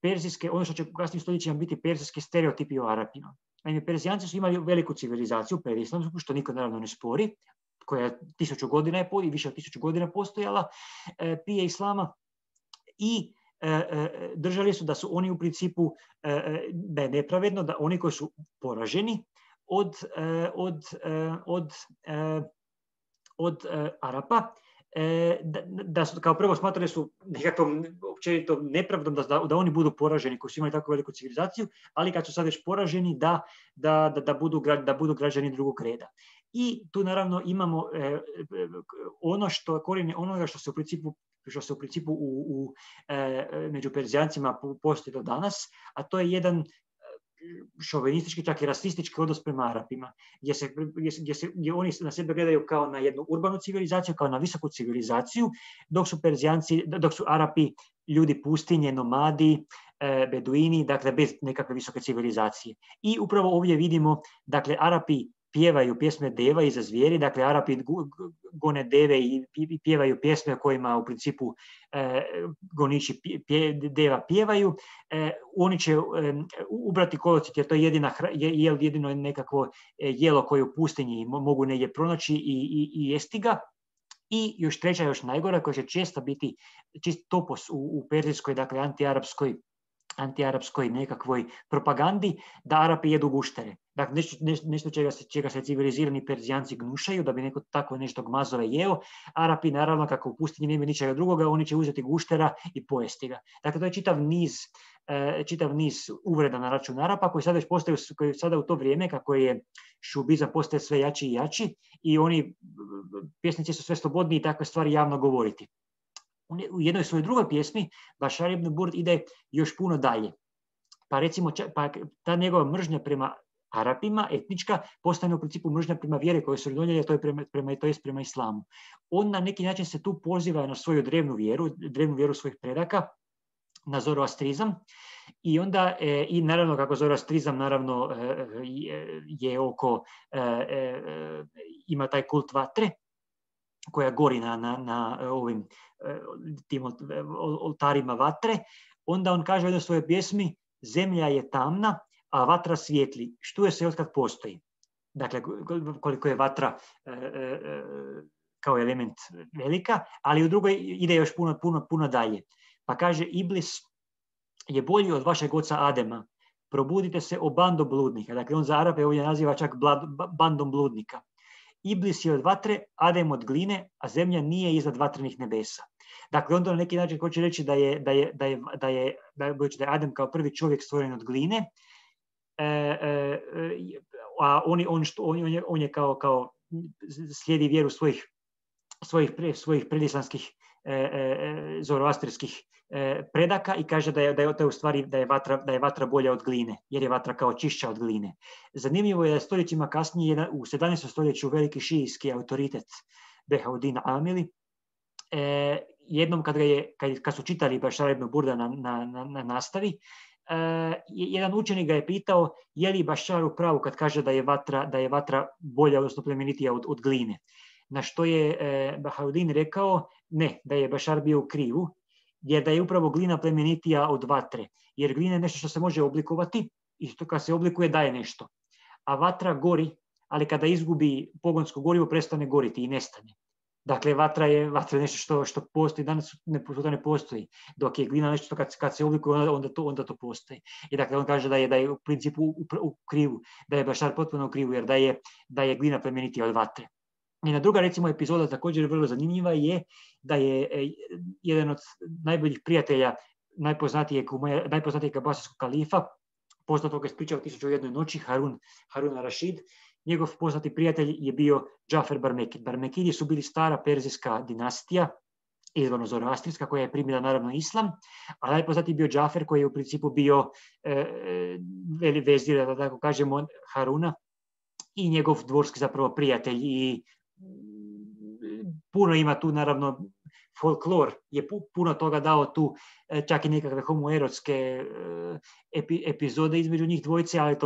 A: perzijske, ono što će u kasnim stoljećima biti perzijske stereotipi o Arapima. Naime, Perzijanci su imali veliku civilizaciju, predislamsku, što niko naravno ne spori, koja je 1000 godina i više od 1000 godina postojala prije islama, i držali su da su oni u principu, da je nepravedno da oni koji su poraženi od Arapa, da su kao prvo smatrali su nekakvom općenito nepravdom da oni budu poraženi koji su imali tako veliku civilizaciju, ali kad su sad već poraženi da budu građani drugog reda. I tu naravno imamo ono što korijene onoga što se u principu među Perzijancima postoji do danas, a to je jedan šovinistički, čak i rasistički odnos prema Arapima, gdje oni na sebe gledaju kao na jednu urbanu civilizaciju, kao na visoku civilizaciju, dok su Arapi ljudi pustinje, nomadi, beduini, dakle bez nekakve visoke civilizacije. I upravo ovdje vidimo, dakle, Arapi pjevaju pjesme deva i za zvijeri, dakle Arapi gone deve i pjevaju pjesme o kojima u principu goniči deva pjevaju. Oni će ubrati kolocit jer to je jedino nekakvo jelo koje u pustinji mogu negdje pronaći i jesti ga. I još treća, još najgora, koja će često biti čist topos u perzijskoj, dakle antiarapskoj nekakvoj propagandi, da Arapi jedu guštere. Dakle, nešto čega se civilizirani Perzijanci gnušaju, da bi neko tako nešto gmazove jeo. Arapi, naravno, kako u pustinji nema ničega drugoga, oni će uzeti guštera i pojesti ga. Dakle, to je čitav niz uvreda na račun Arapa, koji sada već postaju, koji sada u to vrijeme, kako je šubizam postaje sve jači i jači, i oni, pjesnici su sve slobodni i takve stvari javno govoriti. U jednoj svojoj drugoj pjesmi Bašar ibn Burd ide još puno dalje. Pa recimo, ta njegova mržnja prema Arapima, etnička, postane u principu mržnja prema vjeri koje su donijeli, to je prema islamu. On na neki način se tu poziva na svoju drevnu vjeru svojih predaka, na zoroastrizam, i onda, i naravno kako zoroastrizam naravno je ima taj kult vatre, koja gori na ovim tim oltarima vatre, onda on kaže u jednoj svojoj pjesmi: zemlja je tamna, a vatra svijetli, štuje se otkad postoji. Dakle, koliko je vatra kao element velika, ali u drugoj ide još puno dalje. Pa kaže: Iblis je bolji od vašeg oca Adema, probudite se o bando bludnika. Dakle, on za Arape ovdje naziva čak bandom bludnika. Iblis je od vatre, Adem od gline, a zemlja nije iznad vatrenih nebesa. Dakle, onda na neki način hoće reći da je Adem kao prvi čovjek stvoren od gline, a on je kao slijedi vjeru svojih predislamskih zoroastrijskih predaka i kaže da je u stvari da je vatra bolja od gline, jer je vatra kao čišća od gline. Zanimljivo je da stoljećima kasnije, u 17. stoljeću, veliki šijijski autoritet Behauddin Amili, jednom kad su čitali Bašar ibn Burda na nastavi, jedan učenik ga je pitao je li Bašar u pravu kad kaže da je vatra bolja, odnosno plemenitija od gline. Na što je Behauddin rekao ne, da je Bašar bio u krivu, jer da je upravo glina plemenitija od vatre. Jer glina je nešto što se može oblikovati i što kad se oblikuje daje nešto. A vatra gori, ali kada izgubi pogonsko gorivo prestane goriti i nestane. Dakle, vatra je nešto što postoji, danas ne postoji. Dok je glina nešto kad se oblikuje, onda to postoji. I dakle, on kaže da je u principu u krivu, da je Bašar potpuno u krivu, jer da je glina plemenitija od vatre. I na druga, recimo, epizoda također vrlo zanimljiva je da je jedan od najboljih prijatelja najpoznatijeg abbasijskog kalifa, poznatog je ispričao 1001 noći, Harun ar-Rašid, njegov poznati prijatelj je bio Džafer Barmekid. Barmekidi su bili stara perzijska dinastija, izvorno zoroastrijska, koja je primila naravno islam, a najpoznatiji bio Džafer, koji je u principu bio vezir, da tako kažemo, Haruna i njegov dvorski zapravo prijatelj. I puno ima tu naravno folklor, je puno toga dao tu, čak i nekakve homoerotske epizode između njih dvojice, ali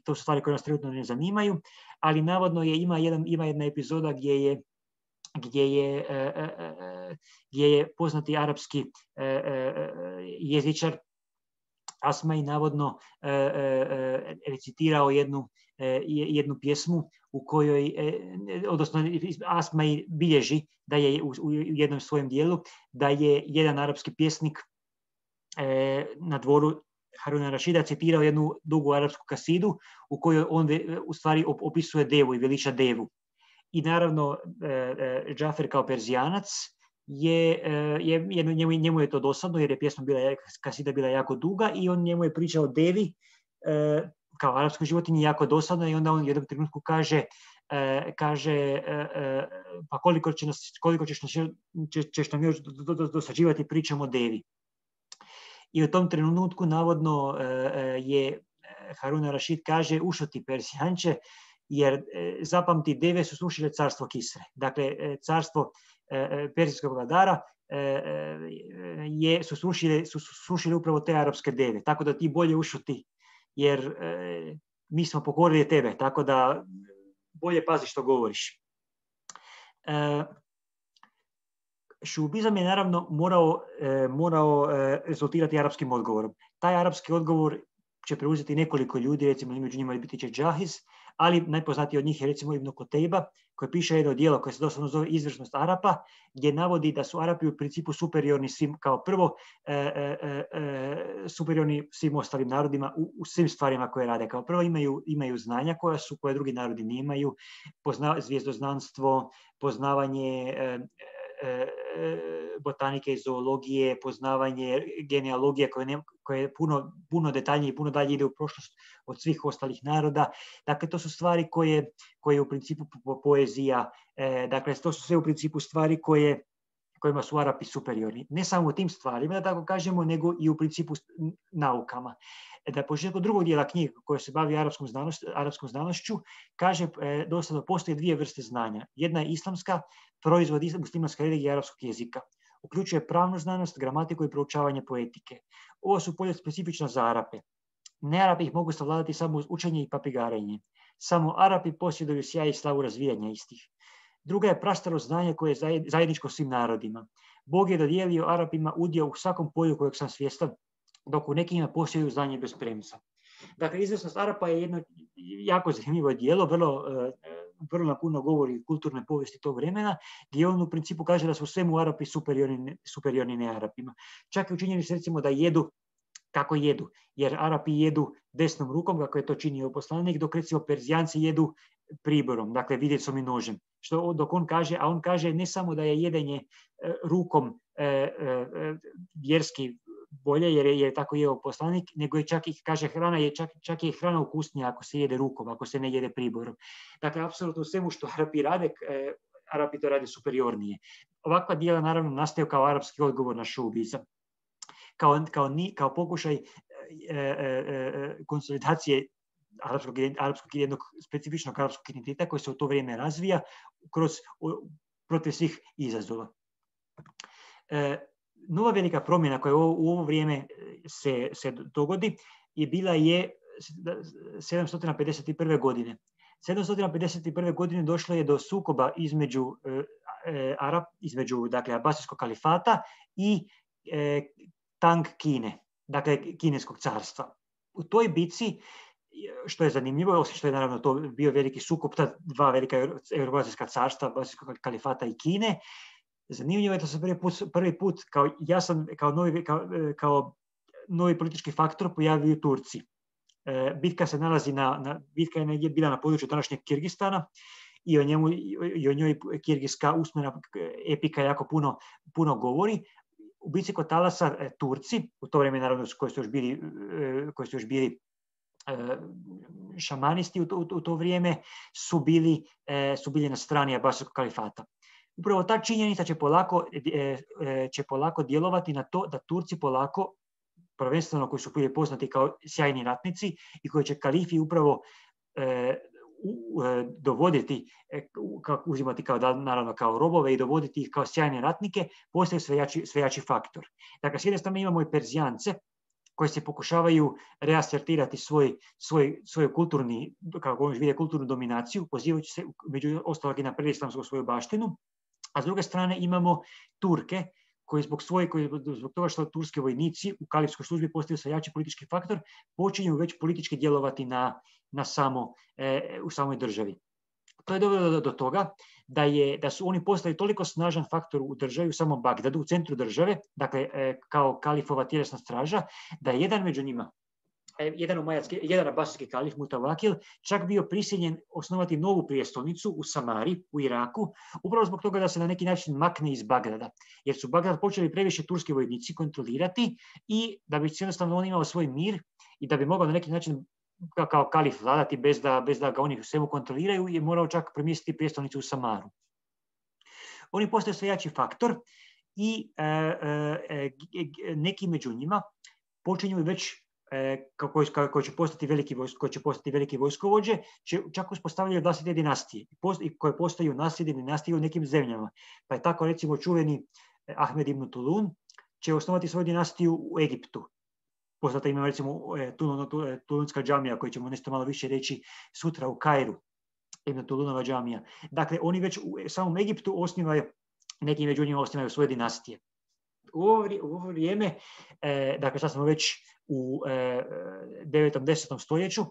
A: to su stvari koje nas trenutno ne zanimaju. Ali navodno ima jedna epizoda gdje je poznati arapski jezičar Asmai navodno recitirao jednu pjesmu u kojoj, odnosno Asmai bilježi da je u jednom svojem dijelu da je jedan arapski pjesnik na dvoru Haruna ar-Rašida citirao jednu dugu arapsku kasidu u kojoj on u stvari opisuje devu i veliča devu. I naravno Džafer kao Perzijanac njemu je to dosadno jer je kasida bila jako duga i on njemu je pričao o devi kao arapskoj životinji jako dosadno i onda on u jednom trenutku kaže pa koliko ćeš nam još dosađivati pričom o devi. I u tom trenutku navodno je Harun ar-Rašid kaže ušuti Perzijanče, jer zapamti, deve su srušile carstvo Kisre. Dakle, carstvo perzijskog vladara su srušile upravo te arapske deve. Tako da ti bolje ušuti, jer mi smo pokorili tebe, tako da bolje pazi što govoriš. Šuubizam je naravno morao rezultirati arapskim odgovorom. Taj arapski odgovor će preuzeti nekoliko ljudi, recimo među njima biti će Džahiz, ali najpoznatiji od njih je recimo Ibn Kutejba, koji piše jedno djelo koje se doslovno zove Izvrsnost Arapa, gdje navodi da su Arapi u principu superiorni svim, kao prvo, superiorni svim ostalim narodima u svim stvarima koje rade. Kao prvo imaju znanja koje drugi narodi nemaju, zvijezdoznanstvo, poznavanje botanike i zoologije, poznavanje genealogije koje je puno detaljnije i puno dalje ide u prošlost od svih ostalih naroda. Dakle, to su stvari koje u principu poezija, dakle, to su sve u principu stvari kojima su Arapi superiorni. Ne samo u tim stvarima, da tako kažemo, nego i u principu naukama. Da početku drugog dijela knjige koja se bavi arapskom znanošću, kaže dosadno postoje dvije vrste znanja. Jedna je islamska, proizvod muslimanske religije arapskog jezika. Uključuje pravnu znanost, gramatiku i proučavanje poetike. Ovo su polja specifična za Arape. Ne-Arapi ih mogu savladati samo uz učenje i papigarenje. Samo Arapi posjeduju sjaj i slavu razvijanja istih. Druga je prastaro znanje koje je zajedničko svim narodima. Bog je dodijelio Arapima udio u svakom polju kojeg sam svjestan, dok u nekima posjeduju znanje bez premca. Dakle, Izvrsnost Arapa je jedno jako zanimljivo djelo, vrlo napuno govori o kulturnoj povijesti tog vremena, gdje on u principu kaže da su svemu Arapi superiorni ne-Arapima. Čak i učinjeni se recimo da jedu kako jedu, jer Arapi jedu desnom rukom, kako je to činio poslanik, dok recimo Perzijanci jedu priborom, dakle vidjecom i nožem. Dok on kaže ne samo da je jedenje rukom vjerski bolje jer je tako jeo poslanik, nego je čak i, kaže, hrana je čak je hrana ukusnija ako se jede rukom, ako se ne jede priborom. Dakle, apsolutno svemu što Arapi rade, Arapi to rade superiornije. Ovakva dijela naravno nastaju kao arapski odgovor na šoubizam. Kao pokušaj konsolidacije arapskog jednog specifičnog arapskog identiteta koji se u to vrijeme razvija protiv svih izazova. Nova velika promjena koja u ovo vrijeme se dogodi bila je 751. godine. 751. godine došlo je do sukoba između dakle, Abasijskog kalifata i Tang Kine, dakle kineskog carstva. U toj bitci, što je zanimljivo, osim što je naravno to bio veliki sukob ta dva velika euroazijska carstva, Abasijskog kalifata i Kine, zanimljivo je da se prvi put kao novi politički faktor pojavio Turci. Bitka se nalazi bitka je bila na području današnjeg Kirgistana i o njoj kirgijska usmena epika jako puno govori. U bitci kod Talasa Turci, u to vrijeme naravno koji su još bili šamanisti u to vrijeme, su bili na strani Abasijskog kalifata. Upravo ta činjenica će polako djelovati na to da Turci polako, prvenstveno koji su bili poznati kao sjajni ratnici i koji će kalifi upravo dovoditi, uzimati naravno kao robove i dovoditi ih kao sjajne ratnike, postaju sve jači faktor. Dakle, s jedne strane imamo i Perzijance koji se pokušavaju reasertirati svoj kulturnu dominaciju, pozivajući se među ostalog i na predislamsku svoju baštinu, a s druge strane imamo Turke koji zbog toga što turski vojnici u kalifskoj službi postaju sve jači politički faktor, počinju već politički djelovati u samoj državi. To je dovelo do toga da su oni postali toliko snažan faktor u državi, u samom Bagdadu, u centru države, dakle kao kalifova tjelesna straža, da je jedan među njima, jedan abasijski kalif Mutawakil, čak bio prisiljen osnovati novu prijestolnicu u Samari, u Iraku, upravo zbog toga da se na neki način makne iz Bagdada, jer su Bagdad počeli previše turski vojnici kontrolirati i da bi jednostavno on imao svoj mir i da bi mogao na neki način kao kalif vladati bez da ga oni svemu kontroliraju, je morao čak premjestiti prijestolnicu u Samaru. Oni postaju sve jači faktor i neki među njima počinju već koji će postati veliki vojskovođe, čak uspostavljaju vlastite dinastije koje postaju nasljedne dinastije u nekim zemljama. Pa je tako recimo čuveni Ahmed ibn Tulun će osnovati svoju dinastiju u Egiptu. Poznata ima recimo Tulunska džamija, koju ćemo nešto malo više reći sutra u Kairu, Ibn Tulunova džamija. Dakle, oni već u samom Egiptu neki među njima osnivaju svoje dinastije. U ovo vrijeme, dakle sad smo već u 9. 10. stoljeću,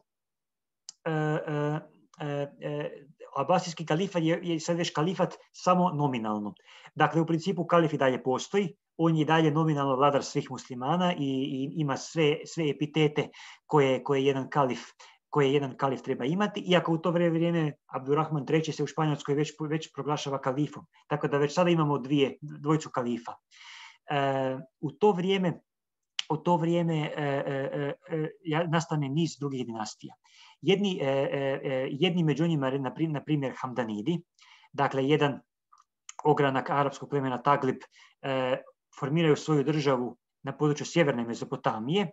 A: Abasijski kalifat je sad već kalifat samo nominalno. Dakle, u principu kalif i dalje postoji, on je dalje nominalno vladar svih muslimana i ima sve epitete koje jedan kalif treba imati, iako u to vrijeme Abdurrahman III se u Španjolskoj već proglašava kalifom. Tako da već sada imamo dvojicu kalifa. U to vrijeme nastane niz drugih dinastija. Jedni među njima, na primjer Hamdanidi, dakle jedan ogranak arapskog plemena Taglib, formiraju svoju državu na području sjeverne Mezopotamije,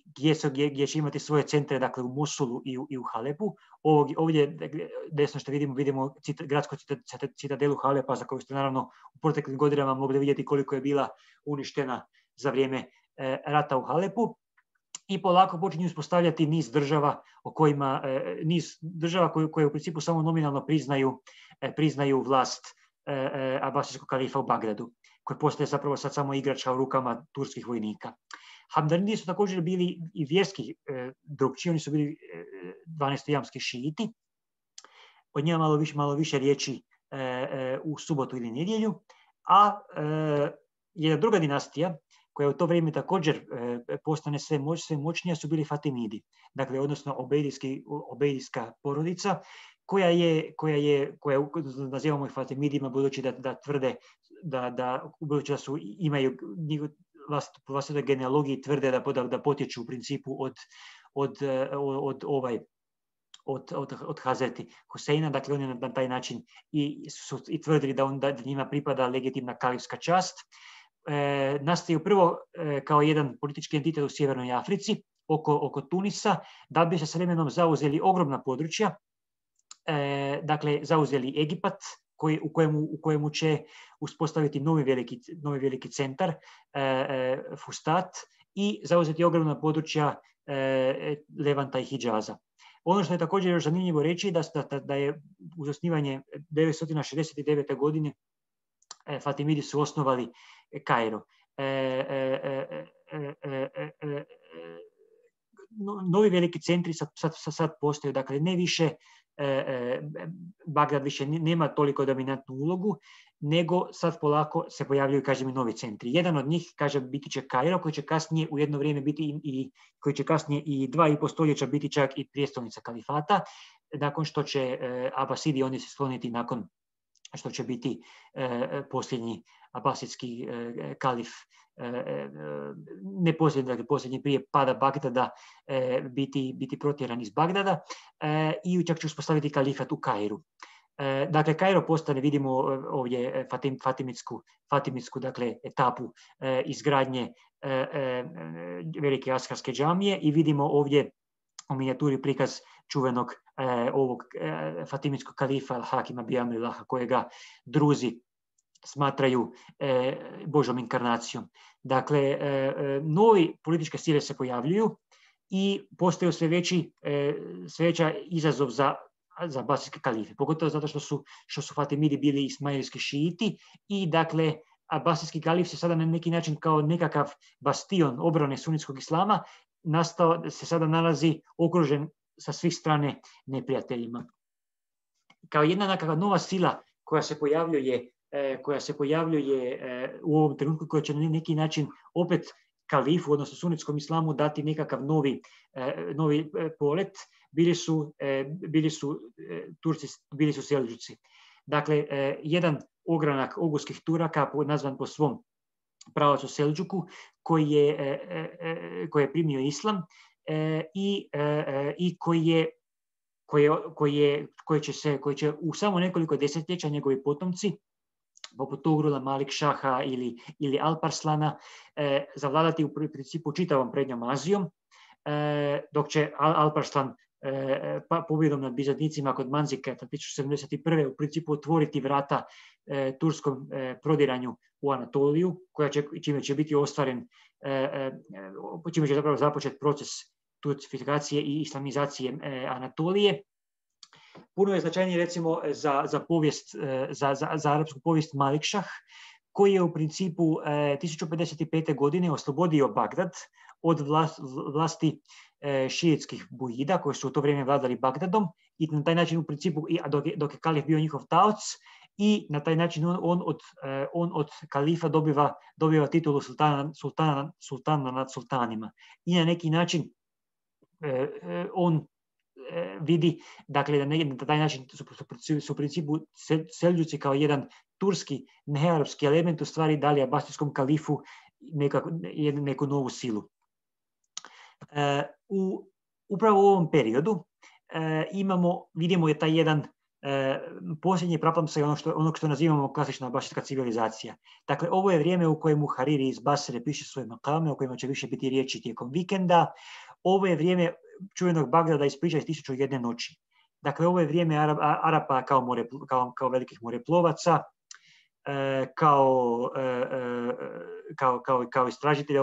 A: gdje će imati svoje centre, dakle u Mosulu i u Halepu. Ovdje desno što vidimo gradsku citadelu Halepa, za koju ste naravno u proteklim godinama mogli vidjeti koliko je bila uništena za vrijeme rata u Halepu. I polako počinju uspostavljati niz država koje u principu samo nominalno priznaju vlast Abasijskog kalifa u Bagdadu, koji postaje zapravo sad samo igračka u rukama turskih vojnika. Hamdanidi su također bili i vjerski drukčiji, oni su bili 12-jamski šiiti. Od njima malo više riječi u subotu ili nedjelju. A jedna druga dinastija koja u to vrijeme također postane sve moćnija su bili Fatimidi, dakle odnosno obejdijska porodica koja nazivamo ih Fatimidima budući da tvrde budući da imaju vlastitoj genealogiji tvrde da potječu u principu od Hazreti Huseina, dakle oni na taj način i tvrdili da njima pripada legitimna kalifska čast. Nastaju prvo kao jedan politički entitet u Sjevernoj Africi, oko Tunisa, da bi se s vremenom zauzeli ogromna područja, dakle zauzeli Egipat, u kojemu će uspostaviti novi veliki centar, Fustat, i zauzeti ogromna područja Levanta i Hidžaza. Ono što je također još zanimljivo reći da je uz osnivanje 969. godine Fatimidi su osnovali Kairo. Novi veliki centri sad postoje, dakle ne više Bagdad više nema toliko dominantnu ulogu, nego sad polako se pojavljaju, kažem, i novi centri. Jedan od njih, kažem, biti će Kairo, koji će kasnije u jedno vrijeme biti koji će kasnije i 2,5 stoljeća biti čak i prijestolnica kalifata, nakon što će Abasidi oni se skloniti nakon što će biti posljednji abasidski kalif, ne posljednji, dakle posljednji prije pada Bagdada, biti protjeran iz Bagdada i čak će uspostaviti kalifat u Kairu. Dakle, Kairo postane, vidimo ovdje fatimitsku dakle, etapu izgradnje velike askarske džamije i vidimo ovdje u minijaturi prikaz čuvenog ovog fatimitskog kalifa Al-Hakima bi Amrillaha, kojega Druzi smatraju Božom inkarnacijom. Dakle, novi političke sile se pojavljuju i postaju sve veća izazov za abasijske kalife, pogotovo zato što su Fatimidi bili ismailski šiiti i dakle abasijski kalif se sada na neki način kao nekakav bastion obrane sunitskog islama se sada nalazi okružen sa svih strane neprijateljima. Kao jedna nekakva nova sila koja se pojavljuje u ovom trenutku, koja će na neki način opet kalifu, odnosno sunitskom islamu, dati nekakav novi polet, bili su Turci, bili su Selđuci. Dakle, jedan ogranak oguskih Turaka, nazvan po svom pravacu Selđuku, koji je primio islam i koji će u samo nekoliko desetljeća njegovi potomci, poput Togrula, Malik Šaha ili Alparslana, zavladati u principu čitavom prednjom Azijom, dok će Alparslan pobjedom nad Bizanticima kod Manzika 1071. u principu otvoriti vrata turskom prodiranju u Anatoliju, čime će biti ostvaren, čime će zapravo započet proces turcifikacije i islamizacije Anatolije. Puno je značajnije recimo za arapsku povijest Malik Šah, koji je u principu 1055. godine oslobodio Bagdad od vlasti šiitskih bujida koji su u to vrijeme vladali Bagdadom i na taj način u principu, dok je kalif bio njihov taoc, i na taj način on od kalifa dobiva titulu sultana nad sultanima. I na neki način on vidi, dakle, da na taj način su u principu Selđuci kao jedan turski, nearapski element u stvari dali abasijskom kalifu neku novu silu. Upravo u ovom periodu vidimo je taj jedan posljednji praplamsaj onog što nazivamo klasična abasijska civilizacija. Dakle, ovo je vrijeme u kojemu Hariri iz Basre piše svoje makame, o kojima će više biti riječi tijekom vikenda. Ovo je vrijeme čuvenog Bagdada iz priča iz 1001 noći. Dakle, ovo je vrijeme Arapa kao velikih moreplovaca, kao istražitelja,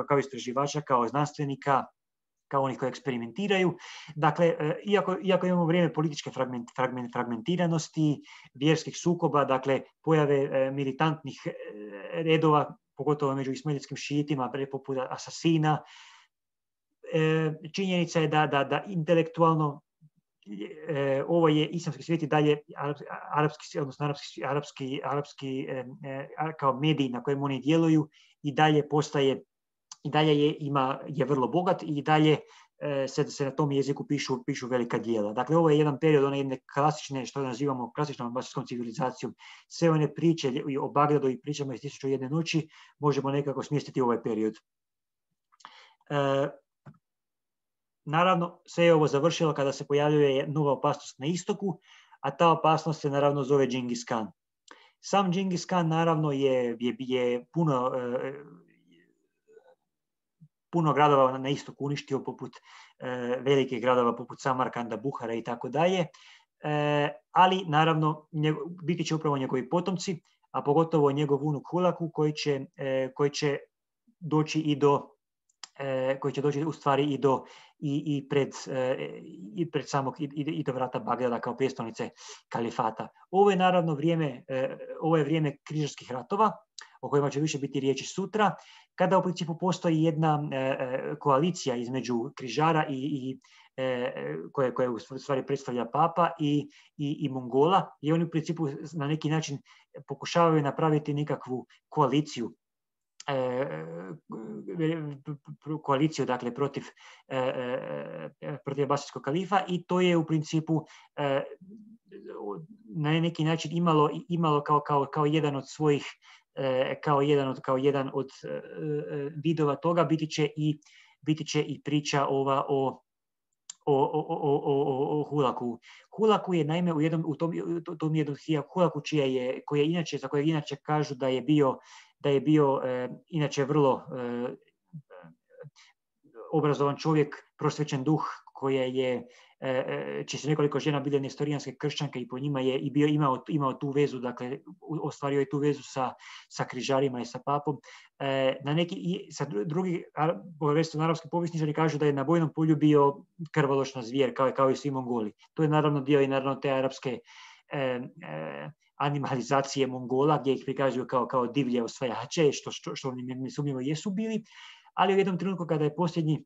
A: kao istraživača, kao znanstvenika, kao onih koji eksperimentiraju. Dakle, iako imamo vrijeme političke fragmentiranosti, vjerskih sukoba, dakle, pojave militantnih redova, pogotovo među ismailskim šiitima, poput asasina, činjenica je da intelektualno ovo je islamski svijet i dalje arapski, odnosno arapski kao mediji na kojem oni djeluju i dalje postaje, i dalje je vrlo bogat i dalje se na tom jeziku pišu velika djela. Dakle, ovo je jedan period one jedne klasične, što nazivamo klasičnom abasijskom civilizacijom. Sve one priče o Bagdadu i pričama iz 1001 noći možemo nekako smjestiti u ovaj period. Naravno, sve je ovo završilo kada se pojavljuje nova opasnost na istoku, a ta opasnost se naravno zove Džingis Khan. Sam Džingis Khan naravno je puno gradova na istoku uništio, poput velikih gradova poput Samarkanda, Buhara i tako dalje, ali naravno biti će upravo njegovi potomci, a pogotovo njegov unuk Hulagu koji će doći u stvari i pred samog i do vrata Bagdada kao prijestolnice kalifata. Ovo je naravno vrijeme križarskih ratova, o kojima će više biti riječi sutra, kada u principu postoji jedna koalicija između križara koje u stvari predstavlja papa i Mongola, i oni u principu na neki način pokušavaju napraviti nekakvu koaliciju dakle protiv abasijskog kalifa, i to je u principu na neki način imalo kao jedan od svojih kao jedan od vidova toga biti će i priča ova o Hulagu. Hulagu je naime u tom jednom Hulagu za kojeg inače kažu da je bio inače vrlo obrazovan čovjek, prosvećen duh, čije su nekoliko žena bile nestorijanske kršćanke i po njima je i imao tu vezu, dakle ostvario je tu vezu sa križarima i sa papom. Drugi arapski povjesničari kažu da je na bojnom polju bio krvoločna zvijer, kao i svi Mongoli. To je naravno dio i naravno te arapske animalizacije Mongola, gdje ih prikazuju kao divlje osvajače, što oni nesumnjivo jesu bili, ali u jednom trenutku kada je posljednji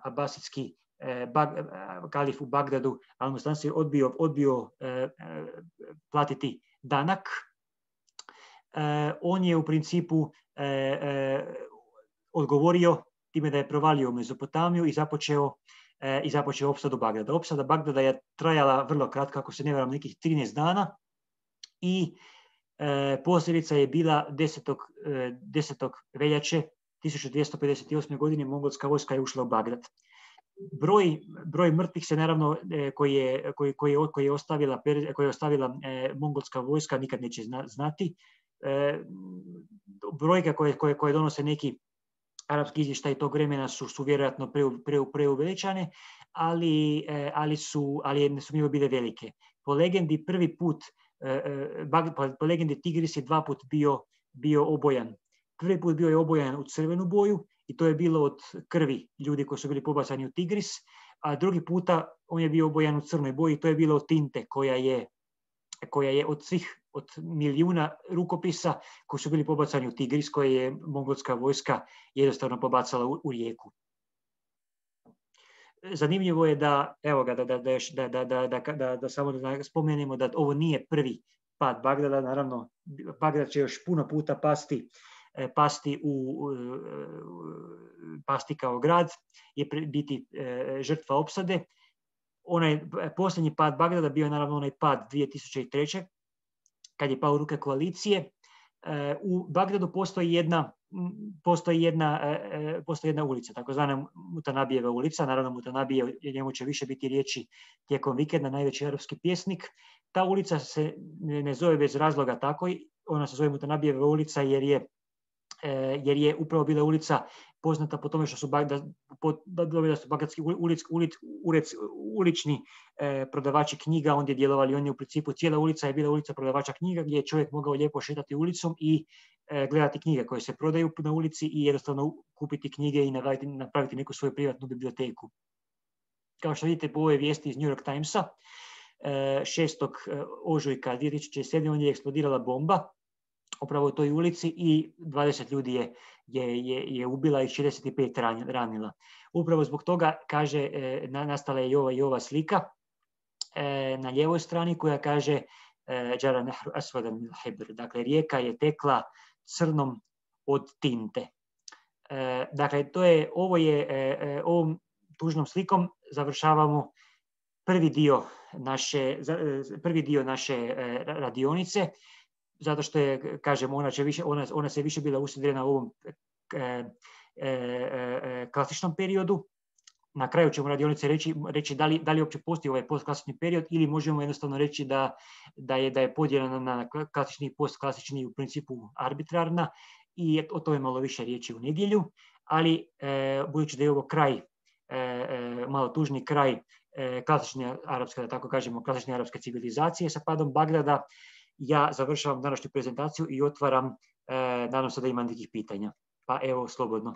A: abasitski kalif u Bagdadu, Al-Mustansir, odbio platiti danak, on je u principu odgovorio time da je provalio u Mezopotamiju i započeo opsadu Bagdada. Opsada Bagdada je trajala vrlo kratko, ako se ne varam, nekih 13 dana, i posljedica je bila 10. veljače 1258. godine mongolska vojska je ušla u Bagdad. Broj mrtvih se naravno koji je ostavila mongolska vojska nikad neće znati. Brojke koje donose neki arapski izvještaj tog vremena su vjerojatno preuveličane, ali nesumnjivo bile velike. Po legendi po legendi Tigris je 2 put bio obojan. Prvi put bio je obojan u crvenu boju i to je bilo od krvi ljudi koji su bili pobacani u Tigris, a drugi puta on je bio obojan u crnoj boji i to je bilo od tinte koja je od milijuna rukopisa koji su bili pobacani u Tigris, koje je mongolska vojska jednostavno pobacala u rijeku. Zanimljivo je da samo da spomenemo da ovo nije prvi pad Bagdada. Naravno, Bagdad će još puno puta pasti kao grad i biti žrtva opsade. Onaj posljednji pad Bagdada bio je naravno onaj pad 2003. kad je pao u ruke koalicije. U Bagdadu postoji jedna ulica, takozvana Mutanabijeva ulica. Naravno, Mutanabije, njemu će više biti riječi tijekom vikenda, najveći arapski pjesnik. Ta ulica se ne zove bez razloga tako, ona se zove Mutanabijeva ulica jer je upravo bila ulica poznata po tome što su bagdadski ulični prodavači knjiga ondje djelovali. Oni u principu, cijela ulica je bila ulica prodavača knjiga gdje je čovjek mogao lijepo šetati ulicom i gledati knjige koje se prodaju na ulici i jednostavno kupiti knjige i napraviti neku svoju privatnu biblioteku. Kao što vidite po ovoj vijesti iz New York Timesa, 6. ožujka 2007. ondje je eksplodirala bomba upravo u toj ulici i 20 ljudi je ubila i 65 ranila. Upravo zbog toga, kaže, nastala je i ova slika na lijevoj strani koja kaže Džara nehru asvadan min hibr. Dakle, rijeka je tekla crnom od tinte. Dakle, ovom tužnom slikom završavamo prvi dio naše radionice, zato što je, kažem, ona se više bila usmjerena u ovom klasičnom periodu. Na kraju ćemo radionice reći da li uopće postoji ovaj postklasični period ili možemo jednostavno reći da je podijeljena na klasični i postklasični u principu arbitrarna i o tome malo više riječi u nedjelju, ali budući da je ovo kraj, malo tužni kraj klasične arapske, da tako kažemo, klasične arapske civilizacije sa padom Bagdada, ja završavam današnju prezentaciju i otvaram, nadam se da ima nekih pitanja. Pa evo, slobodno.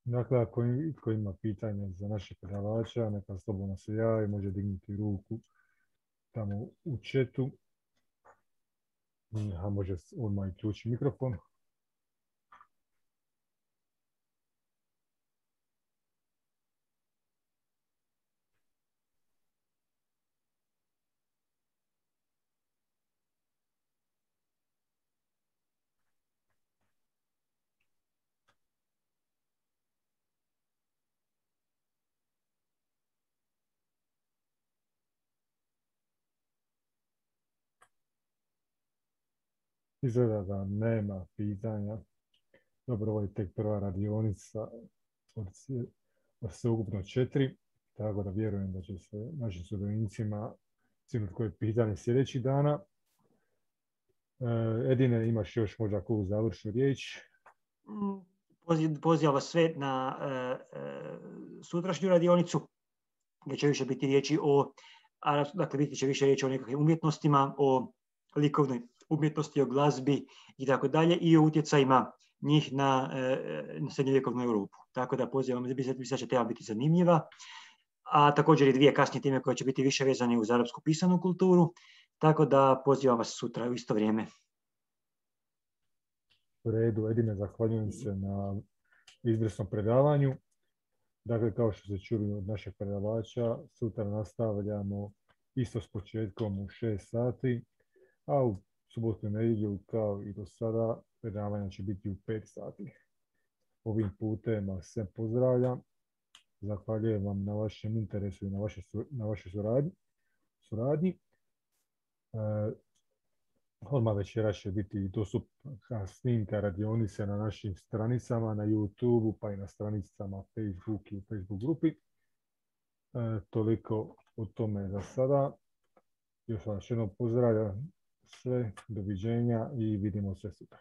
B: Dakle, ako ima pitanja za našeg predavača, neka slobodno se javi, može dignuti ruku tamo u chatu, a može odmah i ključi mikrofon. Izgleda da nema pitanja. Dobro, ovo je tek prva radionica od sveukupno 4, tako da vjerujem da će se našim sudionicima sigurno koje pitanje sljedećih dana. Edine, imaš još možda koju završnu riječ?
A: Pozivam vas sve na sutrašnju radionicu, gdje će više biti riječi dakle, biti će više riječi o nekakvim umjetnostima, o likovnoj umjetnosti, o glazbi i tako dalje, i o utjecajima njih na srednjovjekovnu Europu. Tako da pozivam, mislim da će tema biti zanimljiva, a također i dvije kasnije teme koje će biti više vezane uz arapsku pisanu kulturu, tako da pozivam vas sutra u isto vrijeme.
B: U redu, Edine, zahvaljujem se na izvrsnom predavanju. Dakle, kao što ste čuli od našeg predavača, sutra nastavljamo isto s početkom u 6 sati, a u subotu i nedjelju, kao i do sada, predavanja će biti u 5 sati. Ovim putem vas sve pozdravljam. Zahvaljujem vam na vašem interesu i na vašoj suradnji. Odmah večera će biti dostupna snimka radionice na našim stranicama, na YouTube, pa i na stranicama Facebook i u Facebook grupi. Toliko o tome za sada. Još vam još jednom pozdravljam sve, doviđenja i vidimo se sutra.